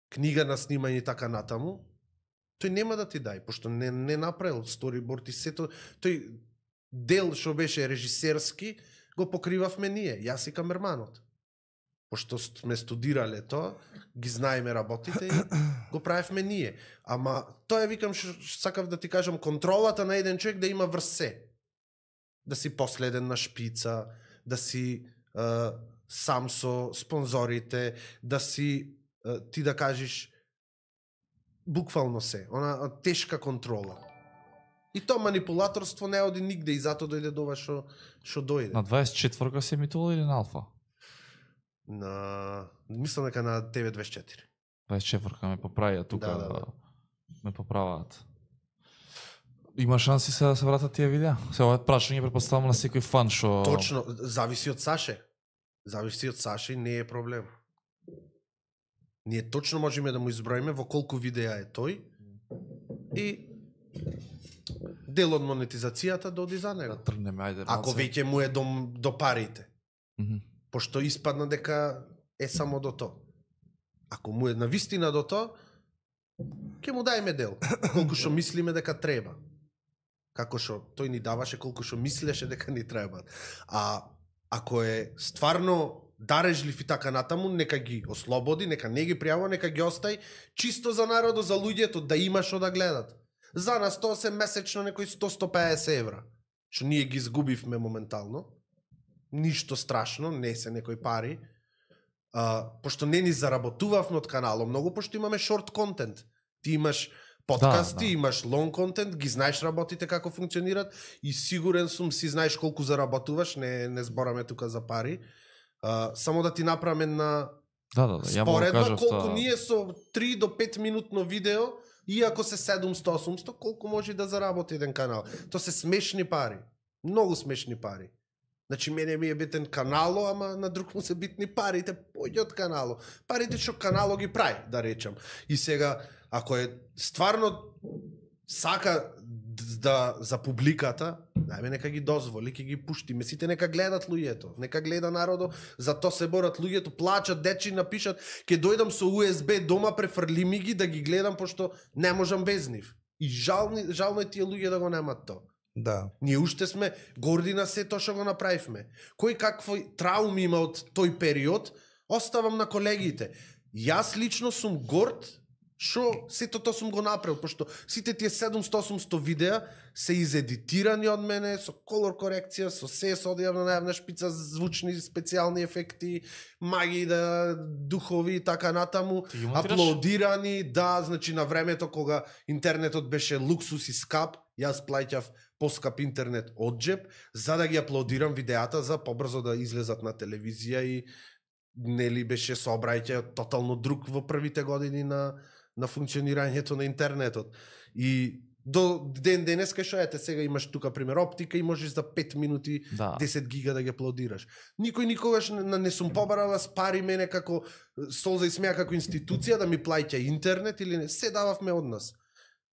книга на снимање и така натаму, тој нема да ти дај, пошто не, не направил сториборд и сето, тој дел што беше режисерски, го покривавме ние, јас и камерманот. Пошто сме студирале тоа, ги знаеме работите и го правевме ние. Ама тоа е, викам, што сакав да ти кажам, контролата на еден човек да има врз се. Да си последен на шпица, да си е, сам со спонзорите, да си, е, ти да кажеш, буквално се, она тешка контрола. И тоа манипулаторство не оди нигде и затоа дојде до ова што што дојде. На дваесет и четврта се емитувала или на Алфа? На мислам дека на Т В дваесет и четири. дваесет и четврта ме поправија тука, Да, да, да. ме поправаат. Има шанси се да се вратат тие видеа? Се ова е прашање претпоставам на секој фан што Точно, зависи од Саше. Зависи од Саше и не е проблем. Ние точно можеме да му изброиме во колку видеа е тој и дел од монетизацијата доди за него. да тргнеме, ајде. Ако малце. веќе му е до, до парите, Мгм. пошто испадна дека е само до тоа. Ако му е навистина до тоа, ќе му дајме дел, колку што мислиме дека треба. Како што тој ни даваше колку што мислеше дека ни треба. А ако е стварно дарежлив и така натаму, нека ги ослободи, нека не ги пријавува, нека ги остај чисто за народот, за луѓето да има што да гледат. За нас тоа се месечно некои сто до сто и песет евра, што ние ги изгубивме моментално. Ништо страшно, не се некои пари. А, пошто не ни заработувавме од каналот многу, пошто имаме шорт контент. Ти имаш подкасти, Да, да. имаш лонг контент, ги знаеш работите како функционират и сигурен сум си знаеш колку заработуваш, не не збораме тука за пари. А, само да ти направиме на Да, да, да, ја му го споредба кажав колку тоа. ние со три до пет минутно видео, иако се седумсто осумсто, колку може да заработи еден канал. Тоа се смешни пари. Многу смешни пари. Значи, мене ми е битен канало, ама на друг му се битни парите, појде од канало. Парите што канало ги прави, да речам. И сега, ако е стварно сака да за публиката, најме нека ги дозволи, ќе ги пуштиме, сите нека гледат луѓето, нека гледа народо, за тоа се борат луѓето, плачат, дечи напишат, ќе дојдам со У Ес Би дома, префрли ми ги да ги гледам, пошто не можам без нив. И жални, жално е тие луѓе да го немат тоа. Да. Ние уште сме горди на се тоа што го направивме. Кој какви трауми има од тој период, оставам на колегите. Јас лично сум горд што сето тоа сум го направил, пошто сите тие седумсто осумсто видеа се изедитирани од мене, со колор корекција, со се со одјавна најавна шпица, звучни специјални ефекти, магии, да, духови и така натаму, Ти ги монтираш? аплодирани, да, значи на времето кога интернетот беше луксус и скап, јас плаќав поскап интернет од джеб, за да ги аплодирам видеата за побрзо да излезат на телевизија и нели беше сообраќај тотално друг во првите години на на функционирањето на интернетот. И до ден денес кај што ете сега имаш тука пример оптика и можеш за пет минути Да. десет гига да ги аплодираш. Никој никогаш не, не сум побарала с пари мене како Солза и смеа како институција да ми плаќа интернет или не, се дававме од нас.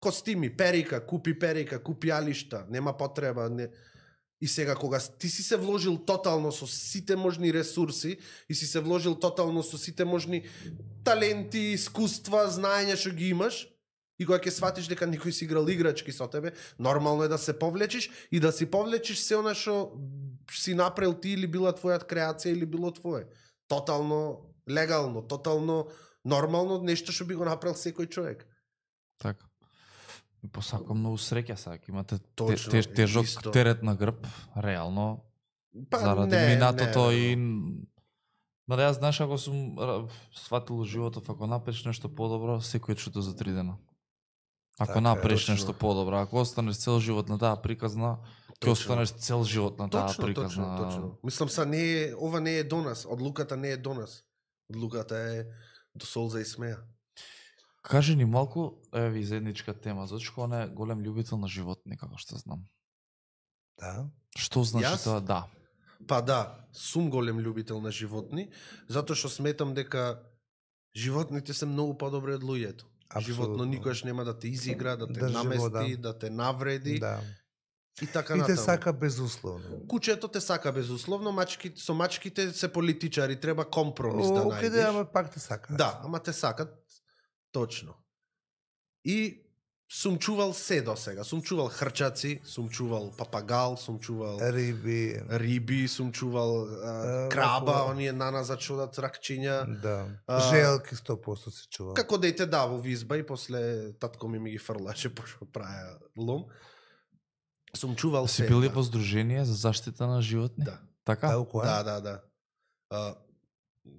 Костими, перика, купи перика, купи алишта, нема потреба, не. И сега кога ти си се вложил тотално со сите можни ресурси и си се вложил тотално со сите можни таленти, искуства, знаења што ги имаш, и кога ќе сватиш дека никој си играл играчки со тебе, нормално е да се повлечиш и да си повлечиш се она што си направил ти или била твоја креација или било твое. Тотално легално, тотално нормално, нешто што би го направил секој човек. Така. И посакам многу среќа сега, имате Точно, те, те, тежок исто. терет на грб, реално, Па, заради не, минатото не, и... Ма да јас знаеш, ако сум ра- сватил животот, ако напреш нешто подобро, секој е чудо за три дена. Ако Така е, напреш точно. нешто подобро, ако останеш цел живот на таа приказна, ќе Точно. останеш цел живот на таа Точно, приказна. точно, точно. Мислам са не е, ова не е до нас, одлуката не е до нас. Одлуката е до солза и смеа. Кажи ни малку, еве ви заедничка тема, зашто не е голем љубител на животни, како што знам. Да. Што значи Јас? тоа? Да. Па да, сум голем љубител на животни, затоа што сметам дека животните се многу подобри од луѓето. Животно Апсолутно. никогаш нема да те изигра, да те Држи намести, вода. да те навреди Да. и така И те натаму. сака безусловно. Кучето те сака безусловно, мачки, со мачките се политичари, треба компромис да О, каде, најдеш. ама пак те сака. Да, ама те сакат, точно. И сум чувал се до сега. Сум чувал хрчаци, сум чувал папагал, сум чувал Риби. риби, сум чувал а, Е, краба, вако- оние нана зачудат ракчиња. Да. А, Желки сто проценти се чува. Како дете да во визба и после татко ми ми ги фрлаше пошто праја лом. Сум чувал Си се. били да. во Сдружение за заштита на животни? Да. Така? Да, која? Да, да, да. А,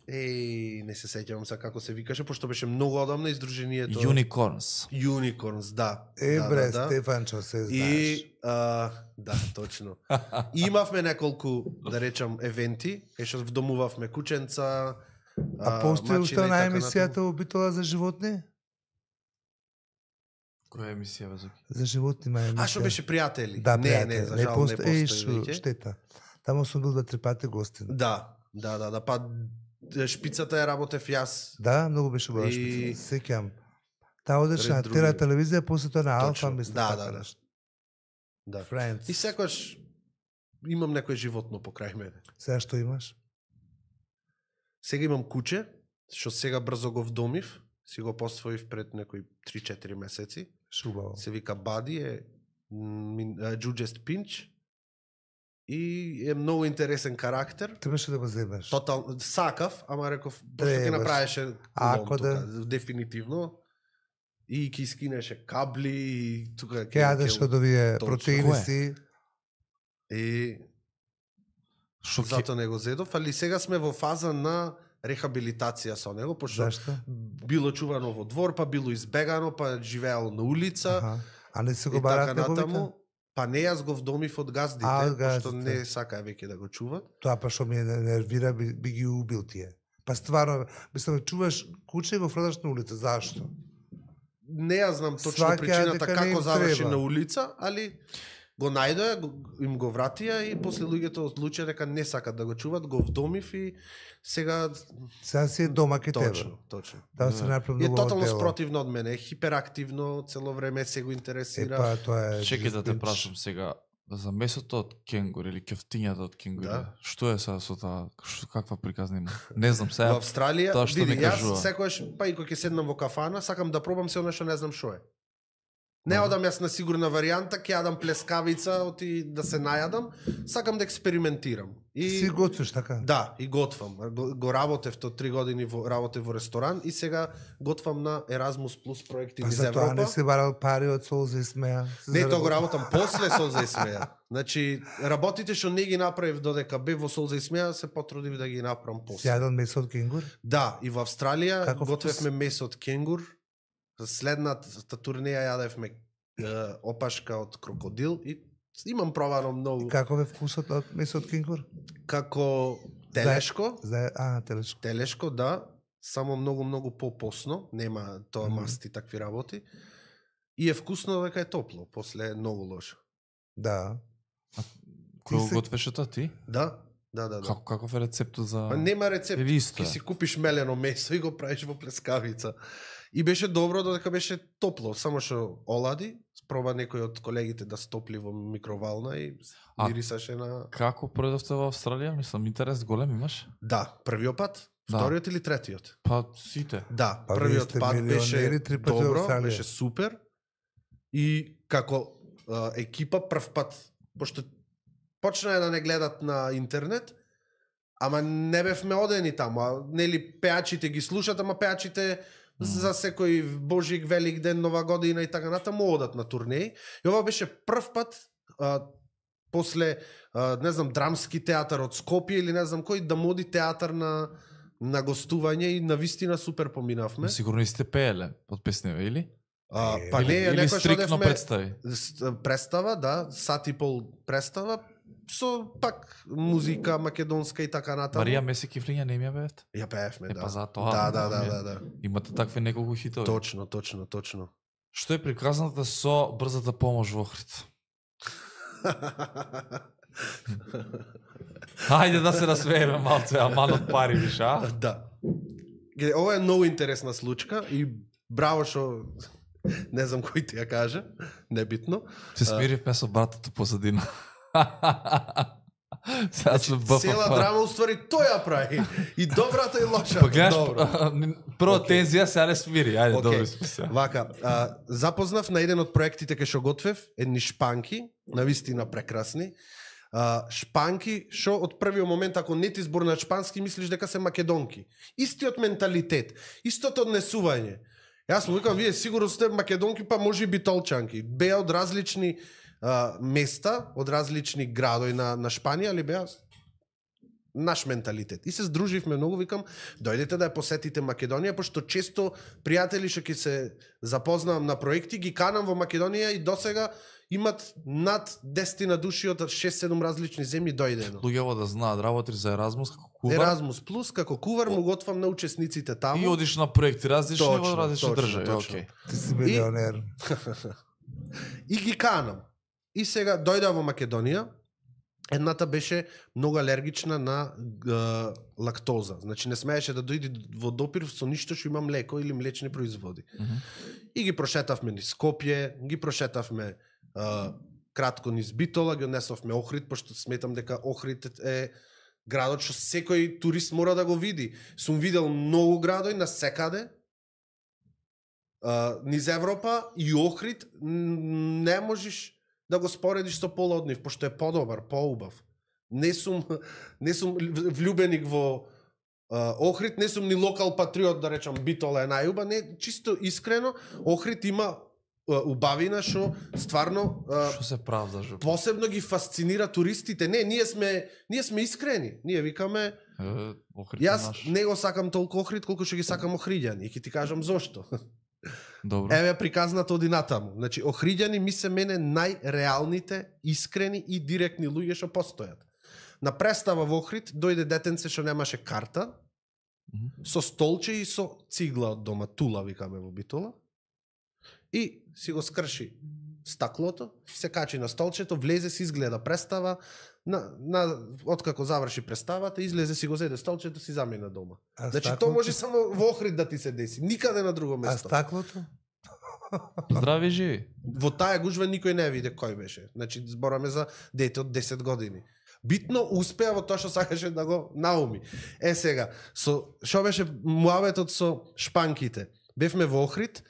еј, не се сеќавам сега како се викаше, пошто беше многу одамно издружението. Unicorns. Unicorns, да. Е, да, бре, да, да. Стефанчо, се знаеш. И а, да, точно. И имавме неколку, да речам, евенти, кај што вдомувавме кученца, А постои мачина уште и на така емисијата Обитола за животни? Која емисија бе Зоки? За животни ма емисија. А што беше пријатели? Да, не, пријатели. не, за жал не посто- Еј, постои шо, веќе. штета. Таму сум бил два-три пати гостин. Да, да, да, да, па шпицата ја работев јас. Да, многу беше убава И- шпица. Сеќам. Таа одеше на Ред други. Тера телевизија, после тоа на Алфа, Точно. мислам, Да, така да, да. нешто. Да. Friends. И секогаш имам некој животно покрај мене. Сега што имаш? Сега имам куче, што сега брзо го вдомив, си го посвоив пред некои три-четири месеци. Шубаво. Се вика Бади, е Джуджест Пинч и е многу интересен карактер. Требаше да го земеш. Тотал сакав, ама реков пошто ќе Требаш. направеше Ако лом да. тука, дефинитивно. И ќе скинеше кабли и тука Ке јадеш од овие Точно. протеини Кое? си. И Што ќе... зато не го зедов, али сега сме во фаза на рехабилитација со него, пошто Зашто? било чувано во двор, па било избегано, па живеел на улица. Аха. А не се го И барат така неговите? натаму. Па не, јас го вдомив од газдите, А, од пошто газдите. не сакаа веќе да го чуват. Тоа па што ми е нервира, би, би ги убил тие. Па стварно, мислам, чуваш куче и го фрлаш на улица. Зашто? Не ја знам точно Сваќаат причината дека не како им заврши треба. на улица, али го најдоа, го- им го вратија и после луѓето одлучија дека не сакат да го чуват, го вдомив и сега Сега си е дома ке тебе. точно, точно. Таа се направи И е многу тотално дело. спротивно од мене, е хиперактивно, цело време се го Е, интересира. па, тоа е... Чекај да те Джуджест прашам сега, за месото од кенгур или кефтињата од кенгур, Да. што е сега со таа, што, каква приказна има? Не знам Во сега. Австралија, тоа што види, ми јас кажува. секојаш, па и кога ќе седнам во кафана, сакам да пробам се оно што не знам што е. Не Аха. одам јас на сигурна варијанта, ќе јадам плескавица, оти да се најадам, сакам да експериментирам. И Си готвиш, така? да, и готвам. Го, го работев то три години во работев во ресторан и сега готвам на Erasmus Plus проекти Па низ за тоа Европа. не си барал пари од солза и смеа. Се Не, тоа заработи. го работам после Солза и смеа. Значи, работите што не ги направив додека бев во Солза и смеа, се потрудив да ги направам Си после. јадал месо од кенгур? Да, и во Австралија Каков готвевме месо од кенгур. Следната турнеја јадевме е, опашка од крокодил и имам пробано многу. Каков е вкусот од месо од кенгур? Како телешко, За... А, телешко. телешко, да, само многу многу попосно, нема тоа Мгм. масти такви работи. И е вкусно дека е топло, после е многу лошо. Да. Кој Ти се- го готвеше тоа ти? Да, Да, да, да. Како каков е рецептот за Па нема рецепт. Или исто Ки е? си купиш мелено месо и го правиш во плескавица. И беше добро додека беше топло, само што олади, проба некој од колегите да стопли во микровална и А, мирисаше на... Како пројдовте во Австралија? Мислам, интерес голем имаш? Да, првиот пат, Да. вториот или третиот? Па сите. Да, Па вие првиот сте пат беше милионери три пати во добро, Австралија. беше супер. И како а, екипа прв пат, пошто почнаа да не гледат на интернет, ама не бевме одени таму, а нели пеачите ги слушат, ама пеачите Мм. за секој Божик, Велик ден, Нова година и така натаму одат на турнеи. И ова беше прв пат а, после а, не знам драмски театар од Скопје или не знам кој да моди театар на на гостување и на вистина супер поминавме. Сигурно и сте пееле под песневе, или? А, Е, па или, не, или некој што стрикно одевме представи. с- представа, да, сат и пол представа, со пак музика македонска и така натаму. Марија Меси Кифлиња не ми ја бевте? Ја пеевме, Е, да. па затоа, Да, да, да, да, ми е. да, да. Имате такви неколку хитови. Точно, точно, точно. Што е приказната со брзата помош во Охрид? Хајде да се насмееме малце, аман од пари више, а? Да. Гледа, ова е многу интересна случка и браво што не знам кој ти ја каже, небитно. Се смиривме со братото позадина. Сега сме БФФ. Цела драма уствари тој ја прави. И добрата и лошата. Па гледаш, Добро. прво Океј. тензија, сега не смири. Ајде, Океј. добри сме се. Вака, а, запознав на еден од проектите кај што готвев, едни шпанки, навистина прекрасни. А, шпанки, што од првиот момент, ако не ти зборнат шпански, мислиш дека се македонки. Истиот менталитет, истото однесување. Јас му викам, вие сигурно сте македонки, па може и битолчанки. Беа од различни а, места, од различни градови на, на Шпанија, али беа наш менталитет. И се здруживме многу, викам, дојдете да ја посетите Македонија, пошто често пријатели што ќе се запознавам на проекти, ги канам во Македонија и досега имат над десет души од шест-седум различни земји дојдено. Луѓево да знаат, работи за Еразмус како кувар. Еразмус плюс како кувар му готвам на учесниците таму. И одиш на проекти различни Точно, во различни точно, држави. точно. Океј. Ти си милионер. И ги канам. И сега дојда во Македонија. Едната беше многу алергична на г, лактоза. Значи не смееше да дојде во допир со ништо што има млеко или млечни производи. Мгм. И ги прошетавме низ Скопје, ги прошетавме а, кратко низ Битола, ги однесовме Охрид, пошто сметам дека Охрид е градот што секој турист мора да го види. Сум видел многу градови на секаде, а, низ Европа и Охрид н- не можеш да го споредиш со пола од нив, пошто е подобар, поубав. Не сум, не сум влюбеник во а, Охрид, не сум ни локал патриот, да речам, Битола е најуба, не, чисто искрено, Охрид има а, убавина што стварно а, Што се правдаш? бе? посебно ги фасцинира туристите. Не, ние сме, ние сме искрени. Ние викаме, Е, Охрид јас наш. не го сакам толку Охрид колку што ги сакам Охриѓани. И ќе ти кажам зошто. Добро. Еве приказната оди натаму. Значи, Охриѓани ми се мене најреалните, искрени и директни луѓе што постојат. На представа во Охрид дојде детенце што немаше карта, Мгм. со столче и со цигла од дома, тула викаме во Битола. И си го скрши стаклото, се качи на столчето, влезе, си изгледа представа, на, на, откако заврши представата, излезе, си го зеде столчето, си замина дома. А Значи, стаклото? тоа може само во Охрид да ти се деси, никаде на друго А место. стаклото? Здрави живи. Во таа гужва никој не виде кој беше. Значи, збораме за дете од десет години. Битно успеа во тоа што сакаше да го науми. Е сега, со што беше муаветот со шпанките? Бевме во Охрид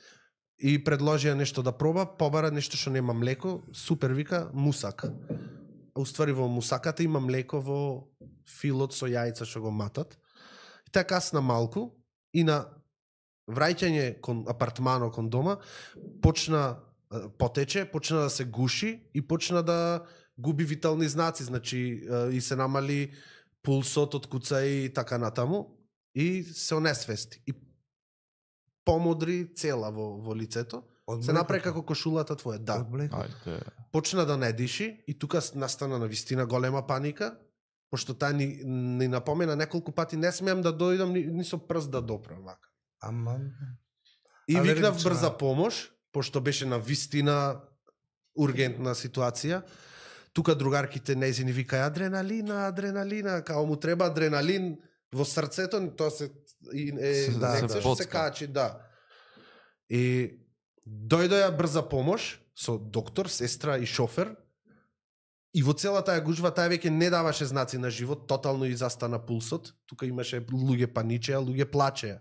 и предложија нешто да проба, побара нешто што нема млеко, супер вика мусак. А уствари во мусаката има млеко во филот со јајца што го матат. И така касна малку и на враќање кон апартмано кон дома почна е, потече, почна да се гуши и почна да губи витални знаци, значи е, и се намали пулсот од куца и така натаму и се онесвести. И помодри цела во, во лицето. Од Се направи млекото? како кошулата твоја, да. Од млекото? Ајде. Почна да не диши и тука настана на вистина голема паника, пошто таа ни, ни напомена неколку пати не смеам да дојдам ни, ни со прст да допрам вака. Аман. И Алергична. викнав брза помош, пошто беше на вистина ургентна ситуација. тука другарките нејзини викаја адреналина, адреналина, као му треба адреналин во срцето, тоа се и, е, Да, инекција да. што се качи, да. И дојдоја брза помош со доктор, сестра и шофер. И во цела таа гужва, таа веќе не даваше знаци на живот, тотално и застана пулсот. Тука имаше луѓе паничеа, луѓе плачеа.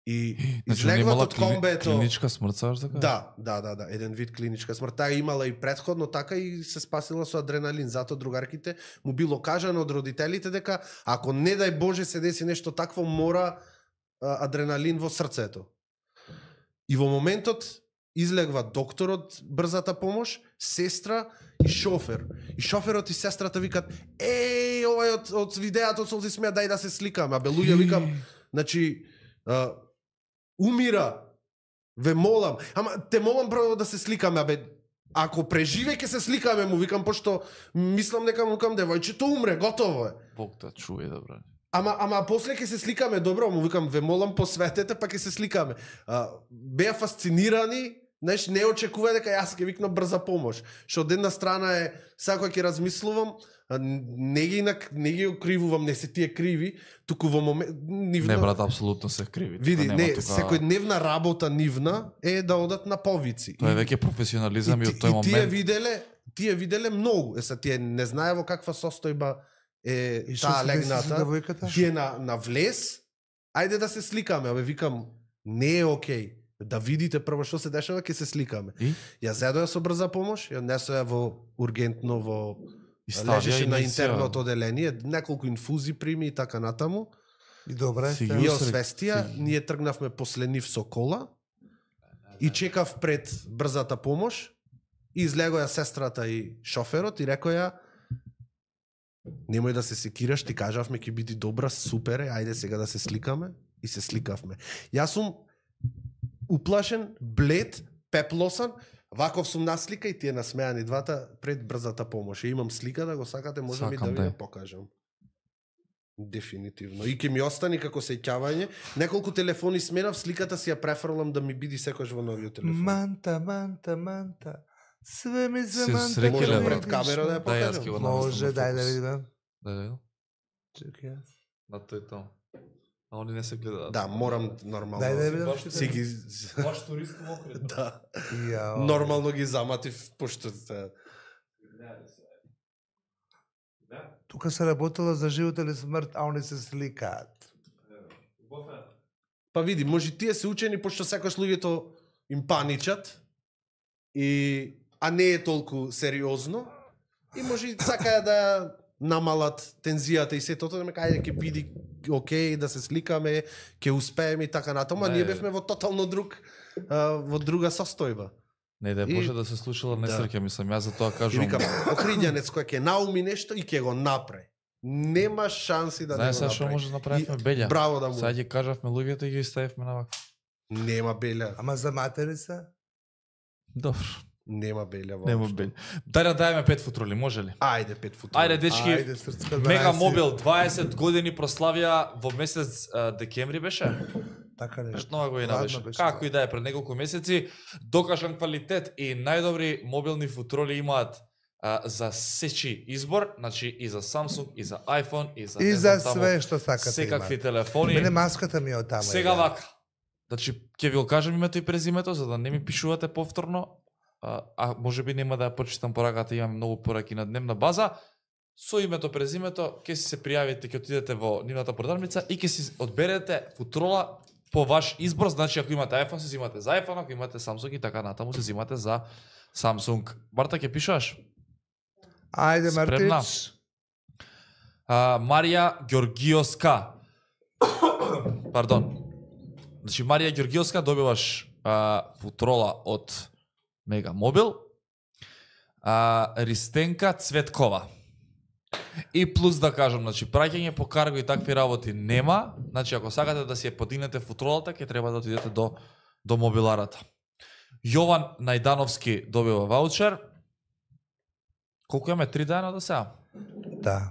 И Значи, излегват немала од клини, комбето. клиничка смрт, саш така? Да, да, да, да, еден вид клиничка смрт. Таа имала и претходно така и се спасила со адреналин. Зато другарките му било кажано од родителите дека ако не дај Боже се деси нешто такво, мора а, адреналин во срцето. И во моментот излегва докторот, брзата помош, сестра и шофер. И шоферот и сестрата викат: "Еј, овај од, од видеото солзи смеа, дај да се сликаме." Абе луѓе викам, значи а, умира. Ве молам. Ама те молам прво да се сликаме, абе. Ако преживе ќе се сликаме, му викам, пошто мислам дека му викам девојчето умре, готово е. Бог да чуе, добро. Ама ама после ќе се сликаме, добро, му викам, ве молам посветете, па ќе се сликаме. А, беа фасцинирани, знаеш, не очекува дека јас ќе викнам брза помош. Што од една страна е, сега кога ќе размислувам, а, не ги нак- не ги окривувам, не се тие криви, туку во момент нивна... Не, брат, апсолутно се криви. Види, Тука не, нема тука- секојдневна работа нивна е да одат на повици. Тоа е И- веќе професионализам и, и, од тој и тие момент. виделе, тие виделе многу. Е, са тие не знае во каква состојба е И што таа се деси со легната. девојката? Тие на, на влез, ајде да се сликаме, абе викам, не е окей. Да видите прво што се дешава, ќе се сликаме. И? Ја зедоја со брза помош, ја несоја во ургентно во И ставија лежеше на инјекција. интерното оделение, неколку инфузи прими и така натаму. И добре. Си те- ги И Јас освестија, рек- ние тргнавме после нив со кола и чекав пред брзата помош и излегоја сестрата и шоферот и рекоја: "Немој да се секираш, ти кажавме ќе биде добра, супер е, ајде сега да се сликаме." И се сликавме. Јас сум уплашен, блед, пеплосан, ваков сум наслика и тие насмеани двата пред брзата помош. И имам слика, да го сакате, можам и да Сакам, ви ја да. покажам. Дефинитивно. И ќе ми остани како сеќавање. Неколку телефони сменав, сликата си ја префрлам да ми биде секојаш во новиот телефон. Манта, манта, манта. Све ми се Се манта. срекеле, Може брат. пред камера да ја Да, јас покажам. ќе го Може, наместам во дај да фокус. видам. Да, да. Чекај јас. На тој тон. А они не се гледаат. Да, морам нормално. Дај да видам. Баш Си ги Баш турист во окрет. да, Јао. нормално ги заматив пошто се- Тука се работела за живот или смрт, а они се сликаат. Па види, може тие се учени пошто секојаш луѓето им паничат и а не е толку сериозно и може и сакаја да ја намалат тензијата и сето тоа, дека ајде ќе биде окей да се сликаме, ќе успееме и така натаму, а Не. ние бевме во тотално друг а, во друга состојба. Не да И- може да се случила несреќа, мислам, јас за тоа И кажувам. викам, охриѓанец кој ќе науми нешто и ќе го направи. Нема шанси да Знаеш не сега го што направи. може да направиме И белја? Браво да му. Сега ги кажавме луѓето и ги ставивме на вака. Нема белја. Ама за матери се? Добро. Нема белја воопшто. Нема белја. Дај да дајме пет футроли, може ли? Ајде пет футбол. Ајде дечки. Ајде, срцка Мега дваесет. Мобил дваесет години прославија во месец а, декември беше. Така не. Пет нова година Ладно беше. беше, Како да. и да е пред неколку месеци, докажан квалитет и најдобри мобилни футроли имаат а, за сечи избор, значи и за Samsung, и за iPhone, и за И не за знам таму, све што сакате секакви имате. телефони. Мене маската ми е од таму. Сега иде. вака. Значи, ќе ви го кажам името и презимето, за да не ми пишувате повторно. А, а може би нема да ја почитам пораката, имам многу пораки на дневна база. Со името, презимето, ќе си се пријавите, ќе отидете во нивната продавница и ќе си одберете футрола по ваш избор. Значи, ако имате iPhone, се зимате за iPhone, ако имате Samsung и така натаму, се зимате за Samsung. Марта, ќе пишуваш? Ајде, Спремна? Мартич. А, Марија Ѓоргиоска. Пардон. Значи, Марија Ѓоргиоска, добиваш а, футрола од Мега Мобил. А, Ристенка Цветкова. И плюс да кажам, значи, праќање по карго и такви работи нема. Значи, ако сакате да си ја подигнете футролата, ќе треба да отидете до, до мобиларата. Јован Најдановски добива ваучер. Колку имаме? Три дена до сега? Да.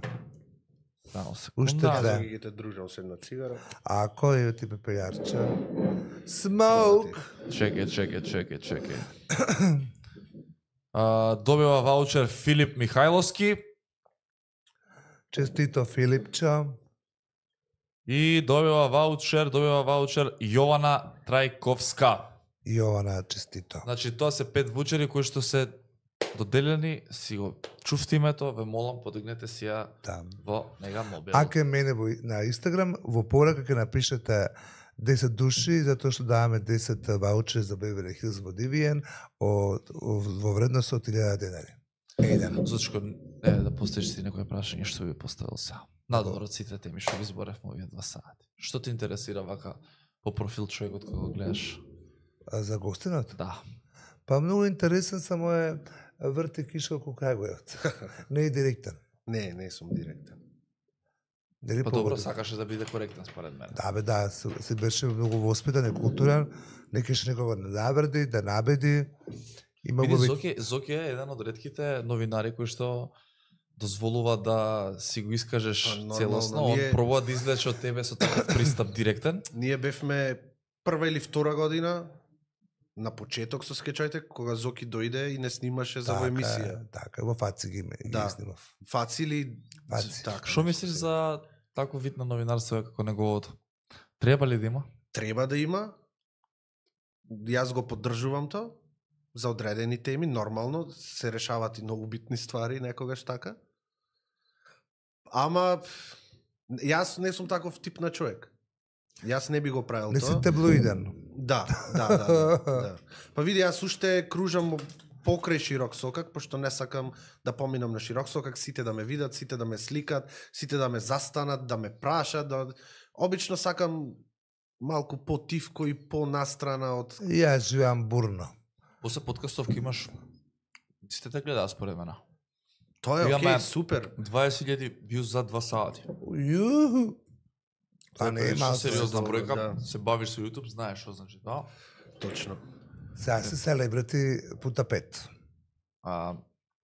Само Уште секунда. две. Јас ги ги дружам се една цигара. Ако е ти пепелјарче. Smoke. Чекај, чекај, чекај, чекај. А, добива ваучер Филип Михајловски Честито Филипчо. и добива ваучер, добива ваучер Јована Трајковска. Јована, честито. Значи тоа се пет ваучери кои што се доделени, си го чувствите името, ве молам подигнете си ја Да. во Мега Мобил. Ако е мене во, на Инстаграм, во порака ќе напишете десет души, затоа што даваме десет ваучери за Бевери Хилз во Дивиен од, во вредност од илјада денари. Еден. Зачко е да поставиш си некој прашање што би поставил сега. Надвор од сите теми што ги зборевме овие два сати. Што те интересира вака по профил човекот кога го гледаш? А за гостинот? Да. Па многу интересен, само е врти киша околу Крајгојот. Не е директен. Не, не сум директен. Дали Па добро, погоди? сакаше да биде коректен според мене. Да, бе, да, се, се беше многу воспитан и културен, не кеше некого да навреди, да набеди. Има Види, го би... Зоки, Зоки е еден од ретките новинари кои што дозволува да си го искажеш Па, нормално, целосно, он ние- пробува да излече од тебе со таков пристап директен. Ние бевме прва или втора година на почеток со скечајте, кога Зоки дојде и не снимаше за во емисија. Е, така, во Фаци ги, ме- Да. ги снимав. Фаци или... Фаци. Така, Што нешто мислиш се- за таков вид на новинарство како неговото? Треба ли да има? Треба да има. Јас го поддржувам тоа. За одредени теми, нормално, се решават и многу битни ствари некогаш така. Ама, јас не сум таков тип на човек. Јас не би го правил Не си тоа. таблоиден. Да, да, да, да, да. Па види, јас уште кружам покрај широк сокак, пошто не сакам да поминам на широк сокак, сите да ме видат, сите да ме сликат, сите да ме застанат, да ме прашат, да... Обично сакам малку по-тивко и по-настрана од... Јас живеам бурно. После подкастов ки имаш сите те гледаат според мене. Тоа е Имаме- окей, супер. дваесет илјади вјуз за два сати. Јуху. Па не е Прилично малку. сериозна добро, бројка, да. се бавиш со YouTube, знаеш што значи тоа. Точно. Сега се селебрити пута пет. А,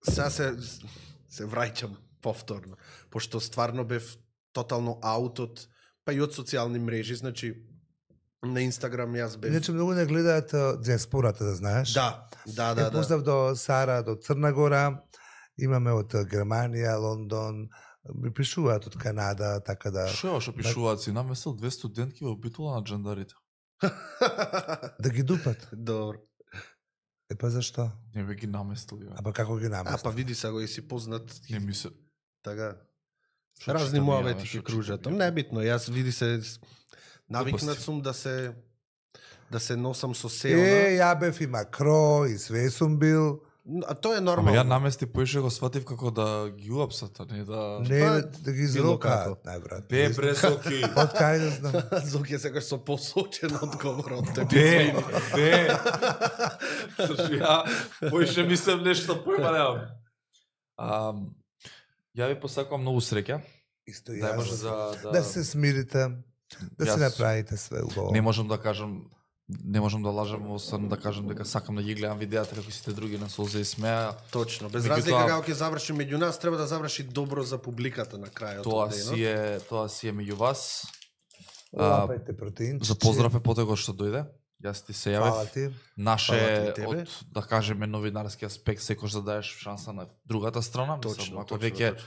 Сега се, се враќам повторно, пошто стварно бев тотално аут од, па и од социјални мрежи, значи на Инстаграм јас бев... Иначе многу не гледаат а, диаспората, да знаеш. Да, да, Да, да, да. Поздрав до Сара, до Црна Гора. Имаме од а, Германија, Лондон, ми пишуваат од Канада, така да што е ова што пишуваат си? Наместил две студентки во битула на джандарите. да ги дупат. Добро. Е па зашто? Не бе ги наместил. Ја. А па како ги А наместат? па види сега и си познат, Не ми се... така. Што Разни читам ја, муавети бе, што ќе кружат. читам ја? Небитно, јас види се навикнат Глупости. сум да се да се носам со Е, се ја бев и Макро, и све сум бил. она. А тоа е Ама ја нормално. намести поише го сватив како да ги уапсат, а не да... Не, Па, бе, да ги било изрокаат, како. најбрат. Де бре Соки? Од кај да знам. Зоки е секогаш со посочен одговор од тебе. Де? Де? Слушай, ја поише мислам нешто појма немам. А, ја ви посакувам многу среќа. Исто Да може јас. за да, Да се смирите, да Јас- се направите све убаво. не можам да кажам не можам да лажам, освен да кажам дека сакам да ги гледам видеата како сите други на Солза и смеа. Точно, без Меѓутоа- разлика како ќе заврши меѓу нас, треба да заврши добро за публиката на крајот Тоа од денот. си е, тоа си е меѓу вас. А, Лапајте протеинчици. За поздрав е потего што дојде. Јас ти се Фала јавив. ти. Наше Фала ти и тебе. од да кажеме новинарски аспект секој да даеш шанса на другата страна, Точно, мислам, ако точно, веќе точно.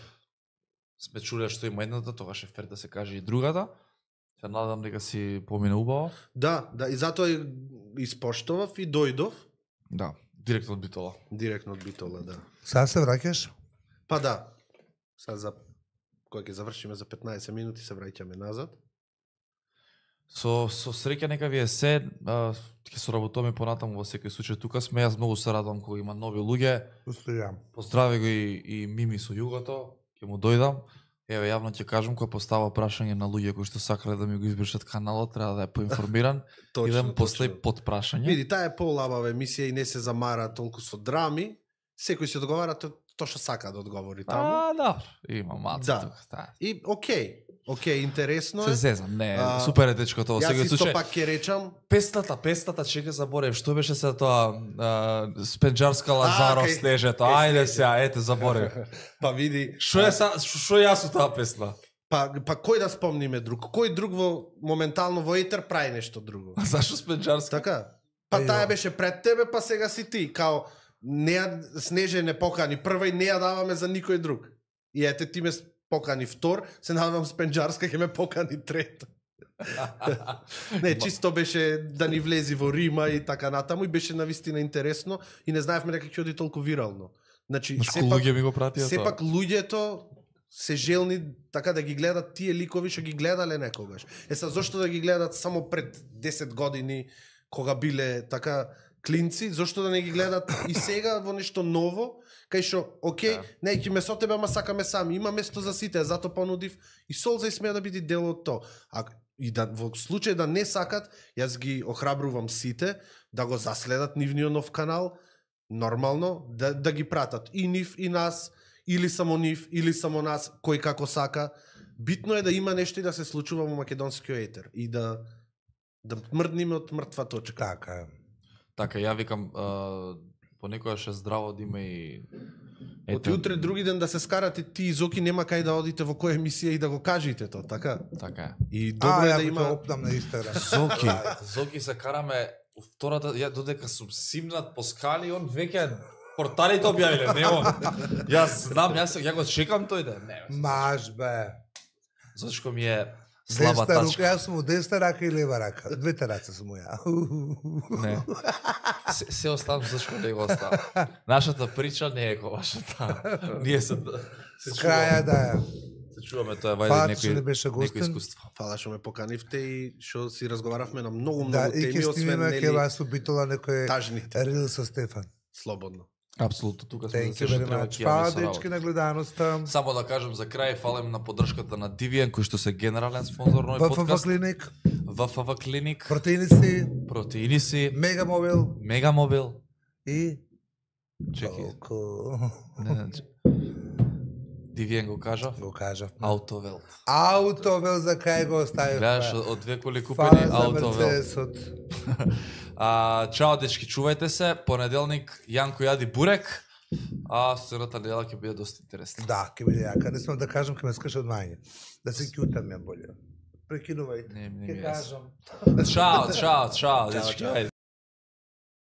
сме чуле што има едната, тогаш е фер да се каже и другата. Се надам дека си помине убаво. Да, да, и затоа и испоштовав и дојдов Да, директно од Битола. директно од Битола, да. Сега се враќаш? Па да. Сега за кога ќе завршиме за петнаесет минути се враќаме назад. Со со среќа нека ви е се, а, ќе соработуваме понатаму во секој случај. Тука сме, јас многу се радувам кога има нови луѓе. Устојам. Поздрави го и, и Мими со југото, ќе му дојдам. Еве јавно ќе кажам кога постава прашање на луѓе кои што сакале да ми го избришат каналот, треба да е поинформиран. Идем после под прашање. Види, таа е полабава емисија и не се замара толку со драми. Секој си одговара то, то што сака да одговори таму. А, да, има маца Да. тука. Да. И окей, окей, интересно Се е. зезам, не, А, супер е дечко тоа. Јас Сега исто случај, пак ќе речам, пестата, пестата, чека заборев, што беше се тоа, а, Спенџарска Лазаров кај- снежето, кај ајде Снежето. сега, ете заборев. па види, Што е са, што што јас со таа песна? па, па кој да спомниме друг? Кој друг во моментално во етер прави нешто друго? А зашо Спенџарска? Така? Па Ајо. таа беше пред тебе, па сега си ти, као не ја Снеже не покани прва и не ја даваме за никој друг. И ете ти ме покани втор, се надевам Спенџарска ќе ме покани трета. Не, чисто беше да ни влези во Рима и така натаму и беше навистина интересно и не знаевме дека ќе оди толку вирално. Значи, Знаеш сепак, луѓе ми го пратија тоа. сепак луѓето се желни така да ги гледат тие ликови што ги гледале некогаш. Е са зошто да ги гледат само пред десет години кога биле така клинци, зошто да не ги гледат и сега во нешто ново, кај што, окей, Да. не ќе ме со тебе, ама сакаме сами, има место за сите, затоа понудив и Солза и смеа да биде дел од тоа. А и да во случај да не сакат, јас ги охрабрувам сите да го заследат нивниот нов канал, нормално, да, да ги пратат и нив и нас, или само нив, или само нас, кој како сака. Битно е да има нешто и да се случува во македонскиот етер и да да мрдниме од мртва точка. Така е. Така, ја викам, а, понекогаш е здраво да има и... Оти утре други ден да се скарате ти и Зоки, нема кај да одите во која емисија и да го кажете тоа, така? Така е. И добро А, е ја да го има... ќе опнам на Инстаграм. Зоки, Зоки се караме втората, ја додека сум симнат по скали, он веќе порталите објавиле, не он. Јас знам, јас ја го чекам тој ден. Не, Маш бе. зашто ми е слаба Десна рука, тачка. јас сум у десна рака и лева рака. Двете раце сум у ја. Не. Се, се оставам зашто не го оставам. Нашата прича не е како вашата. Ние се се С краја да е. Се чуваме тоа е Фала вајде што не некој беше некој гостен. искуство. Фала што ме поканивте и што си разговаравме на многу, многу Да, и теми, ќе освен снимиме ќе нели вас убитола некој тажните. рил со Стефан. Слободно. Апсолутно, тука сме Thank за се you што very треба much. ќе Фала јавиме со дечки работа. на гледаноста. Само да кажам за крај, фалам на поддршката на Divian, кој што се генерален спонзор на овој ВФВ подкаст. клиник, ВФВ клиник, протеини си, протеини си, Мегамобил Мегамобил. и Чекај, толку. не, не, че- Divian го кажа. Го кажав. Аутовелт. Аутовел за кај го оставив. Гледаш, од две коли Фала купени за Аутовелт. Мерцедесот. А, чао дечки, чувајте се. Понеделник Јанко јади бурек, а следната недела ќе биде доста интересна. Да, ќе биде јака. Не смем да кажам, ќе ме скаше од мање. Да се кјутам ја болje. Прекинувајте. Не, не Ќе ми е јасно. кажам. Чао, чао, чао, дечки. чао. ајде.